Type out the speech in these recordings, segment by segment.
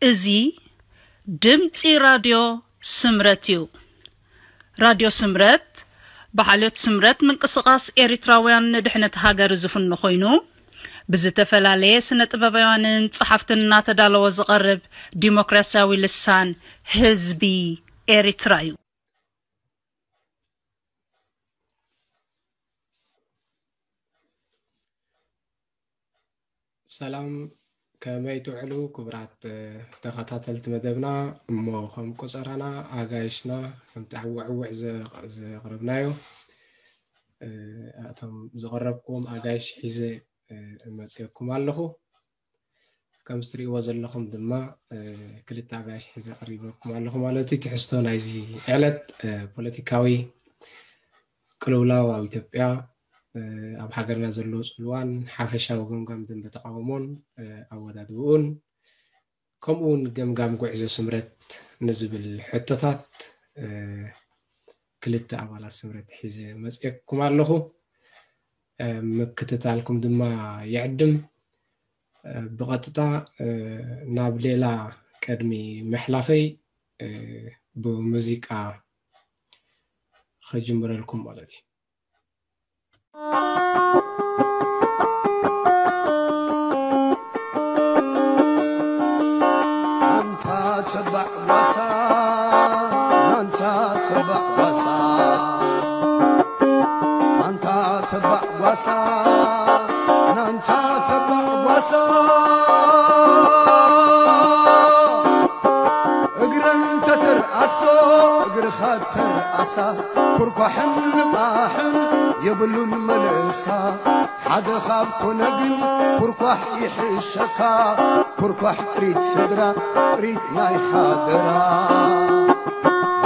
እዚ ድምጺ ራድዮ ስምረት እዩ። ራድዮ ስምረት ብሓልዮት ስምረት ምንቅስቓስ ኤሪትራውያን ንድሕነት ሃገር ዝፍኖ ኮይኑ፣ ብዝተፈላለየ ስነ ጥበባውያንን ጸሓፍትን እናተዳለወ ዝቐርብ ዲሞክራሲያዊ ልሳን ህዝቢ ኤሪትራ እዩ። ሰላም፣ ከመይ ትውዕሉ ክቡራት ተኸታተልቲ መደብና? እሞ ከም ቆጸራና ኣጋይሽና ከምቲ ዕውዕውዕ ዘ- ዘቕረብናዮ፣ እቶም ዘቐረብኩም ኣጋይሽ ሒዘ መጽየኩም ኣለኹ። ከም እትሪእዎ ዘለኹም ድማ ክልተ ኣጋይሽ ሒዘ ቀሪበኩም ኣለኹ ማለት እዩ። ትሕዝቶ ናይዚ ዕለት ፖለቲካዊ ቅልውላው ኣብ ኢትዮጵያ፣ ኣብ ሃገርና ዘሎ ጽልዋን ሓፈሻዊ ገምጋም ደንበ ተቓውሞን ኣወዳድብኡን፣ ከምኡ እውን ገምጋም ጉዕዞ ስምረት ንዝብል ሕቶታት ክልተ ኣባላት ስምረት ሒዘ መፅየኩም ኣለኹ። ምክትታልኩም ድማ ይዕድም። ብቐጥታ ናብ ሌላ ቅድሚ ምሕላፈይ ብሙዚቃ ክጅምረልኩም ማለት እዩ። ኣንታ ተባዕ ጓሳ፣ ኣንታ ተባዕ ጓሳ፣ ኣንታ ተባዕ ጓሳ፣ ናንታ ተባዕ ጓሳ። እግረን ተተርኣሶ፣ እግርኻ ተርኣሳ፣ ኩርኳሕን ልቓሕን የብሉን መለሳ። ሓደ ካብ ኮነ ግን ኩርኳሕ ይሕሸካ፣ ኩርኳሕ ጥሪት ስድራ፣ ጥሪት ናይ ሓደራ።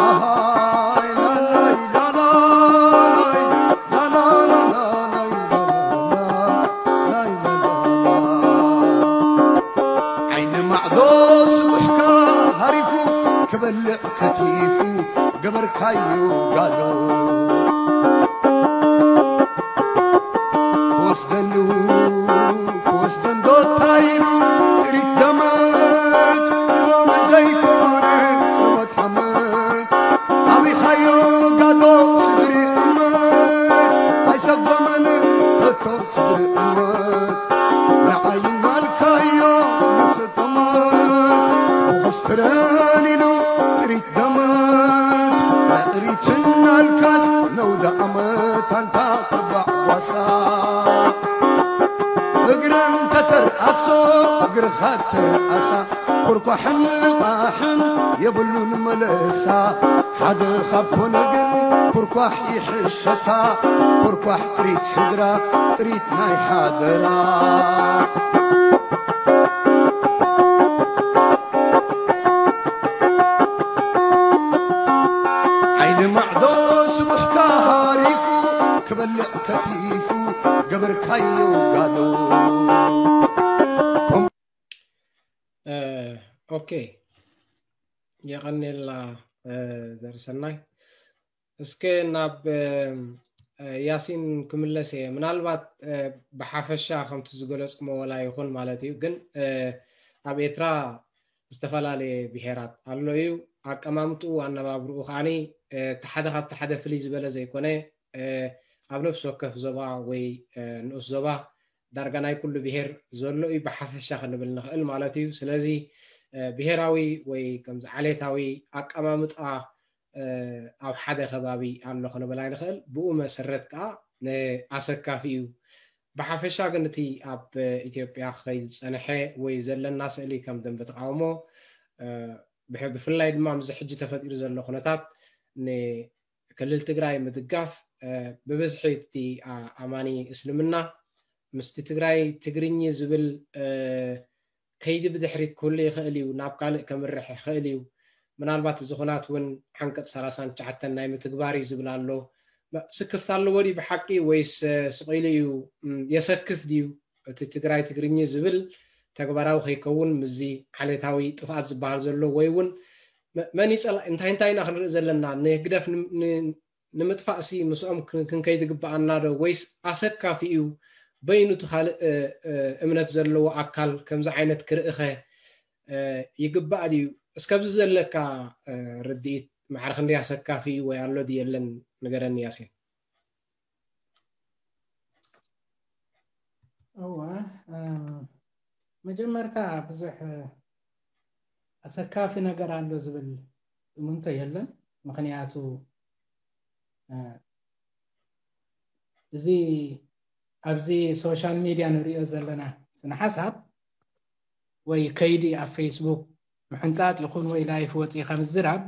ኣሃይ ላላይ ላላላይ፣ ላላላላላይ፣ ላላላ፣ ላይላላላ። ዓይኒ ማዕዶ ስቡሕካ ሃሪፉ፣ ክበልዕ ከቲፉ፣ ገበርካዮ ጋዶ። ክወስደሉ ክወስደን ዶ ታይሉ፣ ጥሪት ደመት ሎሚ ዘይኮነ ሰበት ሓመት። ኣቢኻዮ ጋዶ ስድሪ እመት፣ ኣይሰጎመን ከቶ ስድሪ እመት። ንዓይ እናልካዮ ንሰ ተማት ብኹስትረን ኢሉ ጥሪት ደመት፣ ንጥሪትን ኣልካስ ነውደ ኣመት ኣንታ ተባዕ ጓሳ። እግረን ተተርኣሶ፣ እግርኻ ተርኣሳ፣ ኩርኳሕን ልቓሕን የብሉን መለሳ። ሓደ ካብ ኮነ ግን ኩርኳሕ ይሕሸካ፣ ኩርኳሕ ጥሪት ስድራ፣ ጥሪት ናይ ሓደራ። ዓይኒ ማዕዶ ስቡሕካ ሃሪፉ፣ ክበልዕ ከቲፉ፣ ገበርካዮ ጋዶ። እ፣ ኦኬ፣ የቐኔልና፣ እ፣ ዘርሰናይ። እስከ ናብ፣ እ፣ ያሲን ክምለስ እየ። ምናልባት፣ እ፣ ብሓፈሻ ከምቲ ዝገለጽኩሞ ወላ ይኹን ማለት እዩ፣ ግን፣ እ፣ ኣብ ኤርትራ ዝተፈላለየ ብሄራት ኣሎ እዩ። ኣቀማምጥኡ፣ ኣነባብርኡ ከዓኒ፣ እ፣ እቲ ሓደ ካብቲ ሓደ ፍልይ ዝበለ ዘይኮነ፣ እ፣ ኣብ ነፍሲ ወከፍ ዞባ ወይ፣ እ፣ ንኡስ ዞባ ዳርጋ ናይ ኩሉ ብሄር ዘሎ እዩ ብሓፈሻ ክንብል ንኽእል ማለት እዩ። ስለዚ፣ እ፣ ብሄራዊ ወይ ከምዚ ዓሌታዊ ኣቀማምጣ፣ እ፣ ኣብ ሓደ ከባቢ ኣሎ ክንብል ኣይንኽእል። ብኡ መሰረት ከኣ ንኣሰካፊ እዩ። ብሓፈሻ ግን እቲ ኣብ ኢትዮጵያ ክኸይድ ዝጸንሐ ወይ ዘለና ስእሊ ከም ደንበ ተቃውሞ፣ እ፣ ብሕ-፣ ብፍላይ ድማ ምስዚ ሕጂ ተፈጢሩ ዘሎ ኩነታት ን-፣ ክልል ትግራይ ምድጋፍ፣ እ፣ ብብዝሒ እቲ፣ ኣ-፣ ኣማኒ እስልምና ምስቲ ትግራይ ትግርኚ ዝብል፣ እ፣ ከይዲ ብድሕሪት ክህሉ ይኽእል እዩ፣ ናብ ካልእ ከምርሕ ይኽእል እዩ። ምናልባት እዚ ኩናት እውን ዓንቀጽ ሰላሳን ትሽዓተን ናይ ምትግባር እዩ ዝብል ኣሎ። መ-፣ ስክፍታ ኣለዎ ድዩ ብሓቂ ወይስ፣ እ፣ ስቕ ኢሉ እዩ፣ እም፣ የሰክፍ ድዩ? እቲ ትግራይ ትግርኚ ዝብል ተግባራዊ ከይከውን ምስዚ ዓሌታዊ ጥፍኣት ዝበሃል ዘሎ ወይ እውን መ-፣ መን ይጸላ-፣ እንታይ እንታይ ኢና ክንርኢ ዘለና? ንህግደፍ ን-፣ ን-፣ ንምጥፋእሲ ምስኦም ክን-፣ ክንከይድ ይግብኣና ዶ? ወይስ ኣሰካፊ እዩ? በይኑ እቲ ካልእ፣ እ፣ እ፣ እምነት ዘለዎ ኣካል ከምዚ ዓይነት ክርእኸ፣ ይግባእ ድዩ? እስከብዚ ዘለካ ርድኢት ማዕረ ክንደይ ኣሰካፊ ወይ ኣሎ ድዩ የለን ንገረኒ ያሲን። እወ፣ መጀመርታ ብዙሕ ኣሰካፊ ነገር ኣሎ ዝብል እምንቶ የለን። ምኽንያቱ እዚ ኣብዚ ሶሻል ሚድያ ንሪኦ ዘለና ስነ ሓሳብ ወይ ከይዲ ኣብ ፌስቡክ ምሕንጣጥ ይኹን ወይ ላይፍ ወፂኻ ምዝራብ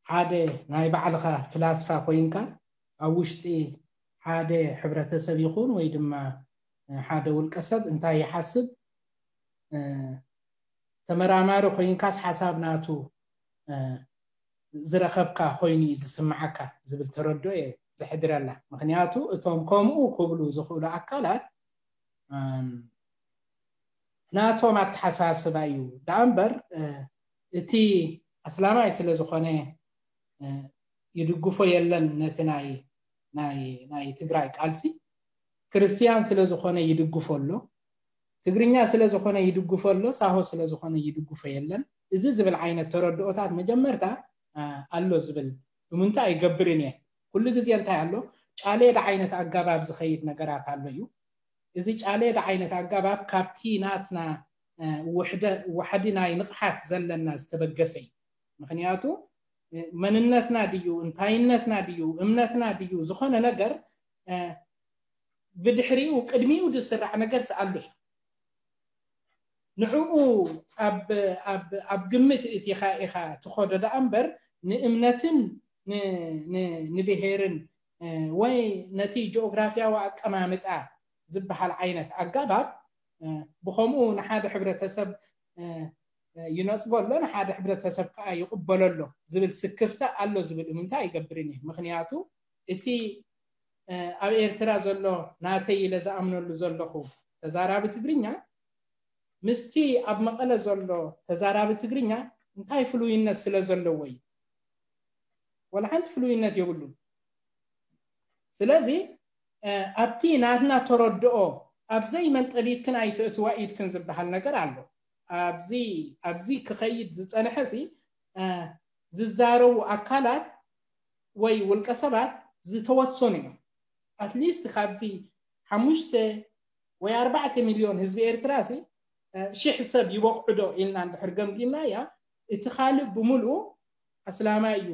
ሓደ ናይ ባዕልኻ ፍላስፋ ኮይንካ ኣብ ውሽጢ ሓደ ሕብረተሰብ ይኹን ወይ ድማ ሓደ ውልቀ ሰብ እንታይ ይሓስብ ተመራማሪ ኮይንካስ ሓሳብ ናቱ ዝረኸብካ ኮይኑ እዩ ዝስምዓካ ዝብል ተረድኦ እየ ዘሕድረላ። ምኽንያቱ እቶም ከምኡ ክብሉ ዝኽእሉ ኣካላት ናቶም ኣተሓሳስባ እዩ ደኣ እምበር እቲ ኣስላማይ ስለ ዝኾነ ይድግፎ የለን ነቲ ናይ ናይ ናይ ትግራይ ቃልሲ። ክርስትያን ስለ ዝኾነ ይድግፎ ኣሎ፣ ትግርኛ ስለ ዝኾነ ይድግፎ ኣሎ፣ ሳሆ ስለ ዝኾነ ይድግፎ የለን። እዚ ዝብል ዓይነት ተረድኦታት መጀመርታ ኣሎ ዝብል እምንታ ኣይገብርን እየ። ኩሉ ግዜ እንታይ ኣሎ? ጫሌድ ዓይነት ኣገባብ ዝኸይድ ነገራት ኣሎ እዩ። እዚ ጫሌድ ዓይነት ኣገባብ ካብቲ ናትና ዋሕዲ ናይ ንቕሓት ዘለና ዝተበገሰ እዩ። ምኽንያቱ መንነትና ድዩ፣ እንታይነትና ድዩ፣ እምነትና ድዩ፣ ዝኾነ ነገር ብድሕሪኡ ቅድሚኡ ዝስራዕ ነገር ስኣሉ እዩ። ንዕኡ ኣብ ግምት እቲኻ ኢኻ ትኸዶ ደኣ እምበር ንእምነትን ንብሄርን ወይ ነቲ ጂኦግራፊያዊ ኣቀማምጣ ዝበሃል ዓይነት ኣገባብ ብኸምኡ ንሓደ ሕብረተሰብ ይነፅጎ ኣሎ፣ ንሓደ ሕብረተሰብ ከዓ ይቕበሎ ኣሎ ዝብል ስክፍታ ኣሎ ዝብል እምንታ ኣይገብርን እየ። ምኽንያቱ እቲ ኣብ ኤርትራ ዘሎ ናተይ ኢለ ዝኣምነሉ ዘለኹ ተዛራቢ ትግርኛ ምስቲ ኣብ መቐለ ዘሎ ተዛራቢ ትግርኛ እንታይ ፍሉይነት ስለ ዘለዎ እዩ? ወላ ሓንቲ ፍሉይነት የብሉን። ስለዚ ኣብቲ ናትና ተረድኦ ኣብ ዘይመንጠቢትክን ኣይትእትዋ ኢድክን ዝበሃል ነገር ኣሎ። ኣብዚ ኣብዚ ክኸይድ ዝፀንሐ ሲ ዝዛረቡ ኣካላት ወይ ውልቀ ሰባት ዝተወሰኑ እዮም። ኣትሊስት ካብዚ ሓሙሽተ ወይ ኣርባዕተ ሚልዮን ህዝቢ ኤርትራ ሲ ሽሕ ሰብ ይበቕዑ ዶ ኢልና እንድሕር ገምጊምና እያ እቲ ካልእ ብምልኡ ኣስላማይ እዩ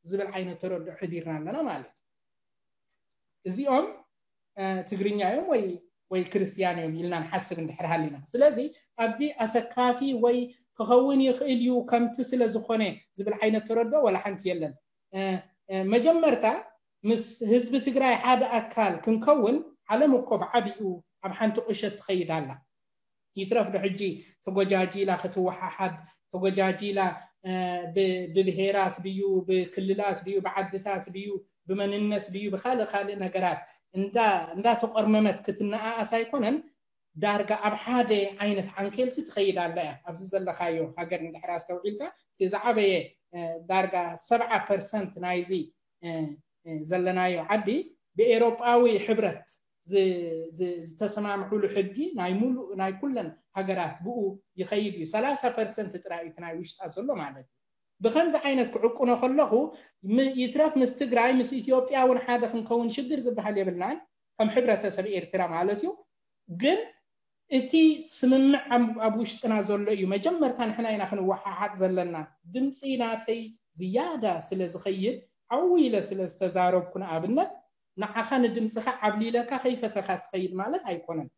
ዝብል ዓይነት ተረድኦ ሕዲርና ኣለና ማለት እዩ። እዚኦም ትግርኛ እዮም ወይ ወይ ክርስትያን እዮም ኢልና ንሓስብ እንድሕር ሃሊና። ስለዚ ኣብዚ ኣሰካፊ ወይ ክኸውን ይኽእል እዩ ከምቲ ስለ ዝኾነ ዝብል ዓይነት ተረድኦ ወላ ሓንቲ የለን። መጀመርታ ምስ ህዝቢ ትግራይ ሓደ ኣካል ክንከውን ዓለም እኮ ብዓቢኡ ኣብ ሓንቲ ቁሸት ትኸይድ ኣላ። ይትረፍ ዶ ሕጂ ተጎጃጂላ ክትወሓሓድ ተጎጃጂላ ብብሄራት ድዩ ብክልላት ድዩ ብዓድታት ድዩ ብመንነት ድዩ ብካልእ ካልእ ነገራት እንዳተቆርመመት ክትነኣኣስ ኣይኮነን። ዳርጋ ኣብ ሓደ ዓይነት ዓንኬልሲ ትኸይድ ኣላ እያ። ኣብዚ ዘለካዮ ሃገር እንድሕር ኣስተውዒልካ እቲ ዝዓበየ ዳርጋ ሰብዓ ፐርሰንት ናይዚ ዘለናዮ ዓዲ ብኤሮጳዊ ሕብረት ዝተሰማምዑሉ ሕጊ ናይ ሙሉእ ናይ ኩለን ሃገራት ብኡ ይኸይድ እዩ። ሰላሳ ፐርሰንት ጥራይ እቲ ናይ ውሽጣ ዘሎ ማለት እዩ። ብከምዚ ዓይነት ክዕቁኖ ከለኹ ይትረፍ ምስ ትግራይ ምስ ኢትዮጵያ እውን ሓደ ክንከውን ሽግር ዝበሃል የብልናን ከም ሕብረተሰብ ኤርትራ ማለት እዩ። ግን እቲ ስምምዕ ኣብ ውሽጥና ዘሎ እዩ። መጀመርታ ንሕና ኢና ክንወሓሓጥ ዘለና። ድምፂ ናተይ ዝያዳ ስለ ዝኸይድ ዓው ኢለ ስለ ዝተዛረብኩ ንኣብነት ንዓኻ ንድምፅኻ ዓብሊለካ ከይፈተኻ ትኸይድ ማለት ኣይኮነን።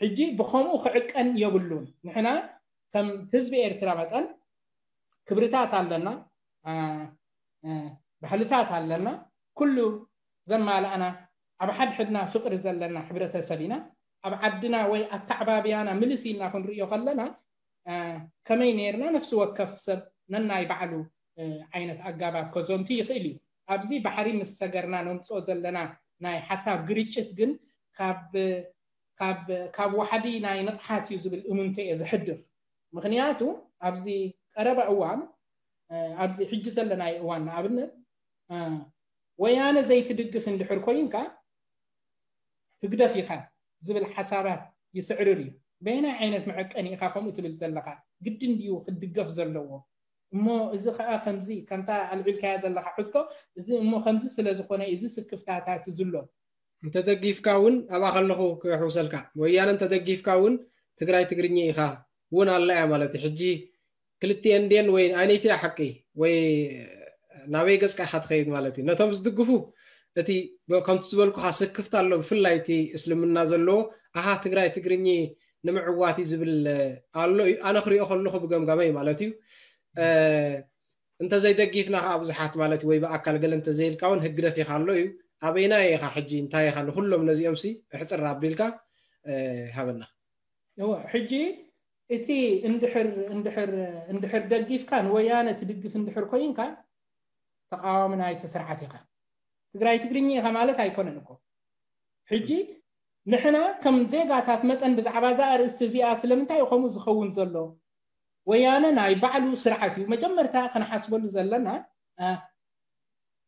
ሕጂ ብኸምኡ ክዕቀን የብሉን። ንሕና ከም ህዝቢ ኤርትራ መጠን ክብርታት ኣለና፣ ባህልታት ኣለና። ኩሉ ዘማላእና ኣብ ሓድሕድና ፍቕሪ ዘለና ሕብረተሰብ ኢና። ኣብ ዓድና ወይ ኣተዓባብያና ምልስ ኢልና ክንርእዮ ከለና ከመይ ነይርና ነፍሲ ወከፍ ሰብ ነናይ ባዕሉ ዓይነት ኣጋባብ ከዘንቱ ይኽእል እዩ። ኣብዚ ባሕሪ ምስ ሰገርና ነምፅኦ ዘለና ናይ ሓሳብ ግርጭት ግን ካብ ካብ ዋሕዲ ናይ ንቕሓት እዩ ዝብል እምንቶ እየ ዝሕድር። ምኽንያቱ ኣብዚ ቀረባ እዋን ኣብዚ ሕጂ ዘለናይ እዋን ንኣብነት ወያነ ዘይትድግፍ እንድሕር ኮይንካ ህግደፍ ኢኻ ዝብል ሓሳባት ይስዕርር እዩ። በየናይ ዓይነት መዐቀኒ ኢኻ ከምኡ ትብል ዘለኻ? ግድን ድዩ ክድገፍ ዘለዎ? እሞ እዚ ኸኣ ከምዚ ከምታ ኣልዒልካያ ዘለኻ ሕቶ፣ እዚ እሞ ከምዚ ስለ ዝኾነ እዚ ስክፍታታት ዝሎ። እንተደጊፍካ እውን ኣብኣ ከለኹ ክሕውሰልካ፣ ወያነ እንተደጊፍካ እውን ትግራይ ትግርኛ ኢኻ እውን ኣላ እያ ማለት እዩ። ሕጂ ክልቲኤን ድየን ወይ ኣይነይቲ ሓቂ ወይ ናበይ ገጽካ ኢኻ ትኸይድ ማለት እዩ። ነቶም ዝድግፉ እቲ ከምቲ ዝበልኩኻ ስክፍታ ኣሎ፣ ብፍላይ እቲ እስልምና ዘለዎ ኣሃ ትግራይ ትግርኛ ንምዕዋት እዩ ዝብል ኣሎ እዩ። ኣነ ክሪኦ ከለኹ ብገምጋመይ ማለት እዩ። እንተዘይደጊፍና ከዓ ብዙሓት ማለት ወይ ብኣካል ገለ እንተዘይልካ እውን ህግደፍ ኢኻ ኣሎ እዩ። ኣበይናይ ኢኻ ሕጂ እንታይ ኢኻ ንኩሎም ነዚኦም ሲ እሕፅር ኣቢልካ ሃበና። ሕጂ እቲ እንድሕር እንድሕር እንድሕር ደጊፍካ ንወያነ ትድግፍ እንድሕር ኮይንካ ተቃዋሚ ናይቲ ስርዓት ኢኻ። ትግራይ ትግርኛ ኢኻ ማለት ኣይኮነን እኮ። ሕጂ ንሕና ከም ዜጋታት መጠን ብዛዕባ እዛ ኣርእስቲ እዚኣ ስለምንታይ እዩ ከምኡ ዝኸውን ዘሎ? ወያነ ናይ ባዕሉ ስርዓት እዩ። መጀመርታ ክንሓስበሉ ዘለና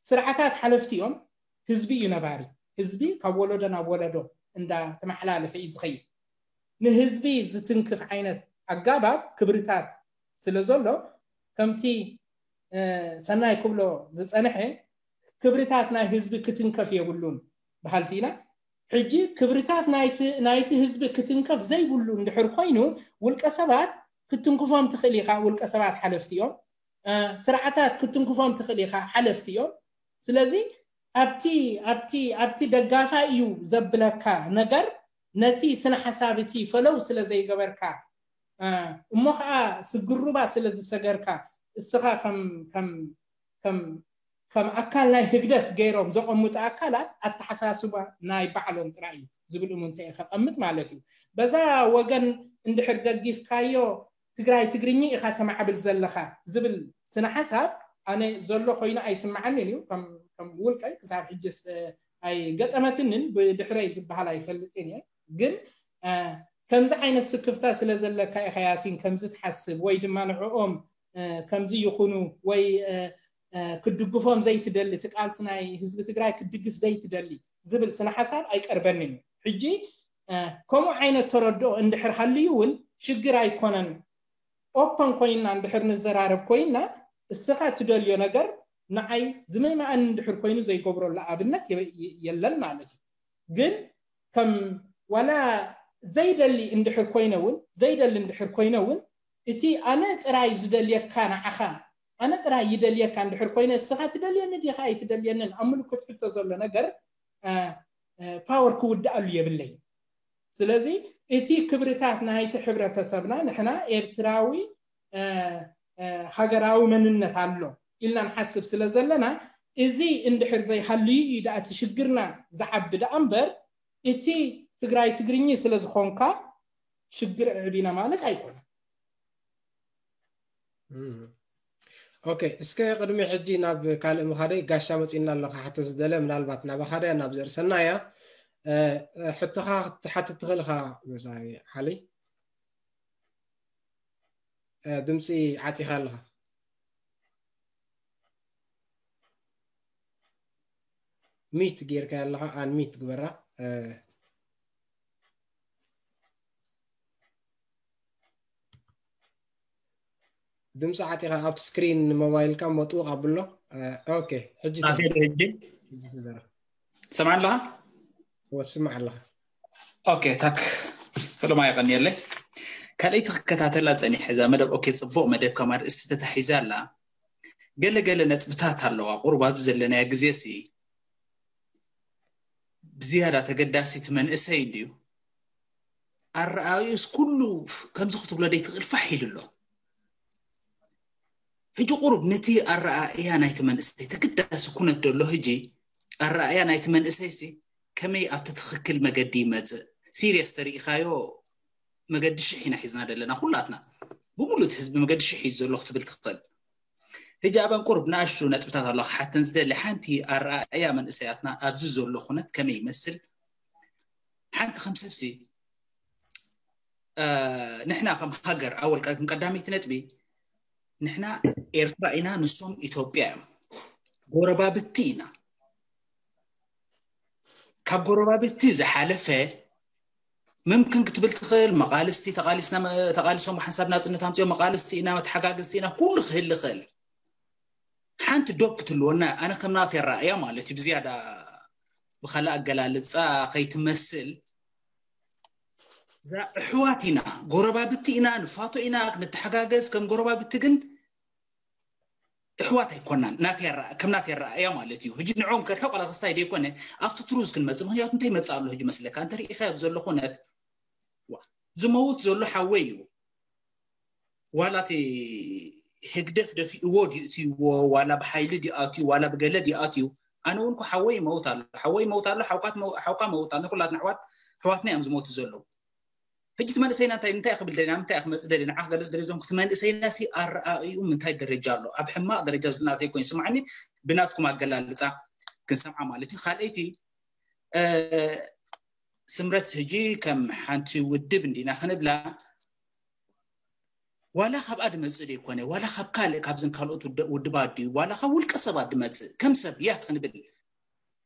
ስርዓታት ሓለፍቲ እዮም። ህዝቢ እዩ ነባሪ። ህዝቢ ካብ ወለዶ ናብ ወለዶ እንዳተመሓላለፈ እዩ ዝኸይድ። ንህዝቢ ዝትንክፍ ዓይነት ኣጋባብ ክብርታት ስለ ዘሎ ከምቲ ሰናይ ክብሎ ዝፀንሐ ክብርታት ናይ ህዝቢ ክትንከፍ የብሉን በሃልቲ ኢና። ሕጂ ክብርታት ናይቲ ህዝቢ ክትንከፍ ዘይብሉ እንድሕር ኮይኑ ውልቀ ሰባት ክትንክፎም ትኽእል ኢኻ። ውልቀ ሰባት ሓለፍቲ እዮም። ስርዓታት ክትንክፎም ትኽእል ኢኻ፣ ሓለፍቲ እዮም። ስለዚ ኣብቲ ኣብቲ ኣብቲ ደጋፋይ እዩ ዘብለካ ነገር ነቲ ስነ ሓሳብ እቲ ፈለው ስለ ዘይገበርካ እሞ ከዓ ስግሩባ ስለ ዝሰገርካ እስኻ ከም ከም ከም ከም ኣካል ናይ ህግደፍ ገይሮም ዘቐምጡ ኣካላት ኣተሓሳስባ ናይ ባዕሎም ጥራይ እዩ ዝብል እሙንተ እየ ከቐምጥ ማለት እዩ። በዛ ወገን እንድሕር ደጊፍካዮ ትግራይ ትግርኛ ኢኻ ተማዕብል ዘለኻ ዝብል ስነ ሓሳብ ኣነ ዘሎ ኮይኑ ኣይስምዓንን እዩ። ከም ውልቀይ ክሳብ ሕጅስ ኣይገጠመትንን ብድሕረይ ዝበሃል ኣይፈልጥን እየ። ግን ከምዚ ዓይነት ስክፍታ ስለ ዘለካ ኢኻ ያሲን ከምዚ ትሓስብ ወይ ድማ ንዕኦም ከምዚ ይኹኑ ወይ ክድግፎም ዘይትደሊ፣ እቲ ቃልሲ ናይ ህዝቢ ትግራይ ክድግፍ ዘይትደሊ ዝብል ስነ ሓሳብ ኣይቀርበንን እዩ። ሕጂ ከምኡ ዓይነት ተረድኦ እንድሕር ሃልዩ እውን ሽግር ኣይኮነን። ኦፐን ኮይንና እንድሕር ንዘራረብ ኮይንና እስኻ ትደልዮ ነገር ንዓይ ዝምእመኣን እንድሕር ኮይኑ ዘይገብረሉ ኣብነት የለን ማለት እዩ። ግን ከም ዋላ ዘይደሊ እንድሕር ኮይነ እውን ዘይደሊ እንድሕር ኮይነ እውን እቲ ኣነ ጥራይ ዝደልየካ ንዓኻ ኣነ ጥራይ ይደልየካ እንድሕር ኮይነ እስኻ ትደልየኒ ዲኻ ኣይትደልየንን ኣብ ምልክት ሕቶ ዘሎ ነገር ፓወር ክውድኣሉ የብለይ። ስለዚ እቲ ክብርታት ናይቲ ሕብረተሰብና ንሕና ኤርትራዊ ሃገራዊ መንነት ኣሎ ኢልና ንሓስብ ስለ ዘለና እዚ እንድሕር ዘይሃልዩ እዩ ደኣ እቲ ሽግርና ዝዓቢ ደኣ እምበር እቲ ትግራይ ትግርኚ ስለ ዝኾንካ ሽግር ኣዕቢና ማለት ኣይኮነን። ኦኬ፣ እስከ ቅድሚ ሕጂ ናብ ካልእ ምኻደይ ጋሻ መፂና ኣለካ ሓተ ዝደለ ምናልባት ናባኻ ድያ ናብ ዘርሰና እያ ሕቶኻ ክትሓትት ትኽእል ኢኻ። መሳይ ሓሊ ድምፂ ዓፂኻ ኣለኻ። ሚት ጌርካ ኣለኻ ኣን ሚት ግበራ። ድምፂ ዓጢኻ ኣብቲ ስክሪን ሞባይልካ መጥውቕ ኣብሎ። ኦኬ፣ ሕጂ ናተይ ዶ ሕጂ? ሕጂ ትዘራ። ትሰምዓኒ ኣለኻ? ወስማዕ ኣለኻ። ኦኬ፣ ታክ ፈለማ የቐንየለይ። ካልኣይቲ ክከታተላ ጸኒሐ እዛ መደብ። ኦኬ፣ ጽቡቕ መደብ ከም ኣርእስቲ ተታሒዛ ኣላ። ገለ ገለ ነጥብታት ኣለዋ። ቁሩብ ኣብዚ ዘለናዮ ግዜ ሲ ብዝያዳ ተገዳሲ እቲ መንእሰይ እንድዩ። ኣረኣእዩስ ኩሉ ከምዚ ክትብሎ ደይትኽእል ፋሕ ኢሉ ኣሎ። ሕጂ ቁሩብ ነቲ ኣረኣእያ ናይቲ መንእሰይ ተገዳሲ ኩነት ደሎ ሕጂ ኣረኣእያ ናይቲ መንእሰይ ሲ ከመይ ኣብቲ ትኽክል መገዲ ይመጽእ ሲሪየስ ተሪኢኻዮ መገዲ ሽሕ ኢና ሒዝና ዘለና ኩላትና ብሙሉእ ህዝቢ መገዲ ሽሕ እዩ ዘሎ ክትብል ትኽእል። ሕጂ ኣበን ቁሩብ ንኣሽቱ ነጥብታት ኣሎ ክሓተን ዝደሊ ሓንቲ ኣረኣእያ መንእሰያትና ኣብዚ ዘሎ ኩነት ከመይ ይመስል ሓንቲ ከም ሰብሲ ንሕና ከም ሃገር ኣወል ከም ቀዳመይቲ ነጥቢ ንሕና ኤርትራ ኢና ንሶም ኢትዮጵያ እዮም ጎረባብቲ ኢና ካብ ጎረባብቲ ዝሓለፈ ምምክን ክትብል ትኽእል። መቓልስቲ ተቓሊስና፣ ተቓሊሶም ሓንሳብ ናፅነት ኣምፅኦም መቓልስቲ ኢና፣ መተሓጋግዝቲ ኢና፣ ኩሉ ክህል ይኽእል። ሓንቲ ዶብ ክትህልወና፣ ኣነ ከም ናተይ ኣረኣእያ ማለት እዩ። ብዝያዳ ብኻልእ ኣገላልፃ ከይትመስል፣ እዛ ኣሕዋት ኢና፣ ጎረባብቲ ኢና፣ ንፋቶ ኢና፣ ንተሓጋገዝ ከም ጎረባብቲ፣ ግን ኣሕዋት ኣይኮናን። ናተይ ኣረኣ-፣ ከም ናተይ ኣረኣእያ ማለት እዩ። ሕጂ ንዕኦም ከርሕቕ ዋላ ክስታይ ደይኮነ፣ ኣብቲ ትሩዝ ክንመፅእ። ምኽንያቱ እንታይ ይመፅእ ኣሎ ሕጂ መስለካ? እንተ ርኢኻዮ ኣብ ዘሎ ኩነት፣ ዋ፣ ዝመውት ዘሎ ሓወይ እዩ። ዋላ እቲ ህግደፍ ደፊእዎ ድዩ እትይዎ፣ ዋላ ብሓይሊ ድዩ ኣትዩ፣ ዋላ ብገለ ድዩ ኣትዩ፣ ኣነ እውን እኮ ሓወይ ይመውት ኣሎ፣ ሓወይ ይመውት ኣሎ፣ ሓውካ ትመው-፣ ሓውካ መውት ኣሎ። ኩላትና ኣሕዋት፣ ኣሕዋትና እዮም ዝሞቱ ዘለዉ። ሕጂ እቲ መንእሰይና እንታይ፣ እንታይ ክብል ደሊና፣ ምንታይ ክመጽእ ደሊና፣ ዓኽ ገለ ደሊዞም፣ እቲ መንእሰይና ሲ ኣረኣእዩ ምንታይ ደረጃ ኣሎ? ኣብ ሕማቕ ደረጃ ዘሎ ናተይ ኮይኑ ይስምዓኒ፣ ብናትኩም ኣገላልጻ ክንሰምዓ ማለት እዩ። ካልኣይቲ፣ እ፣ ስምረት ሕጂ ከም ሓንቲ ውድብ እንዲና ክንብላ፣ ዋላ ካብኣ ድመጽእ ደይኮነ፣ ዋላ ካብ ካልእ፣ ካብዘን ካልኦት ውድ-፣ ውድባት ድዩ፣ ዋላ ካብ ውልቀ ሰባት ድመጽእ፣ ከም ሰብ ያክ ክንብል፣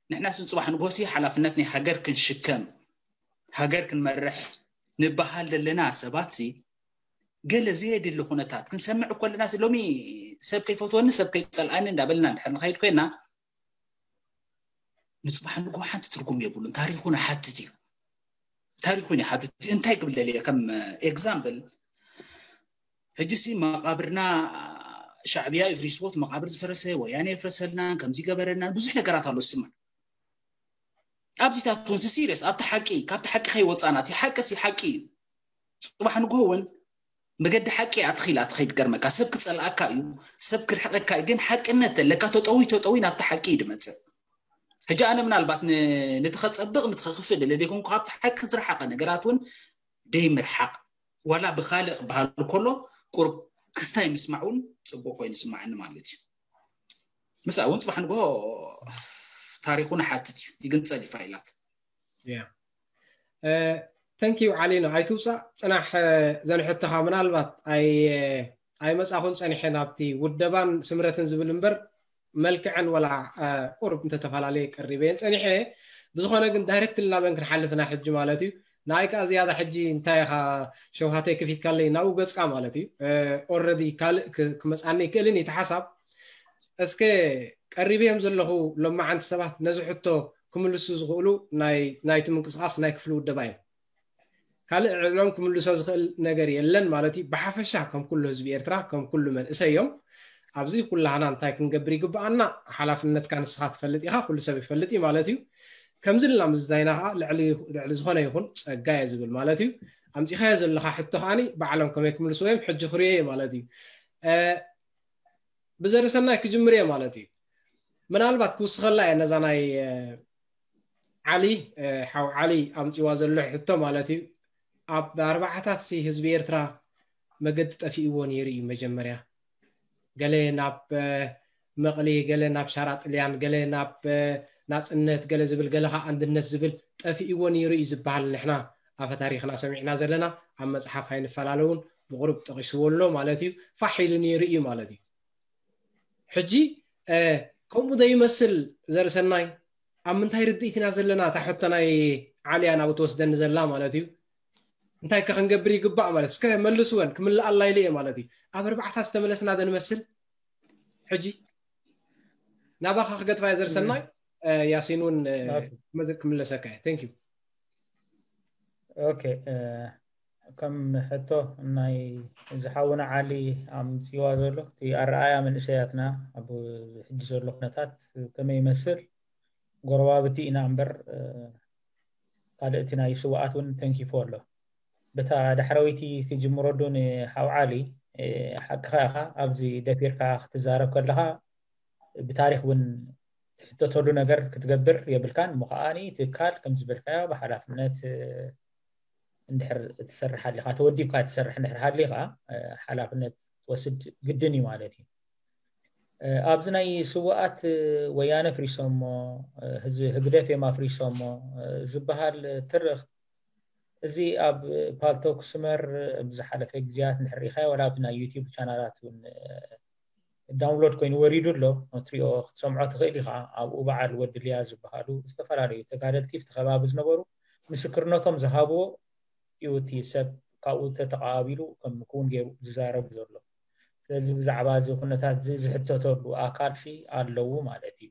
ንሕና ስን ጽባሕ ንጎሲ ሓላፍነት ናይ ሃገር ክንሽከም፣ ሃገር ክንመርሕ ንበሃል ዘለና ሰባት ሲ፣ ገለ ዘየድሊ ኩነታት ክንሰምዕ እኮ ኣለና። ሲ ሎሚ ሰብ ከይፈትወኒ፣ ሰብ ከይጸልኣኒ እንዳበልና እንድሕር ንኸይድ ኮይና፣ ንጽባሕ ንግሆ ሓንቲ ትርጉም የብሉን። ታሪኹን ይሓትት እዩ። ታሪኹን ይሓትት እዩ። እንታይ ክብል ደልየ፣ ከም ኤግዛምፕል፣ ሕጂ ሲ መቓብርና ሻዕብያ ይፍሪስዎ፣ እቲ መቓብር ዝፈረሰ ወያነ የፍረሰልና፣ ከምዚ ገበረልና፣ ብዙሕ ነገራት ኣሎ ዝስማዕ። ኣብዚታት እውን ሲ ሲሪየስ፣ ኣብቲ ሓቂ፣ ካብቲ ሓቂ ከይወጻና፣ እቲ ሓቂ ሲ ሓቂ እዩ። ጽባሕ ንግሆ እውን መገዲ ሓቂ እያ ትኽኢላ ትኸይድ። ገርመካ፣ ሰብ ክጸልኣካ እዩ፣ ሰብ ክርሕቀካ እዩ፣ ግን ሓቅነት ተለካ ተጠዊ ተጠዊ ናብቲ ሓቂ እዩ ድመጽእ። ሕጂ ኣነ ምናልባት ን-፣ ነቲ ከጸብቕ፣ ነቲ ከኽፍእ ደለ ደይኮንኩ፣ ካብቲ ሓቂ ዝረሓቐ ነገራት እውን ደይ ምርሓቕ፣ ዋላ ብኻልእ ክበሃል ከሎ ቁሩብ ክስታይ ምስማዕ እውን ጽቡቕ ኮይኑ ይስማዓኒ ማለት እዩ። ምስኣ እውን ጽባሕ ንግሆ ታሪኹ ንሓትት እዩ፣ ይግንጸል እዩ ፋይላት። Yeah. Thank you ዓሊኖ። ኣይትውፃእ፣ ፅናሕ። ዘንሕቶኻ ምናልባት ኣይ-፣ ኣይመፃኹን ፀኒሐ ናብቲ ውደባን ስምረትን ዝብል እምበር፣ መልክዐን ወላ፣ እ፣ ቁርብ እንተተፈላለየ ቀሪበየን ፀኒሐ። ብዝኾነ ግን ዳይሬክት ናበን ክንሓልፍና ሕጂ ማለት እዩ። ንኣይ ከዓ ዝያዳ ሕጂ እንታይ ኢኻ ሸውሃተይ ከፊትካለይ ናብኡ ገፅካ ማለት እዩ። እ፣ ኦልሬዲ ካልእ ክ-፣ ክመፅኣኒ ይክእልን እዩ እቲ ሓሳብ። እስከ ቀሪበዮም ዘለኹ ሎማዓንቲ ሰባት ነዚ ሕቶ ክምልሱ ዝኽእሉ ናይ፣ ናይቲ ምንቅስቓስ ናይ ክፍሊ ውደባ እዮም። ካልእ ዕሎም ክምልሶ ዝኽእል ነገር የለን ማለት እዩ። ብሓፈሻ ከም ኩሉ ህዝቢ ኤርትራ፣ ከም ኩሉ መንእሰይ እዮም። ኣብዚ ኩላህና እንታይ ክንገብር ይግብኣና? ሓላፍነትካ ንስኻ ትፈልጥ ኢኻ፣ ኩሉ ሰብ ይፈልጥ እዩ ማለት እዩ። ከምዚ ኢልና ምዝታይና ከዓ ልዕሊ፣ ልዕሊ ዝኾነ ይኹን ጸጋ እየ ዝብል ማለት እዩ። ኣምጺኻዮ ዘለኻ ሕቶ ከዓኒ ባዕሎም ከመይ ክምልስዎ እዮም ሕጂ ክርእዮ እየ ማለት እዩ። እ፣ ብዘርሰናይ ክጅምር እየ ማለት እዩ። ምናልባት ክውስኸላ እየ ነዛ ናይ፣ እ፣ ዓሊ፣ እ፣ ሓው ዓሊ ኣምጺዋ ዘሎ ሕቶ ማለት እዩ። ኣብ ኣርባዓታት ሲ ህዝቢ ኤርትራ መገዲ ጠፊእዎ ነይሩ እዩ። መጀመርያ ገለ ናብ፣ እ፣ መቕሊ፣ ገለ ናብ ሻራ ጥልያን፣ ገለ ናብ፣ እ፣ ናጽነት፣ ገለ ዝብል፣ ገለ ኸዓ ኣንድነት ዝብል ጠፊእዎ ነይሩ እዩ ዝበሃል። ንሕና ኣፈ ታሪኽና ሰሚዕና ዘለና፣ ኣብ መጽሓፍ ኣይንፈላለውን፣ ብቑሩብ ጠቒስዎ ኣሎ ማለት እዩ። ፋሕ ኢሉ ነይሩ እዩ ማለት እዩ። ሕጂ፣ እ፣ ከምኡ ዘይመስል ዘርሰናይ፣ ኣብ ምንታይ ርድኢት ኢና ዘለና? እታ ሕቶ ናይ ዓልያ ናብኡ ትወስደኒ ዘላ ማለት እዩ። እንታይ ከ ክንገብር ይግባእ ማለት? እስከ መልስወን፣ ክምልኣላ ኢለ እየ ማለት እዩ። ኣብ ኣርባዕታት ዝተመለስና ዶ ንመስል? ሕጂ ናባኻ ክገጥፋ እየ ዘርሰናይ። እ፣ ያሲን እውን፣ እ፣ ኦኬ። ክመዝ-፣ ክምለሰካ እየ። Thank you። ኦኬ፣ እ፣ ከም ሕቶ ናይ እዚ ሓውና ዓሊ ኣምጺዋ ዘሎ፣ እቲ ኣረኣእያ መንእሰያትና ኣብ ሕጂ ዘሎ ኩነታት ከመይ ይመስል? ጎረባብቲ ኢና እምበር፣ እ፣ ካልእ እቲ ናይ ስውኣት እውን ተንኪፉ ኣሎ። በታ ዳሕረወይቲ ክጅምሮ ዶ ንሓው ዓሊ፣ እ፣ ሓቅኻ ኢኻ። ኣብዚ ደፊርካ ክትዛረብ ከለኻ ብታሪኽ እውን ትሕተተሉ ነገር ክትገብር የብልካን። እሞ ከዓኒ ትካል ከም ዝበልካዮ ብሓላፍነት፣ እ፣ እንድሕር ትሰርሕ ሃሊኻ፣ ተወዲብካ ትሰርሕ እንድሕር ሃሊኻ፣ እ፣ ሓላፍነት ትወስድ ግድን እዩ ማለት እዩ። እ፣ ኣብዚ ናይ ስውኣት፣ እ፣ ወያነ ኣፍሪሶሞ፣ እ፣ ህዝ-፣ ህግደፍ እዮም ኣፍሪሶሞ፣ እ፣ ዝበሃል ትርኽ፣ እዚ ኣብ ፓልቶክ ስመር ኣብ ዝሓለፈ ግዜያት እንድሕር ርኢኻዮ፣ ዋላ ኣብ ናይ ዩቲዩብ ቻናላት እውን፣ እ፣ ዳውንሎድ ኮይኑ ወሪዱ ኣሎ፣ ክትሪኦ ክትሰምዖ ትኽእል ኢኻ። ኣብኡ በዓል ወዲ ልያ ዝበሃሉ ዝተፈላለዩ ተጋደልቲ ኣብቲ ከባቢ ዝነበሩ ምስክርነቶም ዝሃብዎ እዩ እቲ ሰብ ካብኡ ተተቓቢሉ ከም ክውን ገይሩ ዝዛረብ ዘሎ። ስለዚ ብዛዕባ እዚ ኩነታት እዚ ዝሕተተሉ ኣካል ሲ ኣለዉ ማለት እዩ።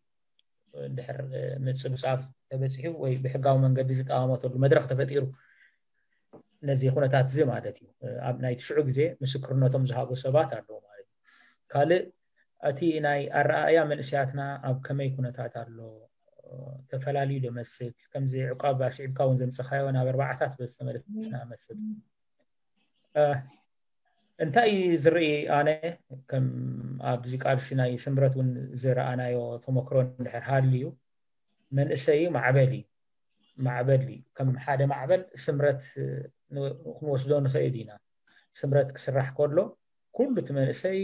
እንድሕር ምፅብፃብ ተበፂሑ ወይ ብሕጋዊ መንገዲ ዝጠማመተሉ መድረክ ተፈጢሩ ነዚ ኩነታት እዚ ማለት እዩ። ኣብ ናይ ትሽዑ ግዜ ምስክርነቶም ዝሃቡ ሰባት ኣለዉ ማለት እዩ። ካልእ እቲ ናይ ኣረኣእያ መንእሰያትና ኣብ ከመይ ኩነታት ኣሎ ተፈላልዩ ዶ መስል ከምዚ ዕቋብ ኣስዒብካ እውን ዘምፀኻዮ ናብ ኣርባዓታት ዝተመለስና መስል እንታይ ዝርኢ ኣነ ከም ኣብዚ ቃልሲ ናይ ስምረት እውን ዝረኣናዮ ተመክሮ እንድሕር ሃልዩ መንእሰይ ማዕበል እዩ ማዕበል እዩ ከም ሓደ ማዕበል ስምረት ክንወስዶ ንኽእል ኢና ስምረት ክስራሕ ከሎ ኩሉ እቲ መንእሰይ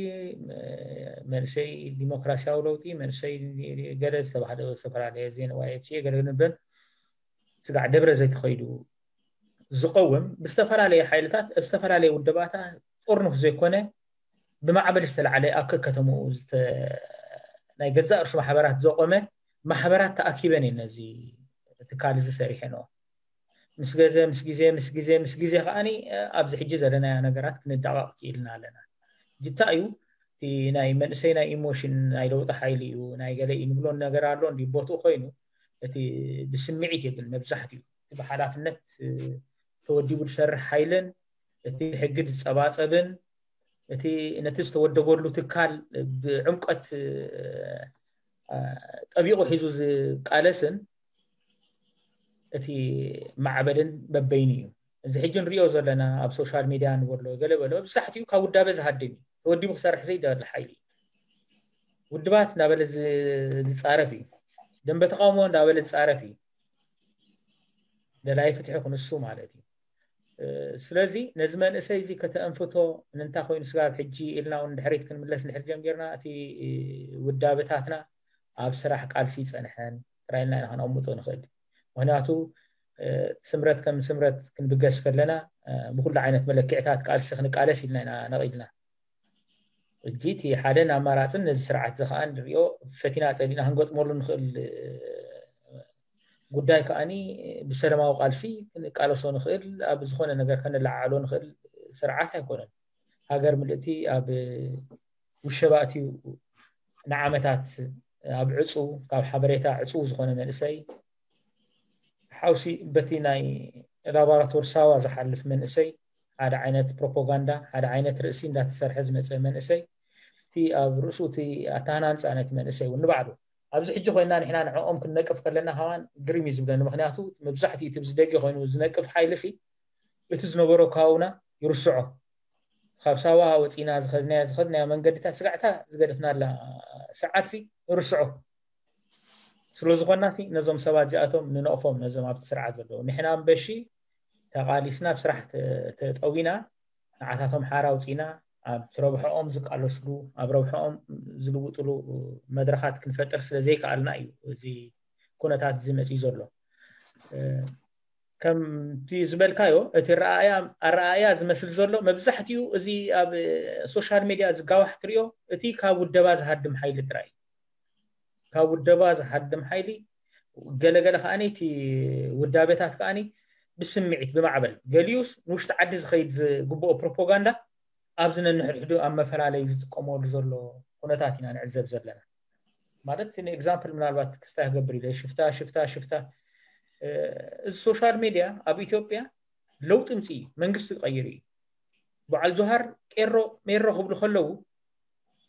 መንእሰይ ዲሞክራሲያዊ ለውጢ መንእሰይ ገለ ዝተባህለ ዝተፈላለየ ዜና ዋይኤፍሲኤ ገለ ንበል ስጋዕ ደብረ ዘይተኸይዱ ዝቐውም ብዝተፈላለየ ሓይልታት ኣብ ዝተፈላለየ ውደባታ ጥርኑፍ ዘይኮነ ብማዕበል ዝተላዕለ ኣብ ከከተምኡ ናይ ገዛእ ርሱ ማሕበራት ዘቆመ ማሕበራት ተኣኪበን እየን ነዚ ትካል እዚ ሰሪሐንኦ ምስ ገዘ ምስ ግዜ ምስ ግዜ ምስ ግዜ ከዓኒ ኣብዚ ሕጂ ዘለናዮ ነገራት ክንዳቐቕ ክኢልና ኣለና ጅታ እዩ እቲ ናይ መንእሰይ ናይ ኢሞሽን ናይ ለውጢ ሓይሊ እዩ ናይ ገለ እዩ ንብሎ ነገር ኣሎ እንዲ ቦትኡ ኮይኑ እቲ ብስምዒት እዩ ግን መብዛሕትኡ እቲ ብሓላፍነት ተወዲቡ ዝሰርሕ ሓይልን እቲ ሕጊ ዝፀባፀብን እቲ ነቲ ዝተወደበሉ ትካል ብዕምቀት ጠቢቑ ሒዙ ዝቃለስን እቲ ማዕበልን በበይኑ እዩ እዚ ሕጂ ንሪኦ ዘለና ኣብ ሶሻል ሚድያ ንበሎ ገለ በሎ ብዛሕትኡ ካብ ውዳበ ዝሃድም እዩ ተወዲቡ ክሰርሕ ዘይደሊ ሓይሊ እዩ ውድባት እንዳበለ ዝፃረፍ እዩ ደንበ ተቃውሞ እንዳበለ ዝፃረፍ እዩ ደላይ ፍትሒ ክንሱ ማለት እዩ ስለዚ ነዚ መንእሰይ እዚ ከተእንፍቶ ንንታ ኮይኑ ስጋብ ሕጂ ኢልና እውን ድሕሪት ክንምለስ እንድሕር ጀሚርና እቲ ውዳበታትና ኣብ ስራሕ ቃልሲ ይፀንሐን ጥራይ ኢልና ኢና ከነቕምጦ ንኽእል ምክንያቱ ስምረት ከም ስምረት ክንብገስ ከለና ብኩሉ ዓይነት መለክዕታት ቃልሲ ክንቃለስ ኢልና ኢና ነቒልና ሕጂ እቲ ሓደን ኣማራፅን ነዚ ስርዓት እዚ ከዓ ንሪኦ ፈቲና ፀሊእና ክንገጥመሉ ንኽእል ጉዳይ ከዓኒ ብሰላማዊ ቃልሲ ክንቃለሶ ንኽእል ኣብ ዝኾነ ነገር ከነለዓዕሎ ንኽእል ስርዓት ኣይኮነን ሃገር ምልእቲ ኣብ ውሸባ ኣትዩ ንዓመታት ኣብ ዕፁ ካብ ሓበሬታ ዕፁ ዝኾነ መንእሰይ ሓውሲ በቲ ናይ ላቦራቶር ሳዋ ዝሓልፍ መንእሰይ ሓደ ዓይነት ፕሮፓጋንዳ ሓደ ዓይነት ርእሲ እንዳተሰርሐ ዝመፀ መንእሰይ እቲ ኣብ ርእሱ እቲ ኣተሃናንፃ ነቲ መንእሰይ እውን ንባዕሉ ኣብዚ ሕጂ ኮይና ንሕና ንዕኦም ክንነቅፍ ከለና ከማን ግርም እዩ ዝብለኒ ምክንያቱ መብዛሕትኡ እቲ ብዝደገ ኮይኑ ዝነቅፍ ሓይሊ ሲ እቲ ዝነበሮ ካውና ይርስዖ ካብ ሳዋ ወፂና ዝኸድናያ ዝኸድናያ መንገድታት ስጋዕታ ዝገደፍናላ ሰዓት ሲ ይርስዖ ስለ ዝኾና ሲ ነዞም ሰባት እዚኣቶም ንነቕፎም ነዞም ኣብቲ ስርዓት ዘለዉ ንሕና እምበሺ ተቓሊስና ኣብ ስራሕ ተጠዊና ንዓታቶም ሓራ ኣውፂና ኣብ ትረብሖኦም ዝቃለስሉ ኣብ ረብሖኦም ዝልውጥሉ መድረኻት ክንፈጥር ስለ ዘይከኣልና እዩ እዚ ኩነታት እዚ መፅዩ ዘሎ ከምቲ ዝበልካዮ እቲ ኣረኣእያ ዝመስል ዘሎ መብዛሕትኡ እዚ ኣብ ሶሻል ሚድያ ዝጋዋሕ ትሪኦ እቲ ካብ ውደባ ዝሃድም ሓይሊ ጥራይ ካብ ውደባ ዝሃድም ሓይሊ ገለገለ ከዓኒ እቲ ውዳቤታት ከዓኒ ብስምዒት ብማዕበል ገሊኡስ ንውሽጢ ዓዲ ዝኸይድ ዝግብኦ ፕሮፓጋንዳ ኣብዚ ነንሕድሕዱ ኣብ መፈላለዩ ዝጥቀመሉ ዘሎ ኩነታት ኢና ንዕዘብ ዘለና ማለት ን example ምናልባት ክስታይ ክገብር ኢለ ሽፍታ ሽፍታ ሽፍታ እዚ ሶሻል ሚድያ ኣብ ኢትዮጵያ ለውጢ ምፅ መንግስቲ ቀይሩ እዩ በዓል ጆሃር ቄሮ ሜሮ ክብሉ ከለዉ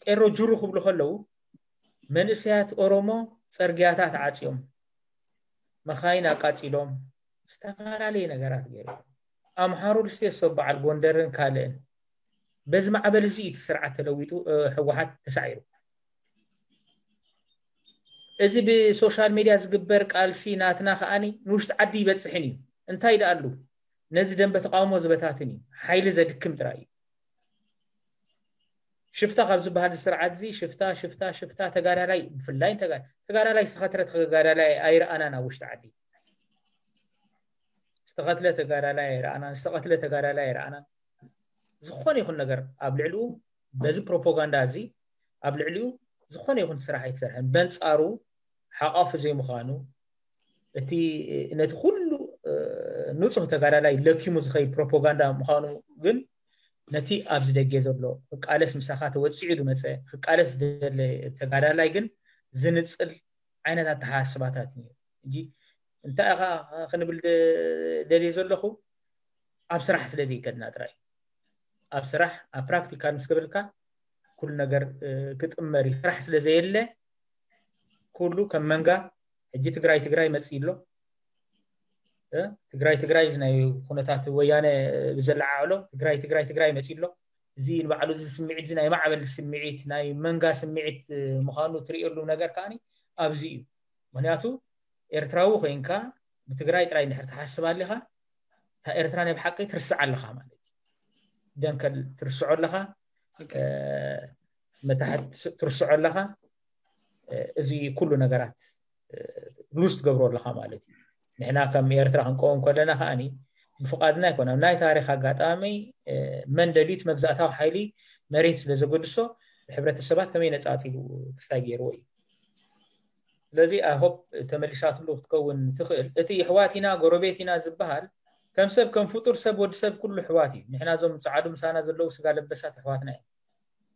ቄሮ ጅሩ ክብሉ ከለዉ መንእሰያት ኦሮሞ ፀርግያታት ዓፅዮም መኻይን ኣቃፂሎም ዝተፈላለየ ነገራት ገይሩ ኣምሓሩ ልስቴሶ በዓል ጎንደርን ካልእን በዚ ማዕበል እዚ እቲ ስርዓት ተለዊጡ ህወሓት ተሳዒሩ እዚ ብሶሻል ሚድያ ዝግበር ቃልሲ ናትና ከዓኒ ንውሽጢ ዓዲ ይበፅሕን እዩ እንታይ ደኣሉ ነዚ ደንበ ተቃውሞ ዝበታትን እዩ ሓይሊ ዘድክም ጥራይ እዩ ሽፍታ ካብ ዝበሃል ስርዓት እዚ ሽፍታ ሽፍታ ሽፍታ ተጋዳላይ ብፍላይ ተጋዳላይ ዝተኸትረ ተጋዳላይ ኣይረኣናን ኣብ ውሽጢ ዓዲ ዝተኸትለ ተጋዳላይ ኣይረኣናን ዝተቐትለ ተጋዳላይ ኣይረኣናን ዝኾነ ይኹን ነገር ኣብ ልዕሊኡ በዚ ፕሮፓጋንዳ እዚ ኣብ ልዕሊኡ ዝኾነ ይኹን ስራሕ ኣይተሰርሐን በንፃሩ ሓቋፊ ዘይምዃኑ እቲ ነቲ ኩሉ ንጹህ ተጋዳላይ ለኪሙ ዝኸይድ ፕሮፓጋንዳ ምዃኑ ግን ነቲ ኣብዚ ደገ ዘሎ ክቃለስ ምሳኻ ተወጺዑ ዝመጸ ክቃለስ ዝደለ ተጋዳላይ ግን ዝንጽል ዓይነት ኣተሓሳስባታት እዩ። እንጂ እንታይ ኢኻ ክንብል ደ- ደልየ ዘለኹ ኣብ ስራሕ ስለ ዘይከድና ጥራይ ኣብ ስራሕ ኣብ ፕራክቲካል ምስ ገበልካ ኩሉ ነገር እ፣ ክጥመር እዩ። ስራሕ ስለ ዘየለ ኩሉ ከም መንጋ ሕጂ ትግራይ ትግራይ መፅእ ኣሎ። እ፣ ትግራይ ትግራይ እዚ ናይ ኩነታት ወያነ ብዘለዓዕሎ ትግራይ ትግራይ ትግራይ መፅእ ኣሎ። እዚ ንባዕሉ እዚ ስምዒት እዚ ናይ ማዕበል ስምዒት ናይ መንጋ ስምዒት እ፣ ምዃኑ ትርእየሉ ነገር ከዓኒ ኣብዚ እዩ። ምክንያቱ ኤርትራዊ ኮይንካ ብትግራይ ጥራይ እንድሕር ትሓስብ ኣለኻ እታ ኤርትራ ናይ ብሓቂ ትርስዕ ኣለኻ ማለት እዩ። ደንከል ትርስዖ ኣለኻ፣ እ፣ መታሕት ትርስዖ ኣለኻ። እ፣ እዚ ኩሉ ነገራት ሉዝ ትገብሮ ኣለኻ ማለት እዩ። ንሕና ከም ኤርትራ ክንቀውም ከለና ከዓኒ ብፍቓድና ኣይኮነን። ናይ ታሪክ ኣጋጣሚ እ፣ መን ደልዩ እቲ መግዛእታዊ ሓይሊ መሬት ስለ ዘገድሶ ብሕብረተሰባት ከመይ ነፃፂሉ ክስታይ ገይርዎ እዩ። ስለዚ ኣሆፕ ተመሊሳትሉ ክትከውን ትኽእል። እቲ ኣሕዋት ኢና ጎረቤት ኢና ዝበሃል ከም ሰብ ከም ፍጡር ሰብ ወዲ ሰብ ኩሉ ኣሕዋት እዩ። ንሕና እዞም ፃዓዱ ምሳና ዘለዉ ስጋ ለበሳት ኣሕዋትና እዮም።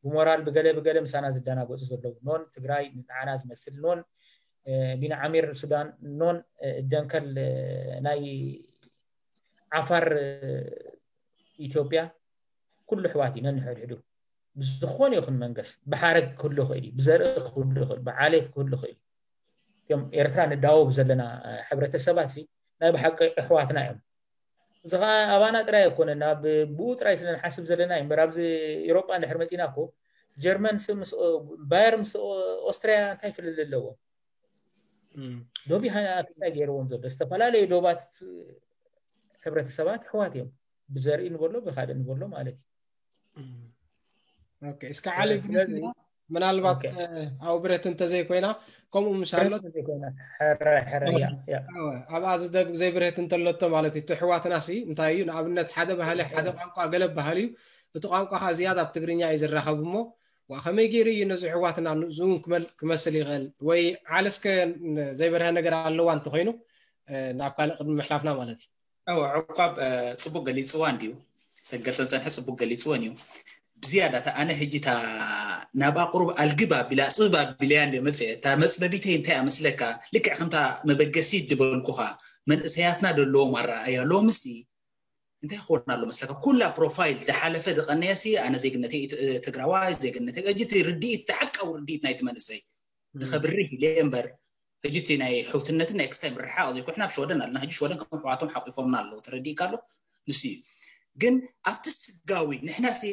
ብሞራል ብገለ ብገለ ምሳና ዝደናገፁ ዘለዉ ኖን ትግራይ ንዓና ዝመስል ኖን እ፣ ቢን ዓሚር ሱዳን ኖን እ፣ ደንከል እ፣ ናይ ዓፋር እ፣ ኢትዮጵያ ኩሉ ኣሕዋት እዩ ነንሕድሕዱ ብዝኾነ ይኹን መንገስ ብሓረግ ክህሉ ይኽእል እዩ ብዘርኢ ክህሉ ይኽእል ብዓሌት ክህሉ ይኽእል እዩ። እቶም ኤርትራ ንዳወብ ዘለና እ፣ ሕብረተሰባት ሲ ናይ ብሓቂ ኣሕዋትና እዮም። እዚ ከዓ ኣባና ጥራይ ኣይኮነን ኣብ ብኡ ጥራይ ስለ ንሓስብ ዘለና እዩ እምበር ኣብዚ ኤሮጳ እንድሕር መፂና እኮ ጀርመን ስ- ምስ ኦ- ባየር ምስ ኦ- ኦስትሪያ እንታይ ፍልል ኣለዎም? ዶብ ይሃ ክስታይ ገይርዎም ዘሎ ዝተፈላለዩ ዶባት ሕብረተሰባት ኣሕዋት እዮም። ብዘርኢ ንበሎ ብካልእ ንበሎ ማለት እዩ። ኦኬ፣ እስከ ዓሊ ስለዚ ምናልባት ኣብኡ ብረት እንተዘይኮይና ከምኡ ምሻሎ ዘይኮይና ሕረ ሕረ እያ እያ ኣብኣ ዝደግ ዘይብርህት እንተለቶ ማለት እዩ። እቲ ኣሕዋትና ሲ እንታይ እዩ ንኣብነት ሓደ ባህሊ ሓደ ቋንቋ ገለ ባህል እዩ። እቲ ቋንቋ ከዓ ዝያዳ ኣብ ትግርኛ እዩ ዝራኸብ እሞ ዋ ከመይ ገይሩ እዩ ነዚ ኣሕዋትና ንእዚውን ክመል- ክመስል ይኽእል ወይ ዓለስከ ዘይበርሀ ነገር ኣለዋ እንተኮይኑ ናብ ካልእ ቅድሚ ምሕላፍና ማለት እዩ። እወ ዕቋብ ፅቡቅ ገሊፅዋ እንድዩ። ተገልፀን ፀንሐ ፅቡቅ ገሊፅወን እዩ። ብዝያዳ እታ ኣነ ሕጂ እታ ናብኣ ቁሩብ ኣልግብ ኣቢላ ፅብብ ኣቢለያ እንደ መፅአ እታ መፅለሊተይ እንታይ እያ መስለካ ልክዕ ከምታ መበገሲት ድበልኩኻ መንእሰያትና ደለዎም ኣረኣእያ ሎምሲ እንታይ ክኸውን ኣሎ መስለካ ኩላ ፕሮፋይል ድሓለፈ ድቐነየሲ ኣነ ዜግነተይ ትግራዋይ ዜግነተይ ሕጂ እቲ ርድኢት እቲ ሓቃዊ ርድኢት ናይቲ መንእሰይ ንኸብርህ ኢለ እምበር ሕጂ እቲ ናይ ሕውትነትን ናይ ክስታይ ምርሕሓቕ ዘይኮነ ናብ ሽወደን ኣለና ሕጂ ሽወደን ከም ኣሕዋቶም ሓቂፎምና ኣለዉ ተረዲእካ ኣሎ ንሱ እዩ ግን ኣብቲ ስጋዊ ንሕናሲ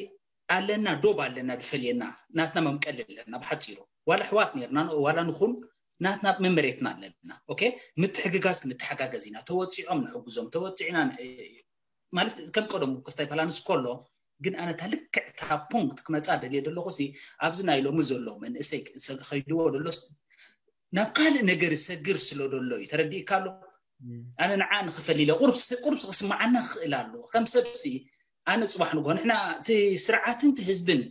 ኣለና ዶብ ኣለና ድፈልየና ናትና መምቀሊ ኣለና ብሓፂሩ ዋላ ኣሕዋት ነርና ዋላ ንኹን ናትና መመሬትና ኣለና ኦኬ ምትሕግጋዝ ክንተሓጋገዝ ኢና ተወፂዖም ንሕግዞም ተወፂዕና ማለት ከም ቀደሙ ክስታይ ፓላንስ ከሎ ግን ኣነ እታ ልክዕ እታ ፖንክት ክመፃ ደልየ ዘለኹ ሲ ኣብዚ ናይ ሎሚ ዘሎ መንእሰይ ከይድዎ ደሎስ ናብ ካልእ ነገር ይሰግር ስለ ደሎ እዩ ተረዲእካ ኣሎ ኣነ ንዓ ንክፈል ኢለ ቁርብስ ክስማዓና ክኽእል ኣለዎ ከም ሰብ ሲ ኣነ ፅባሕ ንግሆ ንሕና እቲ ስርዓትን እቲ ህዝብን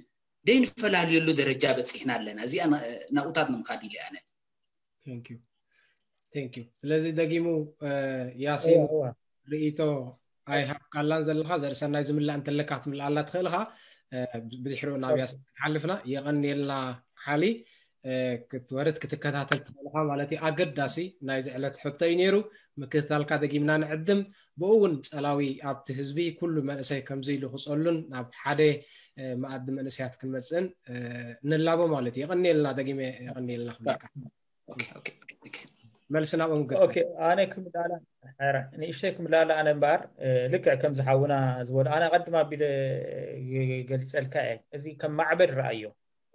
ደይንፈላልየሉ ደረጃ በፂሕና ኣለና እዚኣ ናብኡታት ንምኻድ ኢለ ኣነ Thank you. Thank you. ስለዚ ደጊሙ ያሲን ርእይቶ ኣይሃብካላን ዘለኻ ዘርእሰናይ ዝምላእ እንተለካ ክትምልኣላ ትኽእል ኢኻ ብድሕሪኡ ናብ ያሲን ክንሓልፍና የቐንየልና ሓሊ ክትወርድ ክትከታተል ትኽእል ኢኻ ማለት እዩ ኣገዳሲ ናይዚ ዕለት ሕቶ እዩ ነይሩ ምክትታልካ ደጊምና ንዕድም ብኡ እውን ጸላዊ ኣብቲ ህዝቢ ኩሉ መንእሰይ ከምዚ ኢሉ ክጸሉን ናብ ሓደ መኣዲ መንእሰያት ክንመጽእን ንላቦ ማለት እዩ የቐንየልና ደጊመ የቐንየልና ክብለካ መልሲ ናብኦም ገ ኣነ ክምላላ ንእሽተይ ክምላላ ኣነ እምበኣር ልክዕ ከም ዝሓውና ዝበሉ ኣነ ቀድማ ኣቢለ ገሊፀልካ እየ እዚ ከም ማዕበል ረኣዮ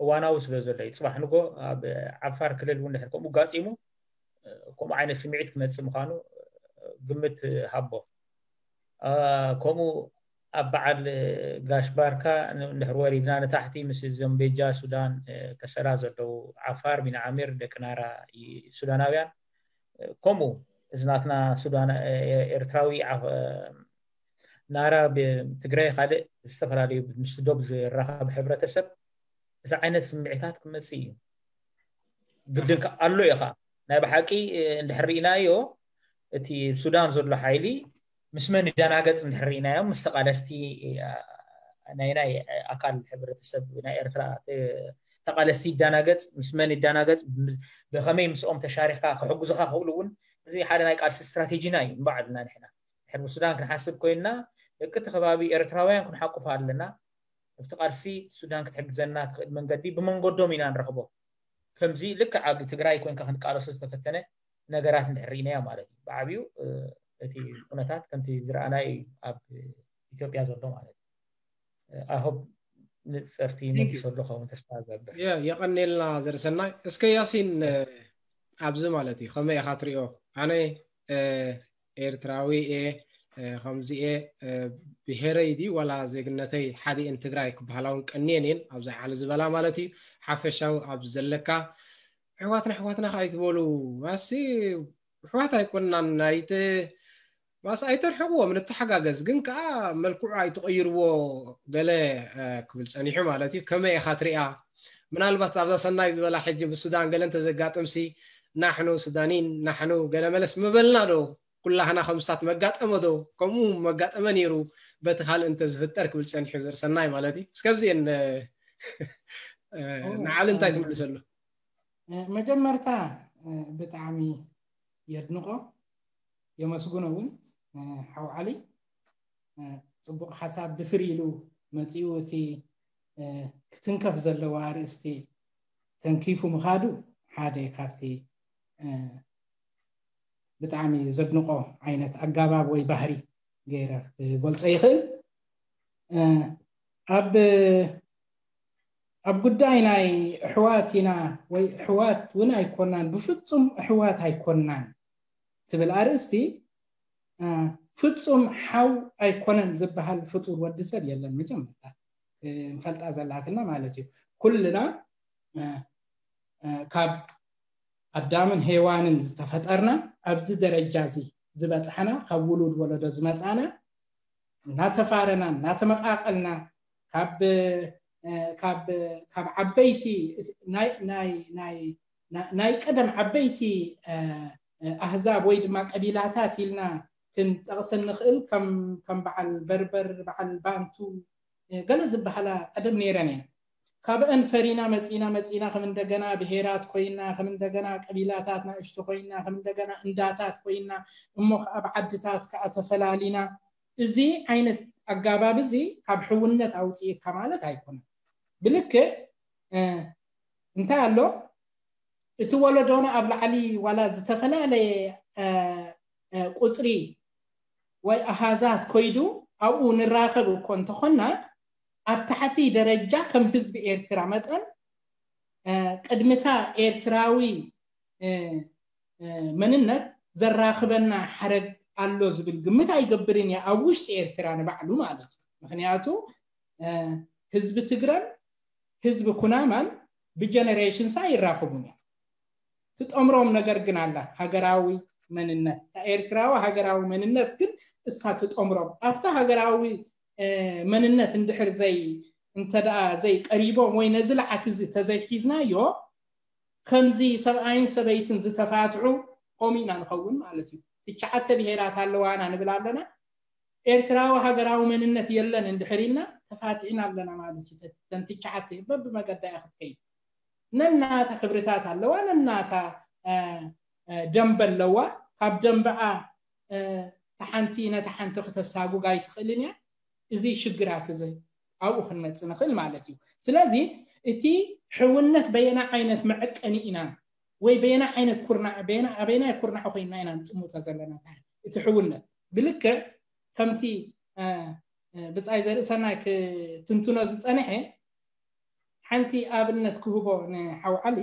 እዋናዊ ስለ ዘሎ እዩ ፅባሕ ንጎ ኣብ ዓፋር ክልል እውን ድሕር ከምኡ ጋጢሙ ከምኡ ዓይነት ስምዒት ክመፅእ ምዃኑ ግምት ሃቦ ከምኡ ኣብ በዓል ጋሽ ባርካ እንድሕር ወሪድና ንታሕቲ ምስ እዞም ቤጃ ሱዳን ከሰላ ዘለዉ ዓፋር ቢን ዓሚር ደቂ ናራ ሱዳናውያን ከምኡ እዚ ናትና ሱዳን ኤርትራዊ ናራ ትግራይ ካልእ ዝተፈላለዩ ምስ ዶብ ዝራኸብ ሕብረተሰብ እዚ ዓይነት ስምዒታት ክመፅእ እዩ ግድን ኣሎ እዩ ከዓ ናይ ብሓቂ እንድሕር ርኢናዮ እቲ ሱዳን ዘሎ ሓይሊ ምስ መን ይዳናገጽ እንድሕር ርኢናዮም፣ ምስ ተቓለስቲ ናይ ናይ ኣካል ሕብረተሰብ ናይ ኤርትራ ተቓለስቲ ይዳናገጽ፣ ምስ መን ይዳናገጽ፣ ብኸመይ ምስኦም ተሻሪኽካ ክሕግዙኻ ክኽእሉ እውን፣ እዚ ሓደ ናይ ቃልሲ ስትራቴጂና እዩ። ንባዕልና ንሕና ድሕር ብሱዳን ክንሓስብ ኮይንና፣ ደቂ እቲ ከባቢ ኤርትራውያን ክንሓቁፍ ኣለና። ኣብቲ ቃልሲ ሱዳን ክትሕግዘና ትኽእል መንገዲ ብመንገዶም ኢና ንረኽቦ። ከምዚ ልክዕ ኣብ ትግራይ ኮይንካ ክንቃለሶ ዝተፈተነ ነገራት እንድሕር ርኢናዮ ማለት እዩ። ብዓብዩ እቲ ኩነታት ከምቲ ዝረኣናዮ እዩ ኣብ ኢትዮጵያ ዘሎ ማለት እዩ። ኣሆብ ንፅርቲ መሊሰሉ ኸውን ተስፋ ገብር። የቐኔልና ዘርሰናይ። እስከ ያሲን፣ ኣብዚ ማለት እዩ ከመይ ኢኻ ትሪኦ? ኣነ ኤርትራዊ እየ፣ ከምዚ እየ፣ ብሄረይ ድዩ ዋላ ዜግነተይ ሓዲእን ትግራይ ክበሃላ እውን ቀንየን እየን። ኣብዚ ዓሊ ዝበላ ማለት እዩ። ሓፈሻዊ ኣብ ዘለካ ኣሕዋትና ኣሕዋትና ከ ኣይትበሉ። ማሲ ኣሕዋት ኣይኮንናን። ኣይተ ማስ ኣይተርሕቕዎም፣ ንተሓጋገዝ። ግን ከዓ መልክዑ ኣይትቐይርዎ ገለ ክብል ፀኒሑ ማለት እዩ። ከመይ ኢኻ ትሪኣ? ምናልባት ኣብዛ ሰናይ ዝበላ ሕጂ ብሱዳን ገለ እንተዘጋጥምሲ ናሕኑ ሱዳኒን ናሕኑ ገለ መለስ ምበልና ዶ? ኩላህና ከምስታት መጋጠመ ዶ? ከምኡ መጋጠመ ነይሩ በቲ ካልእ እንተዝፍጠር ክብል ፀኒሑ ዘርሰናይ ማለት እዩ። እስከ ኣብዚኤን ንዓሊ እንታይ ትምልሰሉ? መጀመርታ ብጣዕሚ የድንቆ የመስግኖ እውን ሓው ዓሊ ፅቡቕ ሓሳብ ድፍር ኢሉ መፂኡ እቲ ክትንከፍ ዘለዎ ኣርእስቲ ተንኪፉ ምኻዱ ሓደ ካብቲ ብጣዕሚ ዘድንቆ ዓይነት ኣጋባብ ወይ ባህሪ ገይረ ክገልፆ ይኽእል። ኣብ ኣብ ጉዳይ ናይ ኣሕዋት ኢና ወይ ኣሕዋት እውን ኣይኮናን፣ ብፍፁም ኣሕዋት ኣይኮናን ትብል ኣርእስቲ ፍፁም ሓው ኣይኮነን ዝበሃል ፍጡር ወዲ ሰብ የለን። መጀመርታ ንፈልጣ ዘላትና ማለት እዩ። ኩልና ካብ ኣዳምን ሄዋንን ዝተፈጠርና ኣብዚ ደረጃ እዚ ዝበፃሕና ካብ ውሉድ ወለዶ ዝመፃና እናተፋረና እናተመቃቀልና ካብ ካብ ካብ ዓበይቲ ናይ ናይ ናይ ናይ ቀደም ዓበይቲ ኣህዛብ ወይ ድማ ቀቢላታት ኢልና ክንጠቕሰን ንኽእል ከም ከም በዓል በርበር በዓል ባንቱ ገለ ዝበሃላ ቀደም ነይረን እየን። ካብአን ፈሪና መፂና መፂና ከም እንደገና ብሄራት ኮይና ከም እንደገና ቀቢላታት ናእሽቱ ኮይና ከም እንደገና እንዳታት ኮይና እሞ ከዓ ብዓድታት ከዓ ተፈላሊና እዚ ዓይነት ኣጋባብ እዚ ካብ ሕውነት ኣውፅእካ ማለት ኣይኮነን። ብልክዕ እንታይ ኣሎ እቲ ወለዶና ኣብ ላዕሊ ዋላ ዝተፈላለየ ቁፅሪ ወይ ኣሃዛት ኮይዱ ኣብኡ ንራኸብ እኮ እንተኾና ኣብ ታሕቲ ደረጃ ከም ህዝቢ ኤርትራ መጠን ቅድምታ ኤርትራዊ መንነት ዘራኽበና ሓረግ ኣሎ ዝብል ግምት ኣይገብርን እየ ኣብ ውሽጢ ኤርትራ ንባዕሉ ማለት እዩ። ምክንያቱ ህዝቢ ትግረን ህዝቢ ኩናማን ብጀነሬሽንስ ኣይራኸቡን እዮም። ትጠምሮም ነገር ግን ኣላ ሃገራዊ መንነት። ኤርትራዊ ሃገራዊ መንነት ግን እሳ ትጠምሮም ኣብታ ሃገራዊ መንነት እንድሕር ዘይ እንተ ደኣ ዘይቀሪቦም ወይ ነዚ ልዓት እዚ ተዘይሒዝናዮ ከምዚ ሰብኣይን ሰበይትን ዝተፋትሑ ከምኡ ኢና ንኸውን ማለት እዩ። ትሽዓተ ብሄራት ኣለዋና ንብል ኣለና። ኤርትራዊ ሃገራዊ መንነት የለን እንድሕር ኢልና ተፋቲሕና ኣለና ማለት እዩ። ተን ትሽዓተ በብመገዳ እያ ክትከይድ። ነናታ ክብርታት ኣለዋ፣ ነናታ ደንበ ኣለዋ። ካብ ደንበኣ ተሓንቲ ነታ ሓንቲ ክተሳጉግ ኣይትኽእልን እያ። እዚ ሽግራት እዚ ኣብኡ ክንመፅእ ንኽእል ማለት እዩ። ስለዚ እቲ ሕውነት በየና ዓይነት መዐቀኒ ኢና ወይ በየና ዓይነት ኩርናዕ ኣበየናይ ኩርናዕ ኮይና ኢና ንጥምቶ ዘለና እቲ ሕውነት ብልክዕ ከምቲ ብፃይ ዘርእሰናይ ክትንትኖ ዝፀንሐ ሓንቲ ኣብነት ክህቦ ንሓው ዓሊ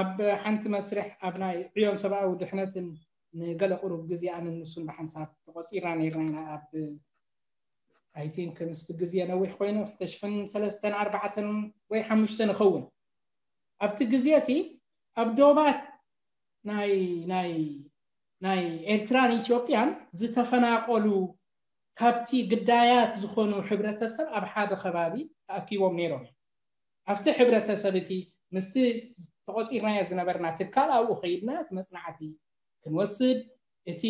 ኣብ ሓንቲ መስርሕ ኣብ ናይ ዕዮን ሰብኣዊ ድሕነትን ንገለ ቁሩብ ግዜ ኣነ ንሱን ብሓንሳብ ተቆፂርና ነይርና ኢና ኣብ I think ምስቲ ግዜ ነዊሕ ኮይኑ ክልተ ሽሕን ሰለስተን ኣርባዕተን ወይ ሓሙሽተ ንኸውን ኣብቲ ግዜ እቲ ኣብ ዶባት ናይ ናይ ናይ ኤርትራን ኢትዮጵያን ዝተፈናቀሉ ካብቲ ግዳያት ዝኾኑ ሕብረተሰብ ኣብ ሓደ ከባቢ ተኣኪቦም ነይሮም እዮም። ኣብቲ ሕብረተሰብ እቲ ምስቲ ተቆፂርናዮ ዝነበርና ትካል ኣብኡ ከይድና እቲ መፅናዕቲ ክንወስድ እቲ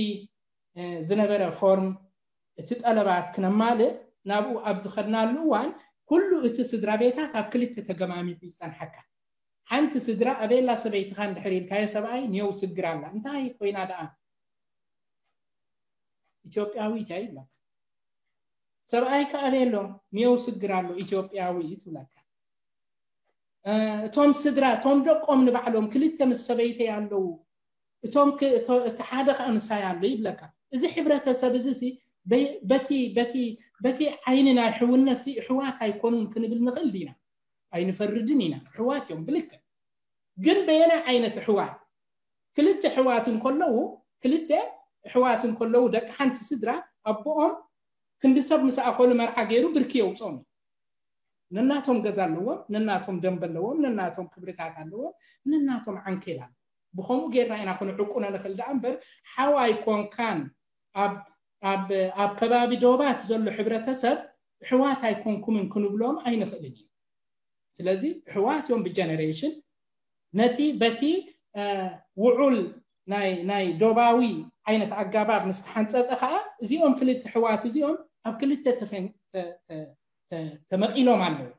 ዝነበረ ፎርም፣ እቲ ጠለባት ክነማልእ ናብኡ ኣብ ዝኸድናሉ እዋን፣ ኩሉ እቲ ስድራ ቤታት ኣብ ክልተ ተገማሚጡ ይጸንሓካ። ሓንቲ ስድራ ኣበላ ሰበይትኻ እንድሕር ኢልካዮ ሰብኣይ ኒየው ስግር ኣላ። እንታይ ኮይና ደኣ? ኢትዮጵያዊት እያ ይብለካ። ሰብኣይ ከኣ ኣበሎ ኒየው ስግር ኣሎ ኢትዮጵያዊት ይብለካ። እቶም ስድራ፣ እቶም ደቆም ንባዕሎም ክልተ ምስ ሰበይተይ ኣለዉ፣ እቶም እቲ ሓደ ከኣ ምሳይ ኣሎ ይብለካ። እዚ ሕብረተሰብ እዚ ሲ በቲ በቲ በቲ ዓይኒ ናይ ሕውነት ሲ እሕዋት ኣይኮኑን ክንብል ንኽእል ዲና? ኣይንፈርድን ኢና። እሕዋት እዮም ብልክዕ። ግን በየናይ ዓይነት እሕዋት? ክልተ እሕዋት እንከለዉ፣ ክልተ እሕዋት እንከለዉ ደቂ ሓንቲ ስድራ ኣቦኦም ክንዲ ሰብ ምስ ኣኸሉ መርዓ ገይሩ ብርኪ የውፅኦም። ነናቶም ገዛ ኣለዎም፣ ነናቶም ደንበ ኣለዎም፣ ነናቶም ክብርታት ኣለዎም፣ ነናቶም ዓንኬል ኣለዎም። ብኸምኡ ጌርና ኢና ክንዕቁኖ ንኽእል ደኣ እምበር፣ ሓው ኣይኮንካን ኣብ ኣብ ኣብ ከባቢ ዶባት ዘሎ ሕብረተሰብ ኣሕዋት ኣይኮንኩምን ክንብሎም ኣይንኽእልን ኢና። ስለዚ ኣሕዋት እዮም ብጀነሬሽን። ነቲ በቲ ውዑል ናይ ናይ ዶባዊ ዓይነት ኣጋባብ ምስ ተሓንጸጸ ከኣ፣ እዚኦም ክልተ ኣሕዋት እዚኦም ኣብ ክልተ ተመቒሎም ኣለዉ።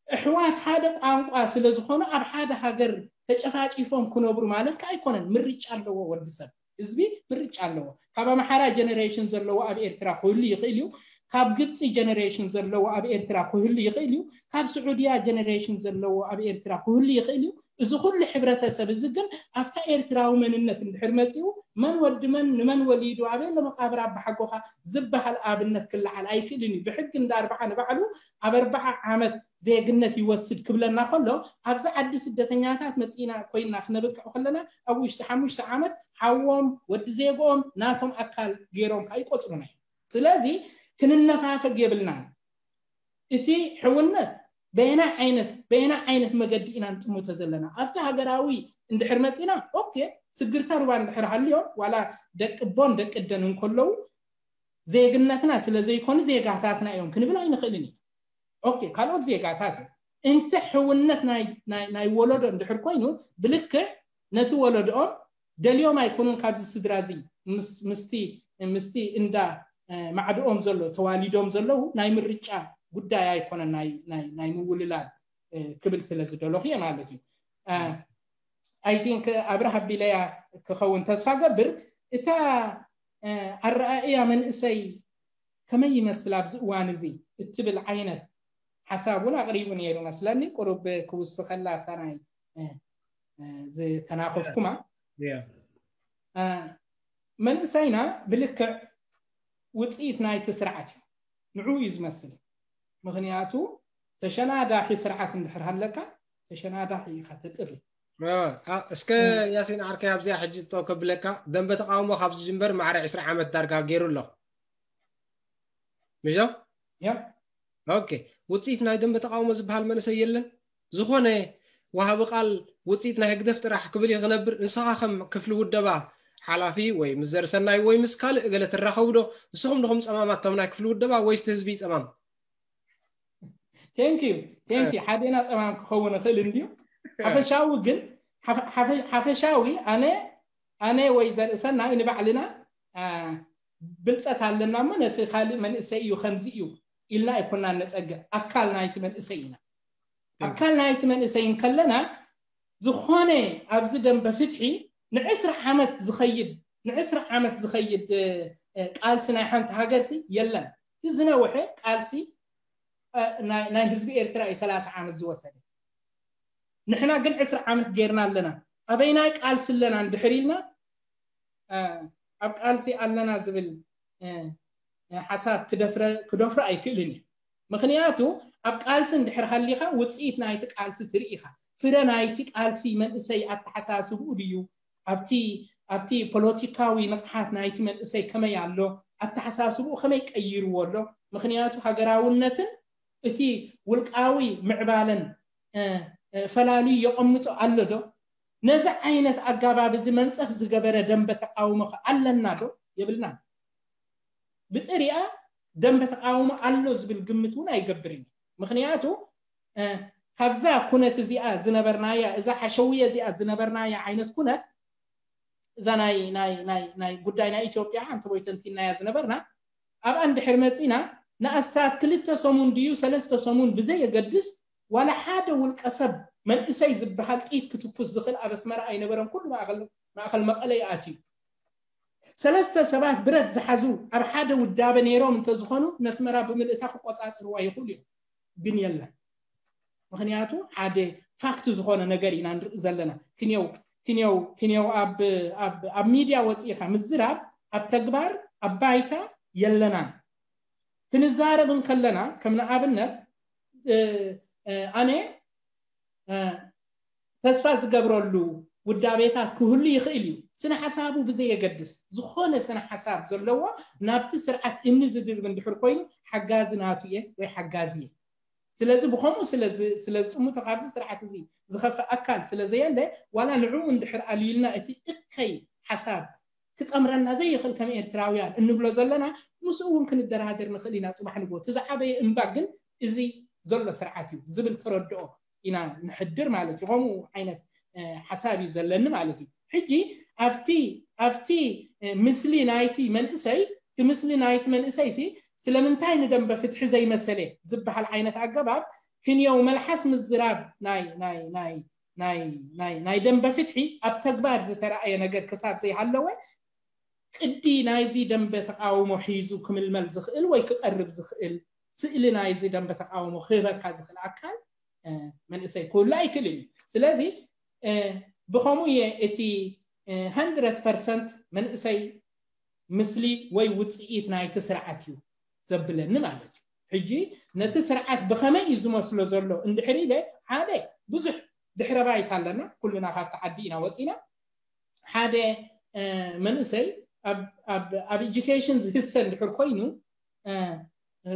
ኣሕዋት ሓደ ቋንቋ ስለ ዝኾኑ ኣብ ሓደ ሃገር ተጨፋጪፎም ክነብሩ ማለት ከኣ ኣይኮነን። ምርጫ ኣለዎ ወዲ ሰብ፣ ህዝቢ ምርጫ ኣለዎ። ካብ ኣምሓራ ጀነሬሽን ዘለዎ ኣብ ኤርትራ ክህሉ ይኽእል እዩ። ካብ ግብፂ ጀነሬሽን ዘለዎ ኣብ ኤርትራ ክህሉ ይኽእል እዩ። ካብ ስዑድያ ጀነሬሽን ዘለዎ ኣብ ኤርትራ ክህሉ ይኽእል እዩ። እዚ ኩሉ ሕብረተሰብ እዚ ግን ኣብታ ኤርትራዊ መንነት እንድሕር መፂኡ፣ መን ወዲ መን ንመን ወሊዱ ኣበይ ለመቃብር ኣባሓጎኻ ዝበሃል ኣብነት ክለዓል ኣይክእልን እዩ። ብሕጊ እንዳ ኣርብዓ ንባዕሉ ኣብ ኣርብዓ ዓመት ዜግነት ይወስድ ክብለና ከሎ፣ ኣብዚ ዓዲ ስደተኛታት መፂና ኮይና ክነብቅዕ ከለና ኣብ ውሽጢ ሓሙሽተ ዓመት ሓዎም ወዲ ዜግኦም ናቶም ኣካል ገይሮም ከዓ ይቆፅሩና እዮም። ስለዚ ክንነፋፈግ የብልናን። እቲ ሕውነት በየና ዓይነት በየና ዓይነት መገዲ ኢና ንጥምቶ ዘለና? ኣብቲ ሃገራዊ እንድሕር መፂና፣ ኦኬ፣ ስግርታ ሩባ እንድሕር ሃልዮም፣ ዋላ ደቂ ቦን ደቂ ደን እንከለዉ ዜግነትና ስለ ዘይኮኑ ዜጋታትና እዮም ክንብል ኣይንኽእልን እዩ። ኦኬ፣ ካልኦት ዜጋታት እዮም። እንተ ሕውነት ናይ ናይ ናይ ወለዶ እንድሕር ኮይኑ፣ ብልክዕ ነቲ ወለዶኦም ደልዮም ኣይኮኑን ካብዚ ስድራ እዚ ምስ ምስቲ ምስቲ እንዳ ማዕድኦም ዘሎ ተዋሊዶም ዘለዉ ናይ ምርጫ ጉዳይ ኣይኮነን፣ ናይ ናይ ናይ ምውልላል ክብል ስለ ዝደለኹ እየ ማለት እዩ። I think ኣብርሃ ቢለያ ክኸውን ተስፋ ገብር። እታ ኣረኣእያ መንእሰይ ከመይ ይመስል ኣብዚ እዋን እዚ እትብል ዓይነት ሓሳብ እውን ኣቕሪቡ ነይሩ መስለኒ። ቁሩብ ክውስኸላ ኣብታ ናይ ዝተናኸፍኩማ መንእሰይና ብልክዕ ውፅኢት ናይቲ ስርዓት እዩ። ንዑ እዩ ዝመስል። ምኽንያቱ ተሸናዳሒ ስርዓት እንድሕር ሃለካ ተሸናዳሒ ኢኻ ተጥሪ። እስከ ያሲን ዓርከይ ኣብዚኣ ሕጂ ጠው ከብለካ፣ ደንበ ተቃውሞ ካብ ዝጅምበር ማዕረ ዕስራ ዓመት ዳርጋ ገይሩ ኣሎ። ምሽ ዶ? ያ ኦኬ፣ ውፅኢት ናይ ደንበ ተቃውሞ ዝበሃል መንእሰይ የለን። ዝኾነ ወሃቢ ቃል ውፅኢት ናይ ህግደፍ ጥራሕ ክብል እዩ ክነብር። ንስኻ ከም ክፍሊ ውደባ ሓላፊ ወይ ምስ ዘርሰናይ ወይ ምስ ካልእ እገለ ትራኸቡ ዶ? ንስኹም ዲኹም ፀማማት እቶም ናይ ክፍሊ ውደባ ወይስ እቲ ህዝቢ እዩ ፀማም? Thank you thank you። ሓዴና ፀማም ክኸውን ይኽእል እንድዩ። ሓፈሻዊ ግን ሓፈሻዊ ኣነ ኣነ ወይ ዘርእሰናይ ንባዕልና ብልፀት ኣለና እሞ ነቲ ካልእ መንእሰይ እዩ ከምዚ እዩ ኢልና ኣይኮናን ነፀግዕ። ኣካል ናይቲ መንእሰይ ኢና። ኣካል ናይቲ መንእሰይ እንከለና ዝኾነ ኣብዚ ደንበ ፍትሒ ንዕስራ ዓመት ዝኸይድ ንዕስራ ዓመት ዝኸይድ ቃልሲ ናይ ሓንቲ ሃገርሲ የለን። እቲ ዝነውሐ ቃልሲ ናይ ህዝቢ ኤርትራ እዩ ሰላሳ ዓመት ዝወሰደ። ንሕና ግን ዕስራ ዓመት ጌርና ኣለና። ኣበይናይ ቃልሲ ኣለና እንድሕር ኢልና ኣብ ቃልሲ ኣለና ዝብል ሓሳብ ክደፍረ ክደፍሮ ኣይክእልን እዩ። ምኽንያቱ ኣብ ቃልሲ እንድሕር ሃሊኻ ውፅኢት ናይቲ ቃልሲ ትርኢ ኢኻ። ፍረ ናይቲ ቃልሲ መንእሰይ ኣተሓሳስብኡ ድዩ? ኣብቲ ኣብቲ ፖለቲካዊ ንቕሓት ናይቲ መንእሰይ ከመይ ኣሎ? ኣተሓሳስብኡ ከመይ ቀይርዎ ኣሎ? ምኽንያቱ ሃገራውነትን እቲ ውልቃዊ ምዕባለን ፈላልዩ የቐምጦ ኣሎ ዶ? ነዚ ዓይነት ኣጋባብ እዚ መንፀፍ ዝገበረ ደንበ ተቃውሞ ከ ኣለና ዶ? የብልናን። ብጥሪኣ ደንበ ተቃውሞ ኣሎ ዝብል ግምት እውን ኣይገብርን። ምኽንያቱ ካብዛ ኩነት እዚኣ ዝነበርናያ እዛ ሓሸውየ እዚኣ ዝነበርናያ ዓይነት ኩነት እዛ ናይ ናይ ናይ ናይ ጉዳይ ናይ ኢትዮጵያ ኣንተ ወይ ተንቲናያ ዝነበርና ኣብኣ እንድሕር መፂና ንኣስታት ክልተ ሰሙን ድዩ ሰለስተ ሰሙን ብዘየገድስ ዋላ ሓደ ውልቀ ሰብ መንእሰይ ዝበሃል ጥይት ክትኩስ ዝኽእል ኣብ ኣስመራ ኣይነበረን። ኩሉ ማእኸል ማእኸል መቐለ ይኣትዩ። ሰለስተ ሰባት ብረት ዝሓዙ ኣብ ሓደ ውዳበ ነይሮም እንተዝኾኑ ነስመራ ብምልእታ ክቆፃፅርዋ ይኽእሉ እዮም፣ ግን የለን። ምክንያቱ ሓደ ፋክት ዝኾነ ነገር ኢና ንርኢ ዘለና። ክንየው ክንየው ክንየው ኣብ ኣብ ኣብ ሚድያ ወፂእኻ ምዝራብ ኣብ ተግባር ኣብ ባይታ የለናን። ክንዛረብ እንከለና ከም ንኣብነት ኣነ ተስፋ ዝገብረሉ ውዳቤታት ክህሉ ይኽእል እዩ። ስነ ሓሳቡ ብዘየገድስ ዝኾነ ስነ ሓሳብ ዘለዎ ናብቲ ስርዓት እምኒ ዝድርብ እንድሕር ኮይኑ ሓጋዚ ናቱ እየ ወይ ሓጋዚ እየ። ስለዚ ብኸምኡ ስለዝጥምቶ ካብዚ ስርዓት እዚ ዝኸፍእ ኣካል ስለዘየለ ዋላ ንዕኡ እንድሕር ኣልዩልና እቲ እከይ ሓሳብ ክጠምረና ዘይኽእል ከም ኤርትራውያን እንብሎ ዘለና ምስኡ እውን ክንደራደር ንኽእል ኢና። ፅባሕ ንግሆ እቲ ዝዓበየ እምባ ግን እዚ ዘሎ ስርዓት እዩ ዝብል ተረድኦ ኢና ንሕድር ማለት እዩ። ከምኡ ዓይነት ሓሳብ እዩ ዘለኒ ማለት እዩ። ሕጂ ኣብቲ ኣብቲ ምስሊ ናይቲ መንእሰይ እቲ ምስሊ ናይቲ መንእሰይ ሲ ስለምንታይ ንደንበ ፍትሒ ዘይመሰለ ዝበሃል ዓይነት ኣገባብ ክንየው መልሓስ ምዝራብ ናይ ናይ ናይ ናይ ናይ ናይ ደንበ ፍትሒ ኣብ ተግባር ዝተረኣየ ነገር ክሳብ ዘይሃለወ ቅዲ ናይዚ ደንበ ተቃውሞ ሒዙ ክምልመል ዝኽእል ወይ ክቐርብ ዝኽእል ስእሊ ናይዚ ደንበ ተቃውሞ ክህበካ ዝኽእል ኣካል መንእሰይ ክህሉ ኣይክእልን እዩ። ስለዚ ብኸምኡ እየ እቲ ሃንድረድ ፐርሰንት መንእሰይ ምስሊ ወይ ውፅኢት ናይቲ ስርዓት እዩ ዘብለኒ ማለት እዩ። ሕጂ ነቲ ስርዓት ብኸመይ እዩ ዝመስሎ ዘሎ እንድሕር ኢለ ሓደ ብዙሕ ድሕረ ባይታ ኣለና። ኩልና ካብቲ ዓዲ ኢና ወፂና። ሓደ መንእሰይ ኣብ education ዝህሰ እንድሕር ኮይኑ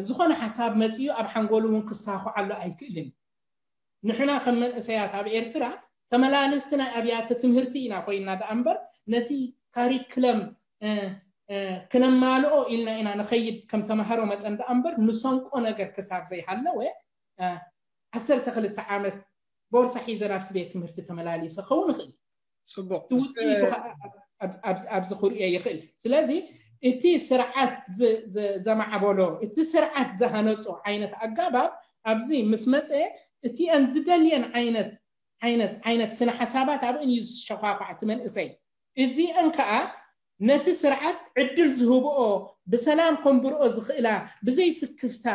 ዝኾነ ሓሳብ መፅኡ ኣብ ሓንጎሉ እውን ክሳኹዓሉ ኣይክእልን። ንሕና ከም መንእሰያት ኣብ ኤርትራ ተመላለስቲ ናይ ኣብያተ ትምህርቲ ኢና ኮይንና ደኣ እምበር ነቲ ካሪክለም ክነማልኦ ኢልና ኢና ንኸይድ ከም ተማሃሮ መጠን ደኣ እምበር ንሰንቆ ነገር ክሳብ ዘይሃለወ ዓሰርተ ክልተ ዓመት ቦርሳ ሒዘ ናብቲ ቤት ትምህርቲ ተመላሊሰ ክኸውን ይኽእል። ፅቡቅ እቲ ውፅኢቱ ኣብዚ ክርእዮ ይኽእል። ስለዚ እቲ ስርዓት ዘማዕበሎ እቲ ስርዓት ዝሃነፆ ዓይነት ኣጋባብ ኣብዚ ምስ መፀ እቲአን ዝደልየን ዓይነት ዓይነት ዓይነት ስነ ሓሳባት ኣብእን እዩ ዝሸኳኳዕ እቲ መንእሰይ። እዚአን ከዓ ነቲ ስርዓት ዕድል ዝህብኦ ብሰላም ከንብርኦ ዝኽእላ ብዘይ ስክፍታ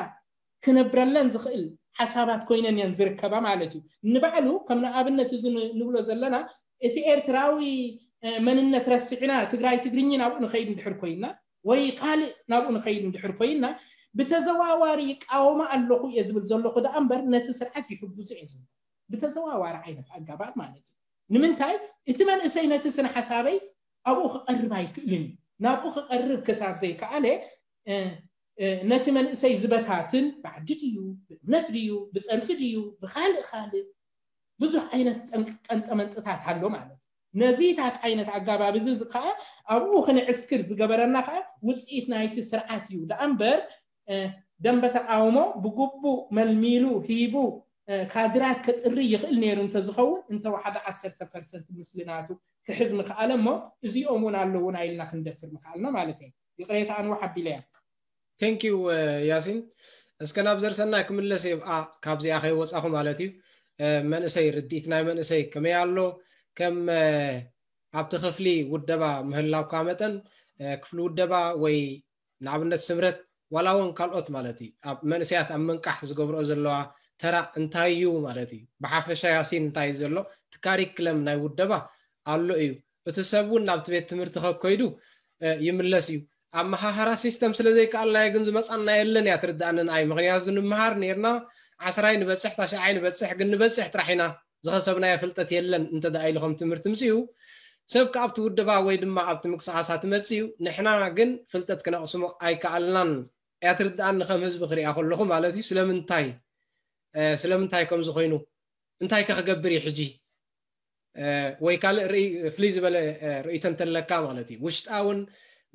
ክነብረለን ዝኽእል ሓሳባት ኮይነን እየን ዝርከባ ማለት እዩ። ንባዕሉ ከም ንኣብነት እዚ ንብሎ ዘለና እቲ ኤርትራዊ መንነት ረሲዕና ትግራይ ትግርኝ ናብኡ ንኸይድ እንድሕር ኮይና ወይ ካልእ ናብኡ ንኸይድ እንድሕር ኮይና ብተዘዋዋሪ ይቃወሞ ኣለኹ እየ ዝብል ዘለኹ ደኣ እምበር ነቲ ስርዓት ይሕግዙ እየ ዝብል ብተዘዋዋሪ ዓይነት ኣጋባብ ማለት እዩ። ንምንታይ እቲ መንእሰይ ነቲ ስነ ሓሳበይ ኣብኡ ክቐርብ ኣይክእልን እዩ። ናብኡ ክቐርብ ክሳብ ዘይከኣለ ነቲ መንእሰይ ዝበታትን ብዓዲ ድዩ ብእምነት ድዩ ብፀርፊ ድዩ ብካልእ ካልእ ብዙሕ ዓይነት ቀንጠመንጥታት ኣሎ ማለት እዩ። ነዚታት ዓይነት ኣጋባብ እዚ ከዓ ኣብኡ ክንዕስክር ዝገበረና ከዓ ውፅኢት ናይቲ ስርዓት እዩ ደኣ እምበር ደንበ ተቃውሞ ብግቡእ መልሚሉ ሂቡ ካድራት ከጥሪ ይኽእል ነይሩ እንተዝኸውን እንተወሓደ ዓሰርተ ፐርሰንት ምስልናቱ ክሕዝ ምኽኣለ እሞ እዚኦም እውን ኣለውና ኢልና ክንደፍር ምኽኣልና ማለት እዩ። ይቕሬታ ኣንዋሕ ኣቢለያ። Thank you ያሲን። እስከ ናብ ዘርሰናይ ክምለስ እየ ካብዚኣ ከይወፃኹ ማለት እዩ። መንእሰይ ርድኢት ናይ መንእሰይ ከመይ ኣሎ? ከም ኣብቲ ክፍሊ ውደባ ምህላውካ መጠን ክፍሊ ውደባ ወይ ንኣብነት ስምረት ዋላ እውን ካልኦት ማለት እዩ ኣብ መንእሰያት ኣብ ምንቃሕ ዝገብርኦ ዘለዋ ተራ እንታይ እዩ ማለት እዩ? ብሓፈሻ ያሲን እንታይ እዩ ዘሎ? እቲ ካሪክለም ናይ ውደባ ኣሎ እዩ። እቲ ሰብ እውን ናብቲ ቤት ትምህርቲ ከከይዱ ይምለስ እዩ። ኣመሃህራ ሲስተም ስለ ዘይከኣልናዮ ግን ዝመፃና የለን እያ ትርድኣኒ ንኣይ። ምክንያቱ ንምሃር ነርና ዓስራይ ንበፅሕ ታሽዓይ ንበፅሕ ግን ንበፅሕ ጥራሕ ኢና ዝኸሰብናዮ ፍልጠት የለን እንተ ደኣ ኢሉ ከም ትምህርቲ ምፅኡ ሰብ ከኣብቲ ውድባ ወይ ድማ ኣብቲ ምንቅስቃሳት መፅኡ ንሕና ግን ፍልጠት ክነቕስሞ ኣይከኣልናን እያ ትርድኣኒ ከም ህዝቢ ክሪኣ ከለኹ ማለት እዩ። ስለምንታይ ስለምንታይ ከምዚ ኮይኑ እንታይ ከ ክገብር እዩ ሕጂ? ወይ ካልእ ፍልይ ዝበለ ርእይቶ እንተለካ ማለት እዩ። ውሽጣውን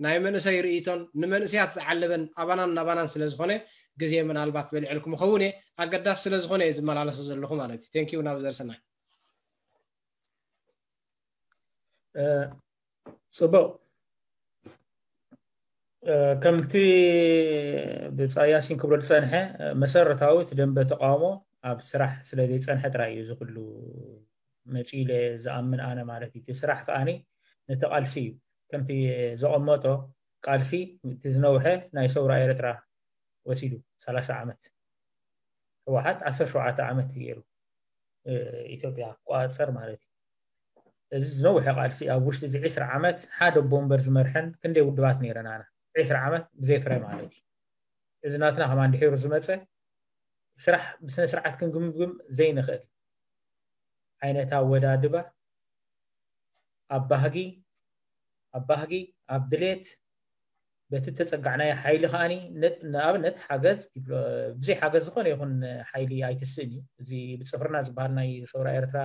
ናይ መንእሰይ ርእይቶን ንመንእሰያት ዝዓለበን ኣባናን ናባናን ስለ ዝኾነ ግዜ ምናልባት በሊዕልኩም ይኸውን እየ። ኣገዳሲ ስለ ዝኾነ እየ ዝመላለሶ ዘለኹ ማለት እዩ። ቴንኪዩ ናብ ዘርሰናይ። ጽቡቕ። ከምቲ ብጻያሲን ክብሎ ዝጸንሐ፣ መሰረታዊ እቲ ደንበ ተቃውሞ ኣብ ስራሕ ስለ ዘይጸንሐ ጥራይ እዩ እዚ ኩሉ መጺኡ ኢለ ዝኣምን ኣነ ማለት እዩ። እቲ ስራሕ ከኣኒ ነቲ ቃልሲ እዩ። ከምቲ ዘቐመጦ ቃልሲ እቲ ዝነውሐ ናይ ሰውራ ኤርትራ ወሲዱ ሰላሳ ዓመት፣ ህወሓት ዓሰርተ ሸውዓተ ዓመት ገይሩ ኢትዮጵያ ክቆጻጸር ማለት እዩ። እዚ ዝነውሐ ቃልሲ ኣብ ውሽጢ እዚ ዕስራ ዓመት ሓደ ቦምበር ዝመርሐን ክንደይ ውድባት ነይረን ኣና ዕስራ ዓመት ብዘይ ፍረ ማለት እዩ። እዚ ናትና ከማን ድሒሩ ዝመጸ ስራሕ ብስነ ስርዓት ክንግምግም ዘይንኽእል ዓይነት ኣወዳድባ ኣብ ባህጊ ኣብ ባህጊ ኣብ ድሌት በቲ ተጸጋዕናዮ ሓይሊ ከኣኒ ንኣብነት ሓገዝ ብዘይ ሓገዝ ዝኾነ ይኹን ሓይሊ ኣይትስእን እዩ። እዚ ብጽፍርና ዝበሃል ናይ ሰውራ ኤርትራ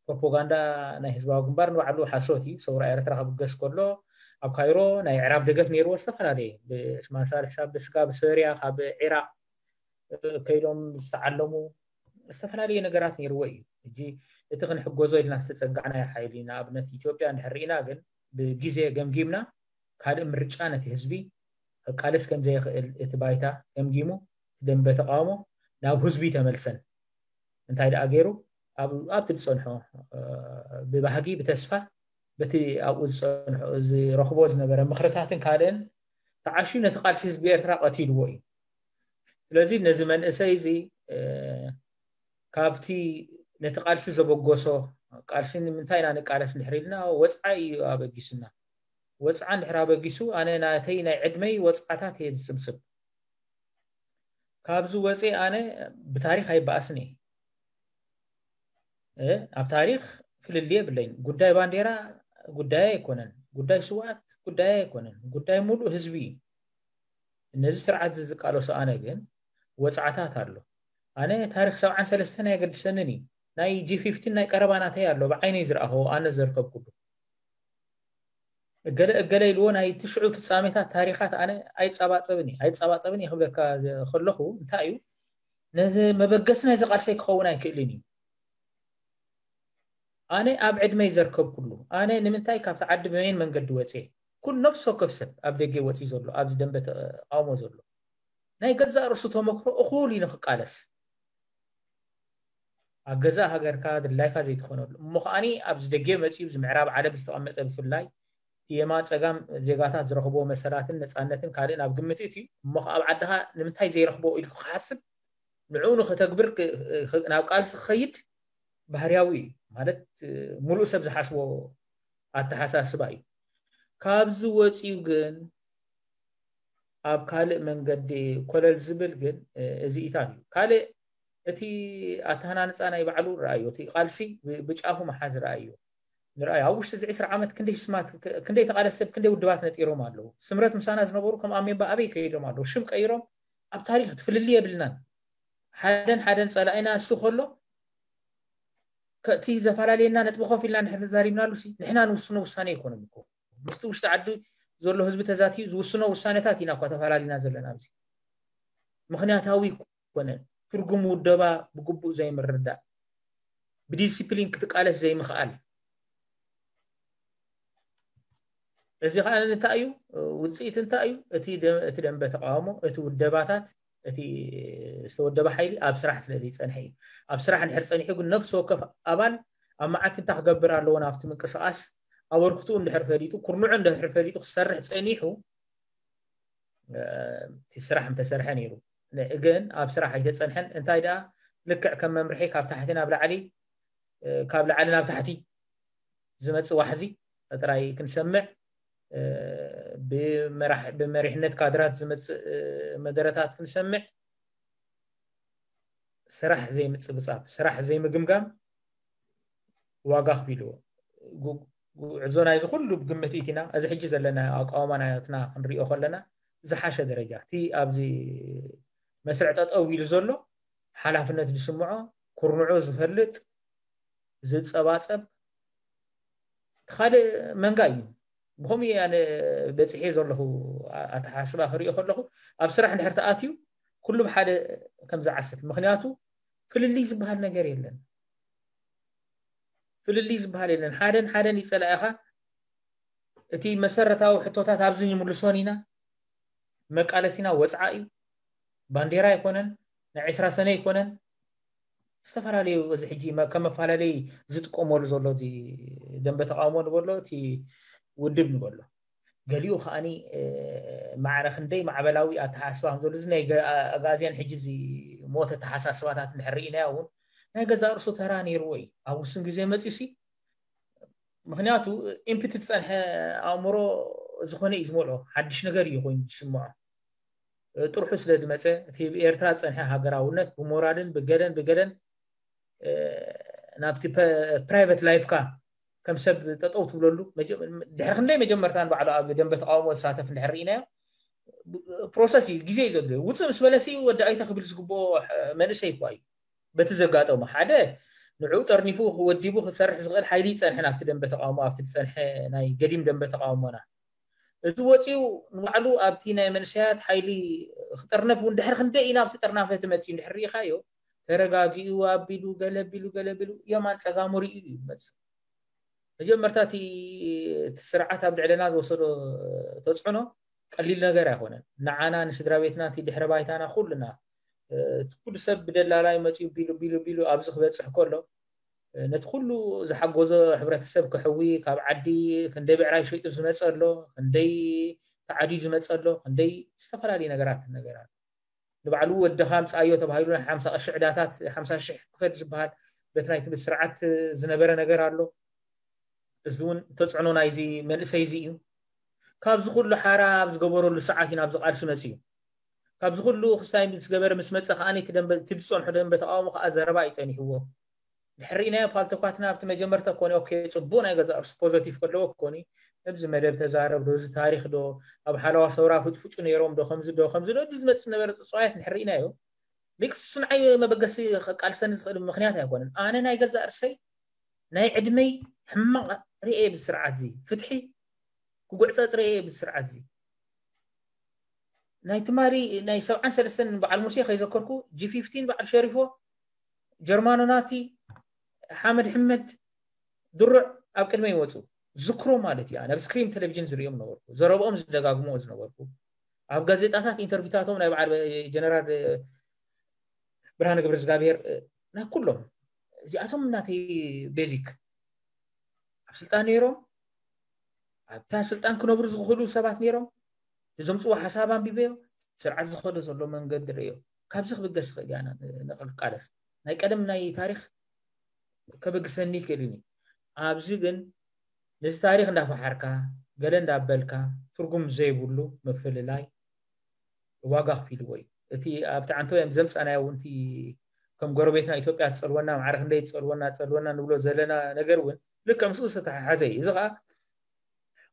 ፕሮፓጋንዳ ናይ ህዝባዊ ግንባር ንባዕሉ ሓሶት እዩ። ሰውራ ኤርትራ ክብገስ ከሎ ኣብ ካይሮ ናይ ዕራብ ደገፍ ነይርዎ ዝተፈላለየ ብስማን ሳልሕ ሳብ ብስጋ ብሶርያ ካብ ዒራቅ ከይዶም ዝተዓለሙ ዝተፈላለየ ነገራት ነይርዎ እዩ። ሕጂ እቲ ክንሕገዞ ኢልና ዝተጸጋዕናዮ ሓይሊ ንኣብነት ኢትዮጵያ እንድሕር ርኢና ግን ብግዜ ገምጊምና ካልእ ምርጫ ነቲ ህዝቢ ክቃለስ ከም ዘይኽእል እቲ ባይታ ገምጊሙ እቲ ደንበ ተቃውሞ ናብ ህዝቢ ተመልሰን እንታይ ደኣ ገይሩ ኣብቲ ዝጸንሖ ብባህጊ ብተስፋ በቲ ኣብኡ ዝጸንሖ ዝረኽቦ ዝነበረ ምኽርታትን ካልእን ተዓሽዩ ነቲ ቃልሲ ህዝቢ ኤርትራ ቀቲልዎ እዩ። ስለዚ ነዚ መንእሰይ እዚ ካብቲ ነቲ ቃልሲ ዘበገሶ ቃልሲ ንምንታይ ኢና ንቃለስ እንድሕር ኢልና ወፅዓ እዩ ኣበጊሱና። ወፅዓ እንድሕር ኣበጊሱ ኣነ ናተይ ናይ ዕድመይ ወፅዓታት እየ ዝፅብፅብ። ካብዚ ወፅየ ኣነ ብታሪኽ ኣይበኣስን እየ። ኣብ ታሪኽ ፍልልይ የብለይን። ጉዳይ ባንዴራ ጉዳይ ኣይኮነን፣ ጉዳይ ስውኣት ጉዳይ ኣይኮነን፣ ጉዳይ ሙሉእ ህዝቢ እዩ። ነዚ ስርዓት እዚ ዝቃለሶ ኣነ ግን ወፅዓታት ኣሎ። ኣነ ታሪኽ ሰብዓን ሰለስተን ኣየገድሰንን እዩ። ናይ ጂ ፊፍቲን ናይ ቀረባ ናተይ ኣሎ፣ ብዓይነይ ዝረኣኸዎ ኣነ ዘርከብኩሉ። እገለ እገለ ኢልዎ ናይ ትሽዑ ፍጻሜታት ታሪኻት ኣነ ኣይጸባጸብን እየ ኣይጸባጸብን እየ ክብለካ ከለኹ እንታይ እዩ ነዚ መበገሲ ናይዚ ቃልሰይ ክኸውን ኣይክእልን እዩ። ኣነ ኣብ ዕድመይ ዘርከብኩሉ ኣነ ንምንታይ ካብቲ ዓዲ ብመይን መንገዲ ወፅየ ኩል ነፍሲ ወከፍ ሰብ ኣብ ደገ ወፅዩ ዘሎ ኣብዚ ደንበ ተቃውሞ ዘሎ ናይ ገዛእ ርእሱ ተመክሮ እኹል እዩ ንክቃለስ ኣብ ገዛእ ሃገርካ ድላይካ ዘይትኾነሉ እሞ ከዓኒ ኣብዚ ደገ መፂኡ እዚ ምዕራብ ዓለም ዝተቐመጠ ብፍላይ የማን ፀጋም ዜጋታት ዝረኽብዎ መሰላትን ነፃነትን ካልእን ኣብ ግምት እቲ እሞ ከ ኣብ ዓድኻ ንምንታይ ዘይረኽቦ ኢልኩ ክሓስብ ንዕኡ ንክተግብር ናብ ቃልሲ ክኸይድ ባህርያዊ እዩ ማለት ሙሉእ ሰብ ዝሓስቦ ኣተሓሳስባ እዩ። ካብዚ ወፂኡ ግን ኣብ ካልእ መንገዲ ኮለል ዝብል ግን እዚኢታት እዩ። ካልእ እቲ ኣተሃናንፃ ናይ ባዕሉ ረኣዮ፣ እቲ ቃልሲ ብጫፉ መሓዝ ረኣዮ። ንርኣዩ ኣብ ውሽጢ እዚ ዕስራ ዓመት ክንደይ ስማት ክንደይ ተቓለስቲ ሰብ ክንደይ ውድባት ነጢሮም ኣለዉ። ስምረት ምሳና ዝነበሩ ከም ኣሜባ ኣበይ ከይዶም ኣለዉ። ሽም ቀይሮም ኣብ ታሪኽ እቲ ፍልልይ የብልናን። ሓደን ሓደን ጸላኢና እሱ ከሎ ከእቲ ዘፈላለየና ነጥቢ ኮፍ ኢልና እንድሕር ተዛሪብናሉ ሲ ንሕና ንውስኖ ውሳኔ ኣይኮነን እኮ ምስቲ ውሽጢ ዓዲ ዘሎ ህዝቢ ተዛትዩ ዝውስኖ ውሳኔታት ኢና እኳ ተፈላለና ዘለና ኣብዚ ምክንያታዊ ኣይኮነን ትርጉም ውደባ ብግቡእ ዘይምርዳእ ብዲሲፕሊን ክትቃለስ ዘይምኽኣል እዚ ከዓ እንታይ እዩ ውፅኢት እንታይ እዩ እቲ ደንበ ተቃውሞ እቲ ውደባታት እቲ ዝተወደበ ሓይሊ ኣብ ስራሕ ስለ ዘይፀንሐ እዩ ኣብ ስራሕ እንድሕር ፀኒሑ ግን ነፍሲ ወከፍ ኣባል ኣብ መዓልቲ እንታይ ክገብር ኣለዎ ናብቲ ምንቅስቃስ ኣበርክትኡ እንድሕር ፈሊጡ ኩርንዑ እንድሕር ፈሊጡ ክሰርሕ ፀኒሑ እቲ ስራሕ ምተሰርሐ ነይሩ ግን ኣብ ስራሕ ኣይተፀንሐን እንታይ ደኣ ልክዕ ከም መምርሒ ካብ ታሕቲ ናብ ላዕሊ ካብ ላዕሊ ናብ ታሕቲ ዝመፅእ ዋሕዚ ጥራይ ክንሰምዕ ብመሪሕነት ካድራት ዝመፅእ መደረታት ክንሰምዕ ስራሕ ዘይምፅብፃብ ስራሕ ዘይምግምጋም ዋጋ ኣኽፊልዎ ጉዕዞ ናይዚ ኩሉ ብግምት ኢቲና እዚ ሕጂ ዘለና ኣቃውማ ናትና ክንሪኦ ከለና ዝሓሸ ደረጃ እቲ ኣብዚ መስርዕ ጠጠው ኢሉ ዘሎ ሓላፍነት ዝስምዖ ኩርንዑ ዝፈልጥ ዝፀባፀብ እቲ ካልእ መንጋ እዩ ብከምኡ ኣነ በፂሐ ዘለኹ ኣተሓስባ ክሪኦ ከለኹ ኣብ ስራሕ እንድሕር ተኣትዩ ኩሉ ብሓደ ከም ዝዓስል ምክንያቱ ፍልልይ ዝበሃል ነገር የለን ፍልልይ ዝበሃል የለን ሓደን ሓደን ይፀላእኻ እቲ መሰረታዊ ሕቶታት ኣብዚ ንምልሶን ኢና። መቃለሲና ወፅዓ እዩ። ባንዴራ ኣይኮነን፣ ናይ ዕስራ ሰነ ኣይኮነን። ዝተፈላለዩ እዚ ሕጂ ከም መፈላለይ ዝጥቀመሉ ዘሎ እዚ ደንበ ተቃውሞ ንበሎ፣ እቲ ውድብ ንበሎ፣ ገሊኡ ከዓኒ ማዕረ ክንደይ ማዕበላዊ ኣተሓሳስባ ከም ዘሎ፣ እዚ ናይ ኣጋዝያን ሕጂ እዚ ሞት ኣተሓሳስባታት እንድሕር ርኢናዮ እውን ናይ ገዛእ ርእሱ ተራ ነይርዎ እዩ። ኣብ ውሱን ግዜ መፂኡ ሲ ምክንያቱ ኢምፕቲ ዝፀንሐ ኣእምሮ ዝኾነ እዩ ዝመልኦ፣ ሓድሽ ነገር እዩ ኮይኑ ዝስምዖ። ጥርሑ ስለ ዝመፀ እቲ ኤርትራ ዝፀንሐ ሃገራውነት ብሞራልን ብገለን ብገለን ናብቲ ፕራይቨት ላይፍካ ከም ሰብ ጠጠው ትብለሉ። ድሕሪ ክንደይ መጀመርታ ንባዕሉ ኣብ ደንበ ተቃውሞ ዝሳተፍ እንድሕር ርኢናዮ፣ ፕሮሰስ እዩ፣ ግዜ እዩ ዘድልዮ። ውፅእ ምስ በለሲ ወዲ ኣይተ ክብል ዝግብኦ መንእሰይ እኳ እዩ። በቲ ዘጋጠሞ ሓደ ንዕኡ ጠርኒፉ ወዲቡ ክሰርሕ ዝኽእል ሓይሊ ይፀንሐ ናብቲ ደንበ ተቃውሞ፣ ኣብቲ ዝፀንሐ ናይ ገዲም ደንበ ተቃውሞና። እዚ ወፂኡ ንባዕሉ ኣብቲ ናይ መንእሰያት ሓይሊ ክጥርነፍ እውን ድሕሪ ክንደይ ኢና ኣብቲ ጥርናፈ እቲ መፂኡ እንድሕር ርኢኻዮ፣ ተረጋጊኡ ኣቢሉ ገለቢሉ ገለቢሉ የማን ፀጋሙ ርኢዩ እዩ መፅእ። መጀመርታ እቲ ስርዓት ኣብ ልዕለና ዝወሰዶ ተፅዕኖ ቀሊል ነገር ኣይኮነን። ንዓና ንስድራ ቤትና እቲ ድሕረ ባይታና ኩልና እቲ ኩሉ ሰብ ብደላላይ መፂኡ ቢሉ ቢሉ ቢሉ ኣብዚ ክበፅሕ ከሎ ነቲ ኩሉ ዝሓጎዞ ሕብረተሰብ ክሕዊ፣ ካብ ዓዲ ክንደይ ብዕራይ ሸይጡ ዝመፀ ኣሎ፣ ክንደይ ተዓድዩ ዝመፀ ኣሎ፣ ክንደይ ዝተፈላለዩ ነገራት ነገር ኣሎ። ንባዕሉ ወድኻ ምፃዮ ተባሂሉ ናይ ሓምሳ ቅርሺ ዕዳታት ሓምሳ ሽሕ ክፈል ዝበሃል በቲ ናይ ትምህርቲ ስርዓት ዝነበረ ነገር ኣሎ። እዚ እውን ተፅዕኖ ናይዚ መንእሰይ እዚ እዩ። ካብዚ ኩሉ ሓራ ኣብ ዝገበረሉ ሰዓት እዩ ናብዚ ቃልሲ መፂኡ። ካብዚ ኩሉ ክሳይ ምስ ገበረ ምስ መፀ ከዓ እቲ ደንበ እቲ ዝፀንሖ ደንበ ተቃውሞ ከዓ ዘረባ እዩ ፀኒሕዎ። ድሕሪ ርኢናዮ ፓልቶካትና ኣብቲ መጀመርታ ኮነ ኦኬ ፅቡቅ ናይ ገዛ እርሱ ፖዘቲቭ ከለዎ ኮኒ እዚ መደብ ተዛረብ ዶ እዚ ታሪክ ዶ ኣብ ሓለዋ ሰውራ ፍጭፍጩ ነይሮም ዶ ከምዚ ዶ ከምዚ ዶ እዚ ዝመፅእ ነበረ ፅፅዋያት ንሕር ርኢናዮ። ሊክስ ንዓይ መበገሲ ቃልሰኒ ዝኽእል ምክንያት ኣይኮነን። ኣነ ናይ ገዛ እርሰይ ናይ ዕድመይ ሕማቕ ርኤ ብስርዓት እዚ ፍትሒ ክጉዕፀፅ ርኤ ብስርዓት እዚ ናይ ትማሊ ናይ ሰብዓን ሰለስተን በዓል ሙሴ ከይዘከርኩ ጂ ፊፍቲን በዓል ሸሪፎ ጀርማኖ ናቲ ሓመድ ሕመድ ድሩዕ ኣብ ቅድመ ይወፁ ዝክሮ ማለት እዩ። ናብ ስክሪን ቴሌቪዥን ዝሪኦም ነበርኩ፣ ዘረብኦም ዝደጋግሞ ዝነበርኩ፣ ኣብ ጋዜጣታት ኢንተርቪታቶም ናይ በዓል ጀነራል ብርሃነ ገብረ እግዚኣብሔር ናይ ኩሎም እዚኣቶም እናተይ ቤዚክ ኣብ ስልጣን ነይሮም ኣብታ ስልጣን ክነብሩ ዝኽእሉ ሰባት ነይሮም። እቲ ዘምፅዎ ሓሳብ ኣንቢበዮ ስርዓት ዝኸዶ ዘሎ መንገዲ ርእዮ ካብዚ ክብገስ ይኽእል እያ ንቃለስ ናይ ቀደም ናይ ታሪክ ከበግሰኒ ይኽእል እዩ። ኣብዚ ግን ነዚ ታሪክ እንዳፈሓርካ ገለ እንዳበልካ ትርጉም ዘይብሉ ምፍልላይ ዋጋ ክፊልዎ እዩ። እቲ ኣብቲ ዓንተወ እዮም ዘምፃናዮ እውን ከም ጎረቤትና ኢትዮጵያ ትፀልወና ማዕረ ክንደይ ትፀልወና ትፀልወና ንብሎ ዘለና ነገር እውን ልክዕ ምስኡ ዝተተሓሓዘ እዩ። እዚ ከዓ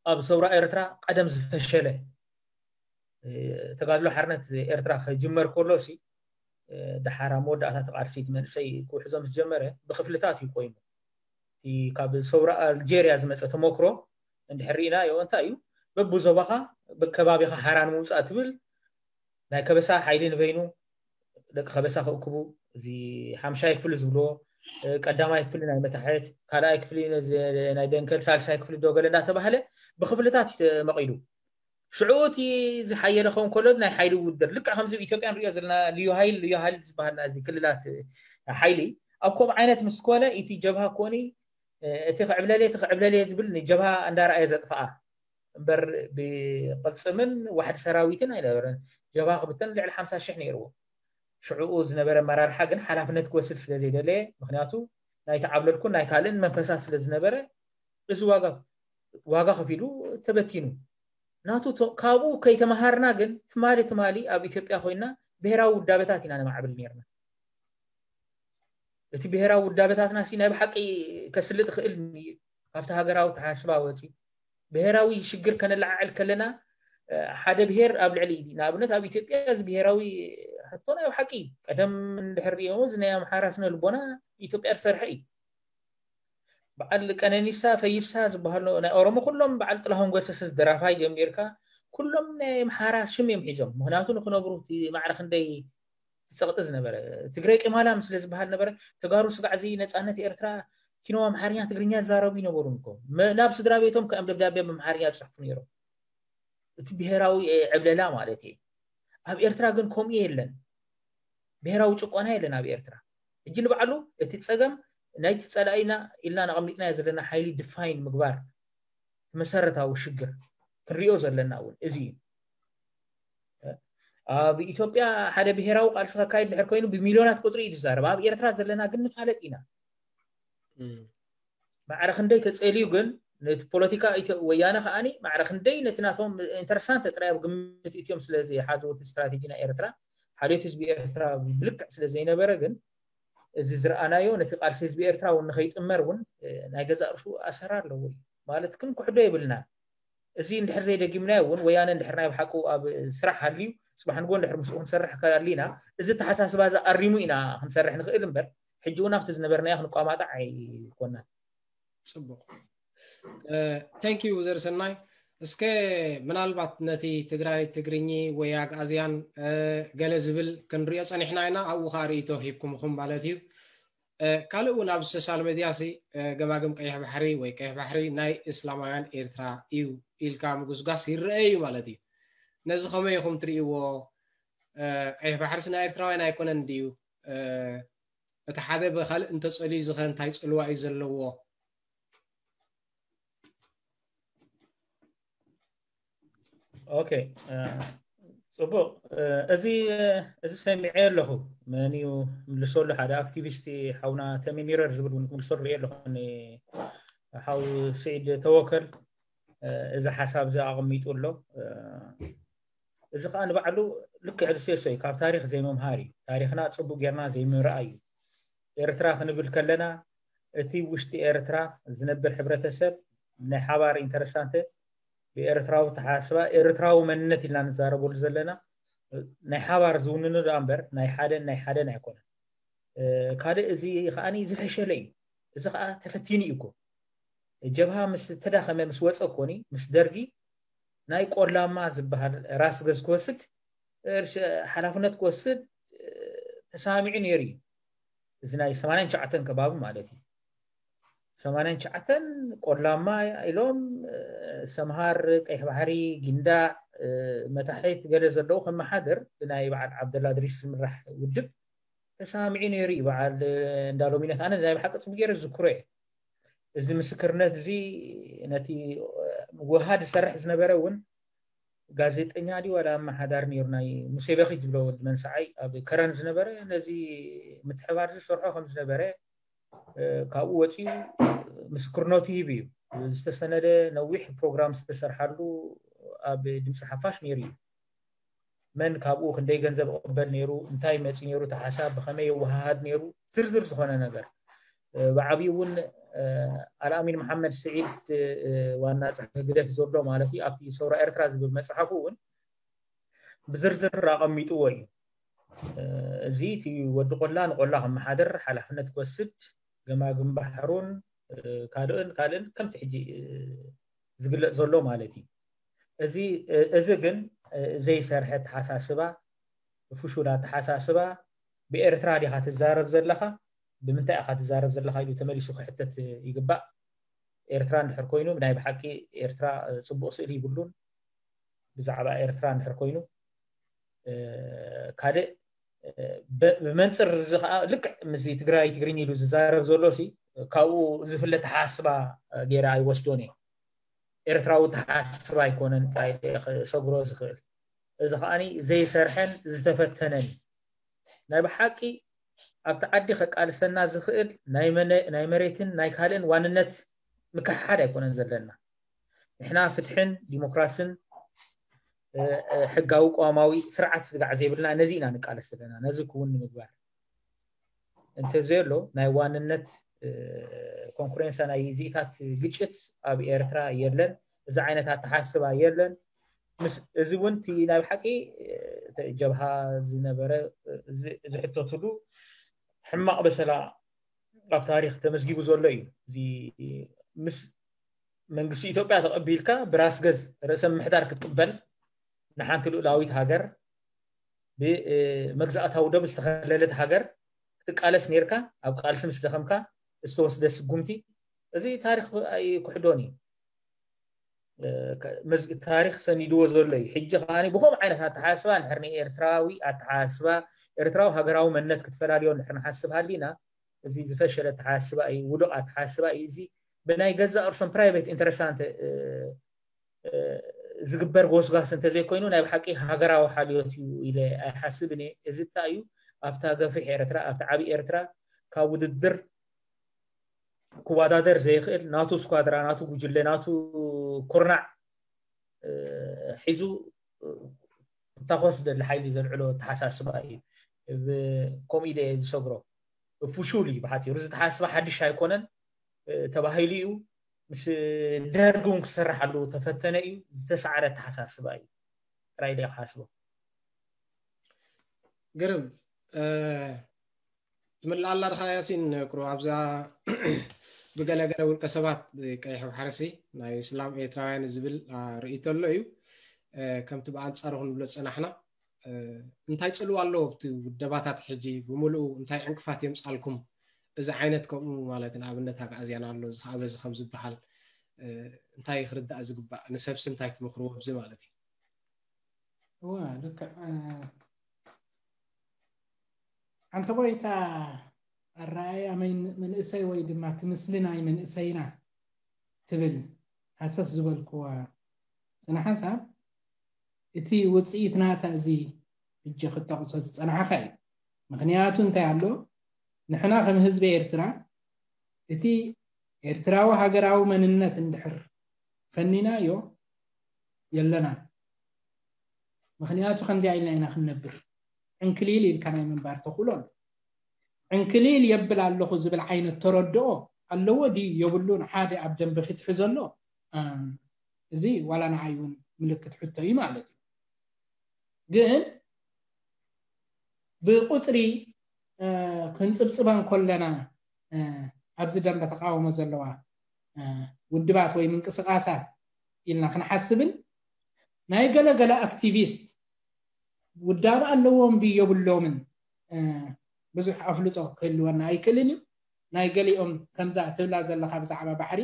ኣብ ሰውራ ኤርትራ ቀደም ዝፈሸለ ተጋድሎ ሓርነት ኤርትራ ክጅመር ከሎ ሲ ደሓር ኣብ መወዳእታ ተቃልሲት መንእሰይ ክውሕዞ ምስ ጀመረ ብክፍልታት እዩ ኮይኑ። ካብ ሰውራ ኣልጀርያ ዝመፀ ተመክሮ እንድሕር ርኢናዮ እንታይ እዩ በብዞባኻ በከባቢኻ ሓራ ንምውፃእ ትብል ናይ ከበሳ ሓይሊ ንበይኑ ደቂ ከበሳ ክእክቡ እዚ ሓምሻይ ክፍሊ ዝብልዎ ቀዳማይ ክፍሊ ናይ መታሕት ካልኣይ ክፍሊ ናይ ደንከል ሳልሳይ ክፍሊ ዶገለ እንዳተባህለ ብክፍልታት እዩ ተመቂሉ። ሽዑ እቲ ዝሓየለ ከውን ከሎ ናይ ሓይሊ ውድድር ልክዕ ከምዚ ኣብ ኢትዮጵያ ንሪኦ ዘለና ልዩ ሃይል ልዩ ሃይል ዝበሃል እዚ ክልላት ሓይሊ ኣብ ከምኡ ዓይነት ምስ ኮነ እቲ ጀብሃ ኮኒ እቲ ክዕብለልየ እቲ ክዕብለልየ ዝብል ንጀብሃ እንዳረኣየ ዘጥፍኣ እምበር ብቅልፅምን ዋሕዲ ሰራዊትን ኣይነበረን። ጀብሃ ክብተን ልዕሊ ሓምሳ ሽሕ ነይርዎ። ሽዕኡ ዝነበረ ኣመራርሓ ግን ሓላፍነት ክወስድ ስለ ዘይደለየ ምክንያቱ ናይ ተዓብለልኩን ናይ ካልእን መንፈሳት ስለ ዝነበረ እዚ ዋጋ ዋጋ ከፊሉ ተበቲኑ ናቱ ካብኡ ከይተመሃርና ግን ትማሊ ትማሊ ኣብ ኢትዮጵያ ኮይና ብሄራዊ ውዳበታት ኢና ነማዕብል ነርና። እቲ ብሄራዊ ውዳበታትና ሲ ናይ ብሓቂ ከስልጥ ይኽእል ካብቲ ሃገራዊ ተሓስባ ወፂ ብሄራዊ ሽግር ከነለዓዕል ከለና ሓደ ብሄር ኣብ ልዕሊ ንኣብነት ኣብ ኢትዮጵያ እዚ ብሄራዊ ሕቶ ናይ ብሓቂ ቀደም እንድሕር ሪኦሞ እዚ ናይ ኣምሓራ ስነ ልቦና ኢትዮጵያ ዝሰርሐ እዩ። በዓል ቀነኒሳ ፈይሳ ዝበሃሉ ናይ ኦሮሞ ኩሎም በዓል ጥላሁን ገሰሰ ደራፋይ ጀሚርካ ኩሎም ናይ ኣምሓራ ሽም እዮም ሒዞም። ምክንያቱ ንክነብሩ እቲ ማዕረ ክንደይ ዝፀቕጢ ዝነበረ ትግረይ ቂማላም ስለ ዝበሃል ነበረ። ተጋሩ ስጋዕ እዚ ነፃነት ኤርትራ ኪኖ ኣምሓርኛ ትግርኛ ዝዛረቡ ይነበሩን እኮ። መ- ናብ ስድራ ቤቶም ከም ደብዳቤ ብኣምሓርኛ ይፅሕፉ ነይሮም። እቲ ብሄራዊ ዕብለላ ማለት እዩ። ኣብ ኤርትራ ግን ከምኡ የለን። ብሄራዊ ጭቆና የለን ኣብ ኤርትራ። ሕጂ ንባዕሉ እቲ ፀገም ናይቲ ፀላኢና ኢልና ነቐሚጥናዮ ዘለና ሓይሊ ድፋይን ምግባር መሰረታዊ ሽግር ክንሪኦ ዘለና እውን እዚ እዩ። ኣብ ኢትዮጵያ ሓደ ብሄራዊ ቃልሲ ከካይድ ድሕር ኮይኑ ብሚልዮናት ቁፅሪ እዩ ዝዛረብ። ኣብ ኤርትራ ዘለና ግን ንፋለጥ ኢና። ማዕረ ክንደይ ተፀልዩ ግን ነቲ ፖለቲካ ኢትዮ- ወያነ ከዓኒ ማዕረ ክንደይ ነቲ ናቶም ኢንተረስታንት ጥራይ ኣብ ግምት እትዮም ስለ ዝሓዝዎ እቲ ስትራቴጂ ናይ ኤርትራ ሓልዮት ህዝቢ ኤርትራ ብልክዕ ስለ ዘይነበረ ግን እዚ ዝረኣናዮ ነቲ ቃልሲ ህዝቢ ኤርትራ እውን ንኸይጥመር እውን ናይ ገዛእ ርእሱ ኣሰር ኣለዎ እዩ ማለት ክንክሕዶ የብልናን። እዚ እንድሕር ዘይደጊምናዮ እውን ወያነ እንድሕር ናይ ብሓቁ ኣብ ስራሕ ሃልዩ ፅባሕ ንጎ እንድሕር ምስኡ ክንሰርሕ ከሊና እዚ ተሓሳስባ እዚ ኣሪሙ ኢና ክንሰርሕ ንኽእል እምበር ሕጂ እውን ኣብቲ ዝነበርናዮ ክንቋማጣዕ ኣይኮናን። ፅቡቅ። Thank you ዘርሰናይ። እስከ ምናልባት ነቲ ትግራይ ትግርኚ ወይ ኣግኣዝያን ገለ ዝብል ክንሪኦ ፀኒሕና ኢና። ኣብኡ ከዓ ርእይቶ ሂብኩምኹም ማለት እዩ። ካልእ እውን ኣብ ሶሻል ሜድያ ሲ ገማግም ቀይሕ ባሕሪ ወይ ቀይሕ ባሕሪ ናይ እስላማውያን ኤርትራ እዩ ኢልካ ምጉስጋስ ይረአ እዩ ማለት እዩ። ነዚ ከመይ ኢኹም ትርእይዎ? ቀይሕ ባሕርስ ናይ ኤርትራውያን ኣይኮነን ድዩ? እቲ ሓደ ብካልእ እንተፀልዩ ዝኸ እንታይ ፅልዋ እዩ ዘለዎ? ኦኬ፣ ፅቡቅ። እዚ እዚ ሰሚዐ ኣለኹ። መን እዩ ምልሰሉ? ሓደ ኣክቲቪስት ሓውና ተሚም ይረር ዝብል እውን ክምልሰሉ ርእ ኣለኹ። ሓው ስዒድ ተወከል እዚ ሓሳብ እዚ ኣቐሚጡ ኣሎ። እዚ ከዓ ንባዕሉ ልክዕ ዝሴሶ እዩ። ካብ ታሪክ ዘይምምሃር እዩ። ታሪክና ፅቡቅ ጌርና ዘይምርኣይ እዩ። ኤርትራ ክንብል ከለና እቲ ውሽጢ ኤርትራ ዝነብር ሕብረተሰብ ናይ ሓባር ኢንተረስታንተ ብኤርትራዊ ተሓስባ ኤርትራዊ መንነት ኢልና ንዛረበሉ ዘለና ናይ ሓባር ዝውንኑ ደኣ እምበር ናይ ሓደን ናይ ሓደን ኣይኮነን። ካልእ እዚ ከዓ ዝፈሸለ እዩ። እዚ ከዓ ተፈቲኑ እዩ እኮ። ጀብሃ ምስ ተዳኸመ ምስ ወፀ እኮኒ ምስ ደርጊ ናይ ቆላማ ዝበሃል ራስ ገዝ ክወስድ ሓላፍነት ክወስድ ተሰማሚዑ ነይሩ እዩ። እዚ ናይ ሰማንያን ትሽዓተን ከባቢ ማለት እዩ። ሰማንያን ትሽዓተን ቆላማ ኢሎም ሰምሃር፣ ቀይሕ ባሕሪ፣ ጊንዳዕ፣ መታሒት ገለ ዘለዉ ከመሓድር ብናይ በዓል ዓብደላ ድሪስ ዝምራሕ ውድብ ተሰማሚዑ ነይሩ እዩ። በዓል እንዳሎሚነት ኣነ ናይ ብሓቂ ፅቡቅ ገይረ ዝዝክሮ እየ። እዚ ምስክርነት እዚ ነቲ ውሃ ዝሰርሕ ዝነበረ እውን ጋዜጠኛ ድዩ ዋላ ኣመሓዳሪ ነይሩ ናይ ሙሴ በኺት ዝብሎ ወዲ መንሰዓይ ኣብ ከረን ዝነበረ ነዚ ምትሕባር ዝሰርሖ ከም ዝነበረ ካብኡ ወፂኡ ምስክርነቱ ሂቡ እዩ። ዝተሰነደ ነዊሕ ፕሮግራም ዝተሰርሓሉ ኣብ ድምፂ ሓፋሽ ነይሩ እዩ። መን ካብኡ ክንደይ ገንዘብ ይቕበል ነይሩ፣ እንታይ መፂ ነይሩ፣ እቲ ሓሳብ ብኸመይ ይወሃሃድ ነይሩ፣ ዝርዝር ዝኾነ ነገር ብዓብዩ እውን ኣልኣሚን መሓመድ ስዒድ ዋና ፀሓፊ ህግደፍ ዘሎ ማለት እዩ ኣብቲ ሰውራ ኤርትራ ዝብል መፅሓፉ እውን ብዝርዝር ኣቐሚጥዎ እዩ። እዚ እቲ ወዲ ቆላ ንቆላ ከመሓድር ሓላፍነት ክወስድ ገማግም ባሕሩን ካልእን ካልእን ከምቲ ሕጂ ዝግለፅ ዘሎ ማለት እዩ። እዚ ግን ዘይሰርሐ ኣተሓሳስባ፣ ፍሹል ኣተሓሳስባ፣ ብኤርትራ ዲኻ ትዛረብ ዘለኻ፣ ብምንታይ ኢኻ ትዛረብ ዘለኻ ኢሉ ተመሊሱ ክሕተት ይግባእ። ኤርትራ እንድሕር ኮይኑ ብናይ ብሓቂ ኤርትራ ፅቡቕ ስእሊ ይብሉን። ብዛዕባ ኤርትራ እንድሕር ኮይኑ ካልእ ብመንፅር እዚ ከዓ ልክዕ ምስዚ ትግራይ ትግርኛ ኢሉ ዝዛረብ ዘሎ ሲ ካብኡ ዝፍለ ተሓስባ ገይረ ኣይወስዶን እየ። ኤርትራዊ ተሓስባ ኣይኮነን ሰግሮ ዝኽእል። እዚ ከዓ ዘይሰርሐን ዝተፈተነን ናይ ብሓቂ ኣብቲ ዓዲ ከቃልሰና ዝኽእል ናይ መሬትን ናይ ካልእን ዋንነት ምክሕሓድ ኣይኮነን ዘለና። ንሕና ፍትሕን ዲሞክራስን ሕጋዊ ቅዋማዊ ስርዓት ስግጋዕ ዘይብልና ነዚ ኢና ንቃለስ ዘለና። ነዚ ክውን ንምግባር እንተዘየሎ ናይ ዋንነት ኮንኩሬንሳ ናይ ዚኢታት ግጭት ኣብ ኤርትራ የለን። እዚ ዓይነት ኣተሓስባ የለን። እዚ እውን እቲ ናይ ብሓቂ ጀብሃ ዝነበረ ዝሕተትሉ ሕማቕ በሰላ ኣብ ታሪክ ተመዝጊቡ ዘሎ እዩ። እዚ ምስ መንግስቲ ኢትዮጵያ ተቐቢልካ ብራስ ገዝ ርእሰ ምምሕዳር ክትቅበል ንሓንቲ ልኡላዊት ሃገር ብመግዛእታዊ ደብ ዝተኸለለት ሃገር ክትቃለስ ነርካ ኣብ ቃልሲ ምስ ደኸምካ ዝተወስደ ስጉምቲ፣ እዚ ታሪኽ ኣይክሕዶን እዩ። ታሪኽ ሰኒድዎ ዘሎ እዩ። ሕጂ ከኣ ብኸምኡ ዓይነት ኣተሓሳስባ እንድሕር ንኤርትራዊ ኣተሓሳስባ፣ ኤርትራዊ ሃገራዊ መንነት ክትፈላልዮ እንድሕር ንሓስብ ሃሊና፣ እዚ ዝፈሸለ ኣተሓሳስባ እዩ፣ ውዱቕ ኣተሓሳስባ እዩ። እዚ ብናይ ገዛእ ርእሶም ፕራይቬት ኢንተረስት ዝግበር ጎስጓስ እንተዘይኮይኑ ናይ ብሓቂ ሃገራዊ ሓልዮት እዩ ኢለ ኣይሓስብን እየ። እዚ እንታይ እዩ ኣብታ ገፊሕ ኤርትራ ኣብታ ዓብዪ ኤርትራ ካብ ውድድር ክወዳደር ዘይኽእል ናቱ ስኳድራ ናቱ ጉጅለ ናቱ ኩርናዕ ሒዙ ክታኾስ ዝደሊ ሓይሊ ዘልዕሎ ኣተሓሳስባ እዩ። ከምኡ ኢለ እየ ዝሰግሮ። ፍሹል እዩ ብሓፂሩ። እዚ ኣተሓሳስባ ሓድሽ ኣይኮነን ተባሂሉ እዩ። ምስ ደርጊ እውን ክሰርሓሉ ተፈተነ እዩ። ዝተሳዕረ ኣተሓሳስባ እዩ። ጥራይ ኢለ ክሓስቦ። ግርም ትምልኣላ ድኻ ያሲን? ቁሩብ ኣብዛ ብገለገለ ውልቀ ሰባት ቀይሕ ባሕርሲ ናይ እስላም ኤርትራውያን ዝብል ርእይቶ ኣሎ እዩ። ከምቲ ብኣንጻሩ ክንብሎ ዝጸናሕና እንታይ ጽልዋ ኣለዎ ኣብቲ ውደባታት ሕጂ ብምሉኡ እንታይ ዕንቅፋት የምጻልኩም? እዚ ዓይነት ከምኡ ማለት ንኣብነት ኣግኣዝያን ኣሎ እዚ ከኣ በዚ ከም ዝበሃል እንታይ ክርዳእ ዝግባእ ንሰብሲ እንታይ ትምኽርዎ ኣብዚ ማለት እዩ? እዋ ልክዕ ሓንቲ ቆይታ ኣረኣያ መንእሰይ ወይ ድማ ትምስሊ ናይ መንእሰይና ትብል ሃሰስ ዝበልክዋ ስነ ሓሳብ እቲ ውፅኢት ናታ እዚ እጀ ክጠቕሶ ዝፀናሕኻ እዩ። ምክንያቱ እንታይ ኣሎ? ንሕና ከም ህዝቢ ኤርትራ እቲ ኤርትራዊ ሃገራዊ መንነት እንድሕር ፈኒናዮ የለና። ምክንያቱ ከምዚኣ ኢልና ኢና ክንነብር። ዕንክሊል ኢልካ ናይ ምንባር ተኽእሎ ኣሎ። ዕንክሊል የብል ኣለኹ ዝብል ዓይነት ተረድኦ ኣለዎ ድዩ የብሉን ሓደ ኣብ ደንበ ፍትሒ ዘሎ? እዚ ዋላ ንዓይ እውን ምልክት ሕቶ እዩ ማለት እዩ። ግን ብቁፅሪ ክንፅብፅበን ከለና ኣብዚ ደንበ ተቃውሞ ዘለዋ ውድባት ወይ ምንቅስቃሳት ኢልና ክንሓስብን ናይ ገለገለ ኣክቲቪስት ውዳብ ኣለዎም ድዩ የብሎምን ብዙሕ ኣፍልጦ ክህልወና ኣይክእልን እዩ። ናይ ገሊኦም ከምዛ ትብላ ዘለካ ብዛዕባ ባሕሪ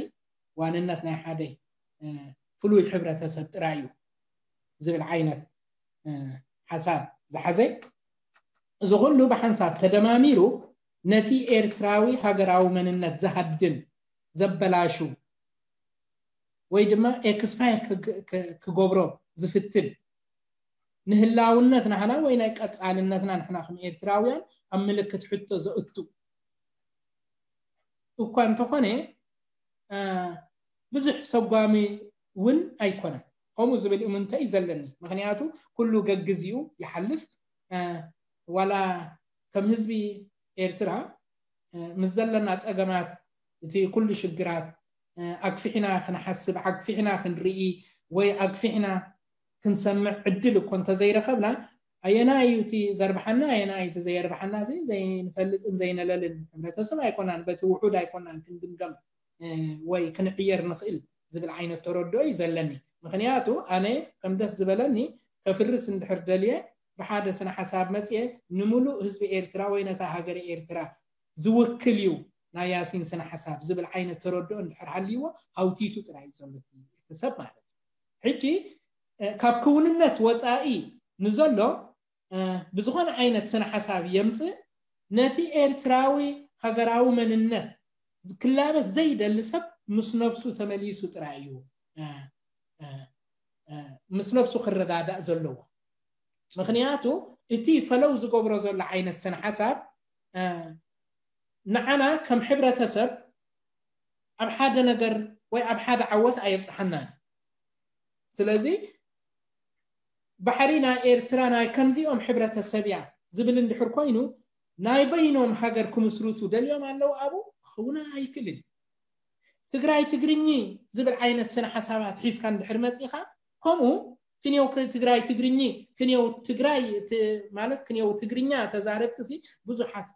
ዋንነት ናይ ሓደ ፍሉይ ሕብረተሰብ ጥራይ እዩ ዝብል ዓይነት ሓሳብ ዝሓዘ። እዚ ኩሉ ብሓንሳብ ተደማሚሩ ነቲ ኤርትራዊ ሃገራዊ መንነት ዝሃድም ዘበላሹ ወይ ድማ ኤክስፓየር ክገብሮ ዝፍትን ንህላውነት ናህና ወይ ናይ ቀፃልነትና ንሕና ከም ኤርትራውያን ኣብ ምልክት ሕቶ ዘእቱ እኳ እንተኾነ ብዙሕ ሰጓሚ እውን ኣይኮነን። ከምኡ ዝብል እምንቶ እዩ ዘለኒ። ምክንያቱ ኩሉ ገግዚኡ ይሓልፍ። ዋላ ከም ህዝቢ ኤርትራ ምስ ዘለና ፀገማት እቲ ኩሉ ሽግራት ኣግፊሕና ክንሓስብ ኣግፊሕና ክንርኢ ወይ ኣግፊሕና ክንሰምዕ ዕድል እኮ እንተዘይረኸብና ኣየናይ እዩ እቲ ዘርብሓና ኣየናይ እዩ እቲ ዘየርብሓና ዘይንፈልጥን ዘይነለልን ሕብረተሰብ ኣይኮናን። በቲ ውሑድ ኣይኮናን ክንግምገም ወይ ክንዕየር ንኽእል ዝብል ዓይነት ተረድኦ እዩ ዘለኒ። ምክንያቱ ኣነ ከም ደስ ዝበለኒ ከፍርስ እንድሕር ደልየ ብሓደ ስነ ሓሳብ መፅየ ንምሉእ ህዝቢ ኤርትራ ወይ ነታ ሃገረ ኤርትራ ዝውክል እዩ ናይ ያሲን ስነ ሓሳብ ዝብል ዓይነት ተረድኦ እንድሕር ሃልይዎ ሃውቲቱ ጥራይ እዩ ዘሎ እቲ ሰብ ማለት እዩ። ሕጂ ካብ ክውንነት ወፃኢ ንዘሎ ብዝኾነ ዓይነት ስነ ሓሳብ የምፅእ ነቲ ኤርትራዊ ሃገራዊ መንነት ክላበስ ዘይደሊ ሰብ ምስ ነብሱ ተመሊሱ ጥራይ እዩ ምስ ነብሱ ክረዳዳእ ዘለዎ። ምክንያቱ እቲ ፈለው ዝገብሮ ዘሎ ዓይነት ስነ ሓሳብ ንዓና ከም ሕብረተሰብ ኣብ ሓደ ነገር ወይ ኣብ ሓደ ዓወት ኣየብፅሓናን። ስለዚ ባሕሪ ናይ ኤርትራ ናይ ከምዚኦም ሕብረተሰብ እያ ዝብል እንድሕር ኮይኑ ናይ በይኖም ሃገር ክምስርቱ ደልዮም ኣለዉ ኣብኡ ክኸውን ኣይክእልን። ትግራይ ትግርኚ ዝብል ዓይነት ስነ ሓሳባት ሒዝካ እንድሕር መፂኻ ከምኡ ክንየው ትግራይ ትግርኚ ክንየው ትግራይ ማለት ክንየው ትግርኛ ተዛረብቲ ብዙሓት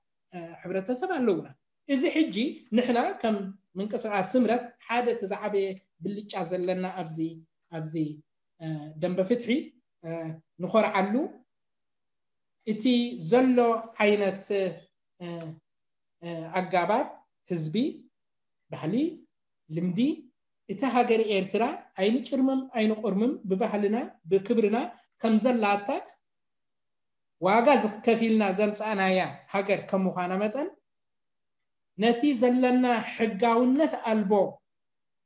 ሕብረተሰብ ኣለውና። እዚ ሕጂ ንሕና ከም ምንቅስቃስ ስምረት ሓደ እቲ ዝዓበየ ብልጫ ዘለና ኣብዚ ኣብዚ ደንበ ፍትሒ ንኾርዓሉ እቲ ዘሎ ዓይነት ኣጋባብ ህዝቢ፣ ባህሊ፣ ልምዲ እቲ ሃገር ኤርትራ ኣይንጭርምም ኣይንቆርምም፣ ብባህልና ብክብርና ከም ዘላታ ዋጋ ዝከፊልና ዘምፃእናያ ሃገር ከም ምዃና መጠን፣ ነቲ ዘለና ሕጋውነት ኣልቦ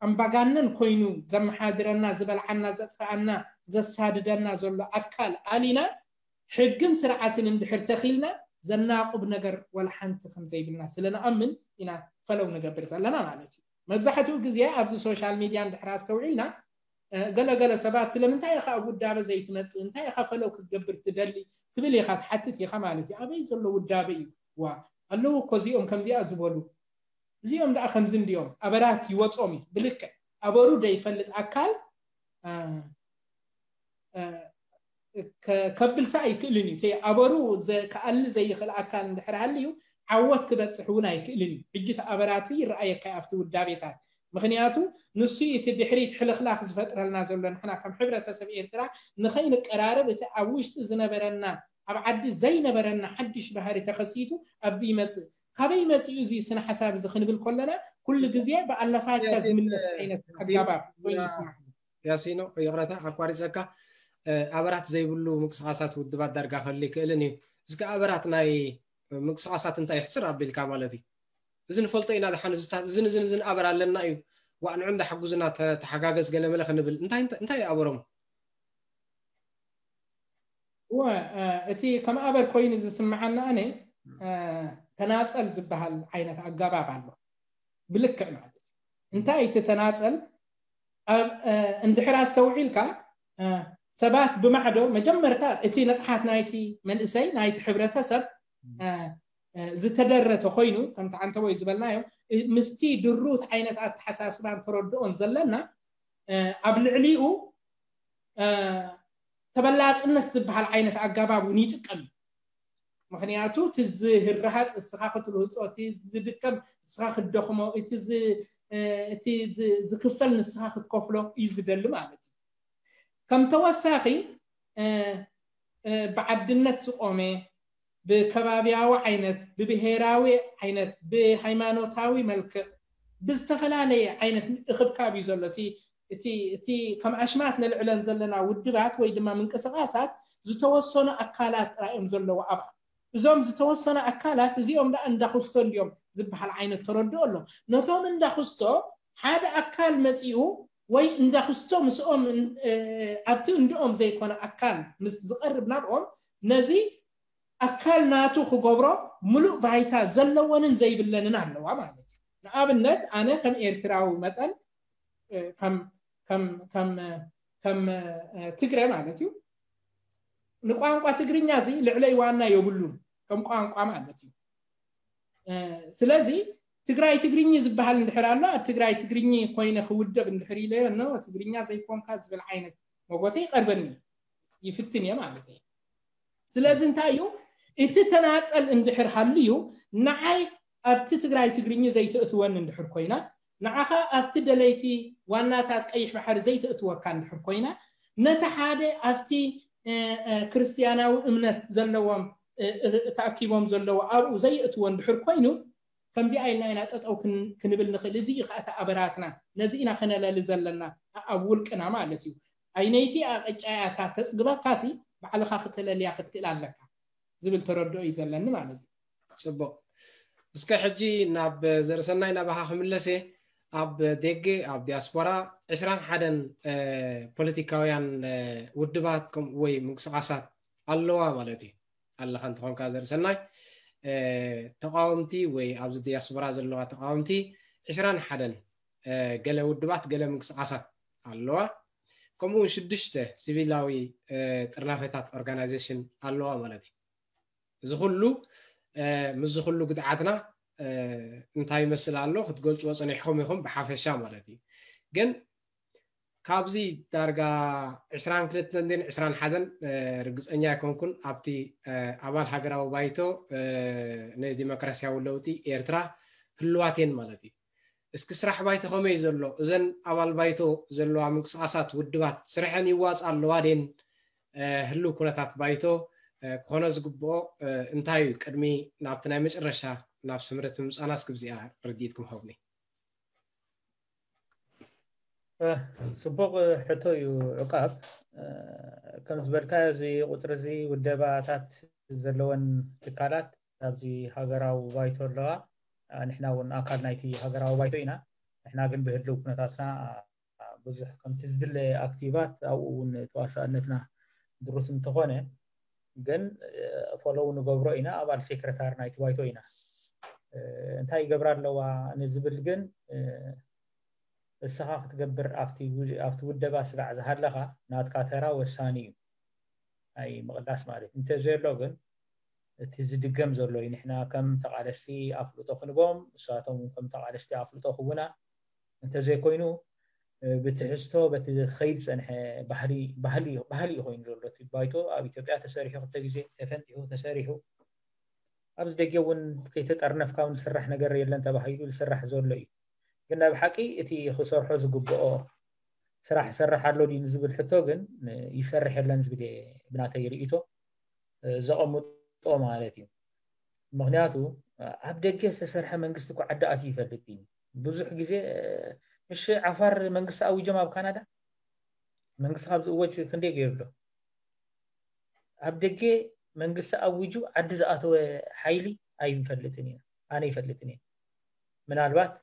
ኣምባጋነን ኮይኑ ዘመሓድረና፣ ዝበልዓና፣ ዘጥፍኣና፣ ዘሳድደና ዘሎ ኣካል ኣሊና ሕግን ስርዓትን እንድሕር ተኺልና ዘናቁብ ነገር ወላ ሓንቲ ከም ዘይብልና ስለ ንኣምን ኢና ፈለው ንገብር ዘለና ማለት እዩ። መብዛሕትኡ ግዜ ኣብዚ ሶሻል ሚድያ እንድሕር ኣስተውዒልና፣ እ፣ ገለገለ ሰባት ስለምንታይ ኢኻ ኣብ ውዳበ ዘይትመጽእ፣ እንታይ ኢኻ ፈለው ክትገብር ትደሊ ትብል ኢኻ፣ ትሓትት ኢኻ ማለት እዩ። ኣበይ ዘሎ ውዳበ እዩ? ዋ ኣለዉ እኮ እዚኦም ከምዚኣ ዝበሉ፣ እዚኦም ደኣ ከምዚ እንዲኦም። ኣበራት ይወጾም እዩ ብልክዕ። ኣበሩ ዘይፈልጥ ኣካል፣ እ፣ እ፣ ከ- ከብልሳ ኣይክእልን እዩ። እቲ ኣበሩ ዘ- ክኣሊ ዘይኽእል ኣካል እንድሕር ሃልዩ ዓወት ክበፅሕ እውን ኣይክእልን እዩ። ሕጂ እቲ ኣበራት ይረኣየካ እዩ ኣብቲ ውዳቤታት። ምክንያቱ ንሱ እዩ እቲ ድሕሪት ሕልኽላኽ ዝፈጥረልና ዘሎ። ንሕና ከም ሕብረተሰብ ኤርትራ ንኸይንቀራረብ እቲ ኣብ ውሽጢ ዝነበረና፣ ኣብ ዓዲ ዘይነበረና ሓድሽ ባህሪ ተኸሲቱ ኣብዚ ይመፅእ። ካበይ መፂኡ እዚ ስነ ሓሳብ እዚ ክንብል ከለና ኩሉ ግዜ ብኣለፋቻ ያሲን፣ ዝምለስ ዓይነት ያሲን፣ ኣገባብ ኮይኑ ይስማዕ። ያሲኖ፣ ይቕረታ ኣቋሪፀካ። እ፣ ኣበራት ዘይብሉ ምንቅስቃሳት ውድባት ዳርጋ ክህሉ ይክእልን እዩ። እስከ ኣበራት ናይ ምንቅስቃሳት እንታይ ይሕፅር ኣቢልካ ማለት እዩ? እዚ ንፈልጦ ኢና። ደሓን እዝታት እዝን እዝን እዝን ኣበር ኣለና እዩ። ዋዕ ንዑ እንዳ ሓጉዝና ተ- ተሓጋገዝ ገለመለ ክንብል እንታይ እንታይ እንታይ ኣበሮም? እወ፣ እ፣ እቲ ከም ኣበር ኮይኑ ዝስምዓና ኣነ፣ እ፣ ተናፀል ዝበሃል ዓይነት ኣገባብ ኣሎ። ብልክዕ ማለት እዩ። እንታይ እቲ ተናፀል? ኣብ፣ እ፣ እንድሕር ኣስተውዒልካ፣ እ፣ ሰባት ብማዕዶ መጀመርታ እቲ ንቕሓት ናይቲ መንእሰይ ናይቲ ሕብረተሰብ፣ እ፣ እ፣ ዝተደረ ተኮይኑ ከምቲ ዓንተቦይ ዝበልናዮ፣ እ፣ ምስቲ ድሩት ዓይነት ኣተሓሳስባን ተረድኦን ዘለና፣ እ፣ ኣብ ልዕሊኡ፣ እ፣ ተበላፅነት ዝበሃል ዓይነት ኣገባብ እውን ይጥቀም እዩ። ምክንያቱ እቲ ዝህረሃፅ ንስኻ ክትርህፆ፣ እቲ ዝድከም ንስኻ ክትደኽሞ፣ እቲ ዝ- እቲ ዝ- ዝክፈል ንስኻ ክትከፍሎ እዩ ዝደሊ ማለት እዩ። ከም ተወሳኺ፣ እ፣ እ፣ ብዓድነት ዝቆመ፣ ብከባብያዊ ዓይነት፣ ብብሄራዊ ዓይነት፣ ብሃይማኖታዊ መልክዕ፣ ብዝተፈላለየ ዓይነት እኽብካብ እዩ ዘሎ። እቲ እቲ እቲ ከም ኣሽማት ነልዕለን ዘለና ውድባት ወይ ድማ ምንቅስቃሳት ዝተወሰኑ ኣካላት ጥራይ እዮም ዘለዎ ኣብኣ። እዞም ዝተወሰኑ ኣካላት እዚኦም ደኣ እንዳክስቶ እንዲዮም ዝበሃል ዓይነት ተረድኦ ኣሎ። ነቶም እንዳክስቶ ሓደ ኣካል መፂኡ ወይ እንዳክስቶ ምስኦም እ፣ ኣብቲ እንድኦም ዘይኮነ ኣካል ምስ ዝቐርብ ናብኦም ነዚ ኣካል ናቱ ክገብሮ ምሉእ ባይታ ዘለወንን ዘይብለንን ኣለዋ ማለት እዩ። ንኣብነት ኣነ ከም ኤርትራዊ መጠን እ፣ ከም ከም ከም ከም እ፣ ትግረ ማለት እዩ ንቋንቋ ትግርኛ እዚ ልዕለይ ዋና የብሉን ከም ቋንቋ ማለት እዩ። እ፣ ስለዚ ትግራይ ትግርኝ ዝበሃል እንድሕር ኣሎ ኣብ ትግራይ ትግርኝ ኮይነ ክውደብ እንድሕር ኢለዮ ኖ ትግርኛ ዘይኮንካ ዝብል ዓይነት መጎተ ይቐርበኒ ይፍትን እየ ማለት እዩ። ስለዚ እንታይ እዩ እቲ ተናፀል እንድሕር ሃልዩ ንዓይ ኣብቲ ትግራይ ትግርኝ ዘይተእትወኒ እንድሕር ኮይና ንዓኻ ኣብቲ ደለይቲ ዋናታት ቀይሕ ባሕሪ ዘይተእትወካ እንድሕር ኮይና ነቲ ሓደ ኣብቲ እ፣ እ፣ ክርስትያናዊ እምነት ዘለዎም እ፣ እ፣ ተኣኪቦም ዘለዉ ኣብኡ ዘየእትዎ እንድሕር ኮይኑ ከምዚኣ ኢልና ኢና ጠጠው ክን- ክንብል ንኽእል። እዚ እዩ ከዓ እቲ ኣበራትና ነዚ ኢና ክነለሊ ዘለና ኣብ ውልቅና ማለት እዩ። ኣይነይቲ ኣቀጫያ እታ ተፅግበካሲ ባዕልኻ ክተለልያ ክትክእል ኣለካ ዝብል ተረድኦ እዩ ዘለኒ ማለት እዩ። ፅቡቅ። እስከ ሕጂ ናብ ዘርሰናይ ናባኻ ክምለስ እየ። ኣብ ደገ ኣብ ዲያስፖራ ዕስራን ሓደን ፖለቲካውያን ውድባት ወይ ምንቅስቃሳት ኣለዋ ማለት እዩ። ኣለኻ እንተኾንካ ዘርሰናይ ተቃወምቲ ወይ ኣብዚ ዲያስፖራ ዘለዋ ተቃወምቲ ዕስራን ሓደን ገለ ውድባት ገለ ምንቅስቃሳት ኣለዋ። ከምኡ እውን ሽዱሽተ ሲቪላዊ ጥርናፈታት ኦርጋናይዜሽን ኣለዋ ማለት እዩ። እዚ ኩሉ ምስዚ ኩሉ ግድዓትና እንታይ ይመስል ኣሎ ክትገልፅዎ ፀኒሕኩም ኢኹም ብሓፈሻ ማለት እዩ። ግን ካብዚ ዳርጋ ዕስራን ክልተን ዕስራን ሓደን ርግፀኛ ኣይኮንኩን ኣብቲ ኣባል ሃገራዊ ባይቶ ንዲሞክራሲያዊ ለውጢ ኤርትራ ህልዋት እየን ማለት እዩ። እስኪ ስራሕ ባይቶ ከመይ ዘሎ እዘን ኣባል ባይቶ ዘለዋ ምንቅስቃሳት ውድባት ስርሐን ይዋፃ ኣለዋ ደን ህልው ኩነታት ባይቶ ክኾነ ዝግብኦ እንታይ እዩ ቅድሚ ናብቲ ናይ መጨረሻ ናብ ስምረት ምምፃና እስኪ ብዚኣ ርድኢትኩም ሃቡኒ። ጽቡቕ ሕቶ እዩ። ዕቃብ ከም ዝበልካ፣ እዚ ቁፅሪ እዚ ውደባታት ዘለወን ትካላት ኣብዚ ሃገራዊ ባይቶ ኣለዋ። ንሕና እውን ኣካል ናይቲ ሃገራዊ ባይቶ ኢና። ንሕና ግን ብህልው ኩነታትና ብዙሕ ከምቲ ዝድለ ኣክቲቫት ኣብኡ እውን ተዋሳእነትና ድሩት እንተኾነ፣ ግን ፎሎው ንገብሮ ኢና። ኣባል ሴክረታሪ ናይቲ ባይቶ ኢና። እንታይ ይገብራ ኣለዋ ንዝብል ግን፣ እስኻ ክትገብር ኣብቲ ውደባ ስጋዕ ዝሃለኻ ናትካ ተራ ወሳኒ እዩ። ናይ ምቕላስ ማለት እንተዘየሎ ግን፣ እቲ ዝድገም ዘሎ እዩ። ንሕና ከም ተቓለስቲ ኣፍልጦ ክንቦም፣ እሳቶም ከም ተቓለስቲ ኣፍልጦ ክቡና። እንተዘይኮይኑ፣ ብትሕዝቶ በቲ ኸይድ ዝፀንሐ ባህሊ እዩ ኮይኑ ዘሎ። እቲ ባይቶ ኣብ ኢትዮጵያ ተሰሪሑ፣ ክልተ ግዜ ተፈንጢሑ ተሰሪሑ፣ ኣብዚ ደገ እውን ከይተጠርነፍካ እውን ዝስራሕ ነገር የለን ተባሂሉ ዝስራሕ ዘሎ እዩ። ግን ናይ ብሓቂ እቲ ክሰርሖ ዝግብኦ ስራሕ ይሰርሕ ኣሎ ድዩ ንዝብል ሕቶ ግን፣ ይሰርሕ የለን ዝብል እየ ብናተይ ርእይቶ ዘቐምጦ ማለት እዩ። ምክንያቱ ኣብ ደገ ዝተሰርሐ መንግስቲ እኮ ዓዲ ኣትዩ ይፈልጥ እዩ። ብዙሕ ግዜ፣ እሺ፣ ዓፋር መንግስቲ ኣዊጆም ኣብ ካናዳ፣ መንግስቲ ካብዚ እወጅ ክንደይ ገይሩ ኣሎ? ኣብ ደገ መንግስቲ ኣዊጁ ዓዲ ዝኣተወ ሓይሊ ኣይንፈልጥን ኢና፣ ኣነ ይፈልጥን እየ። ምናልባት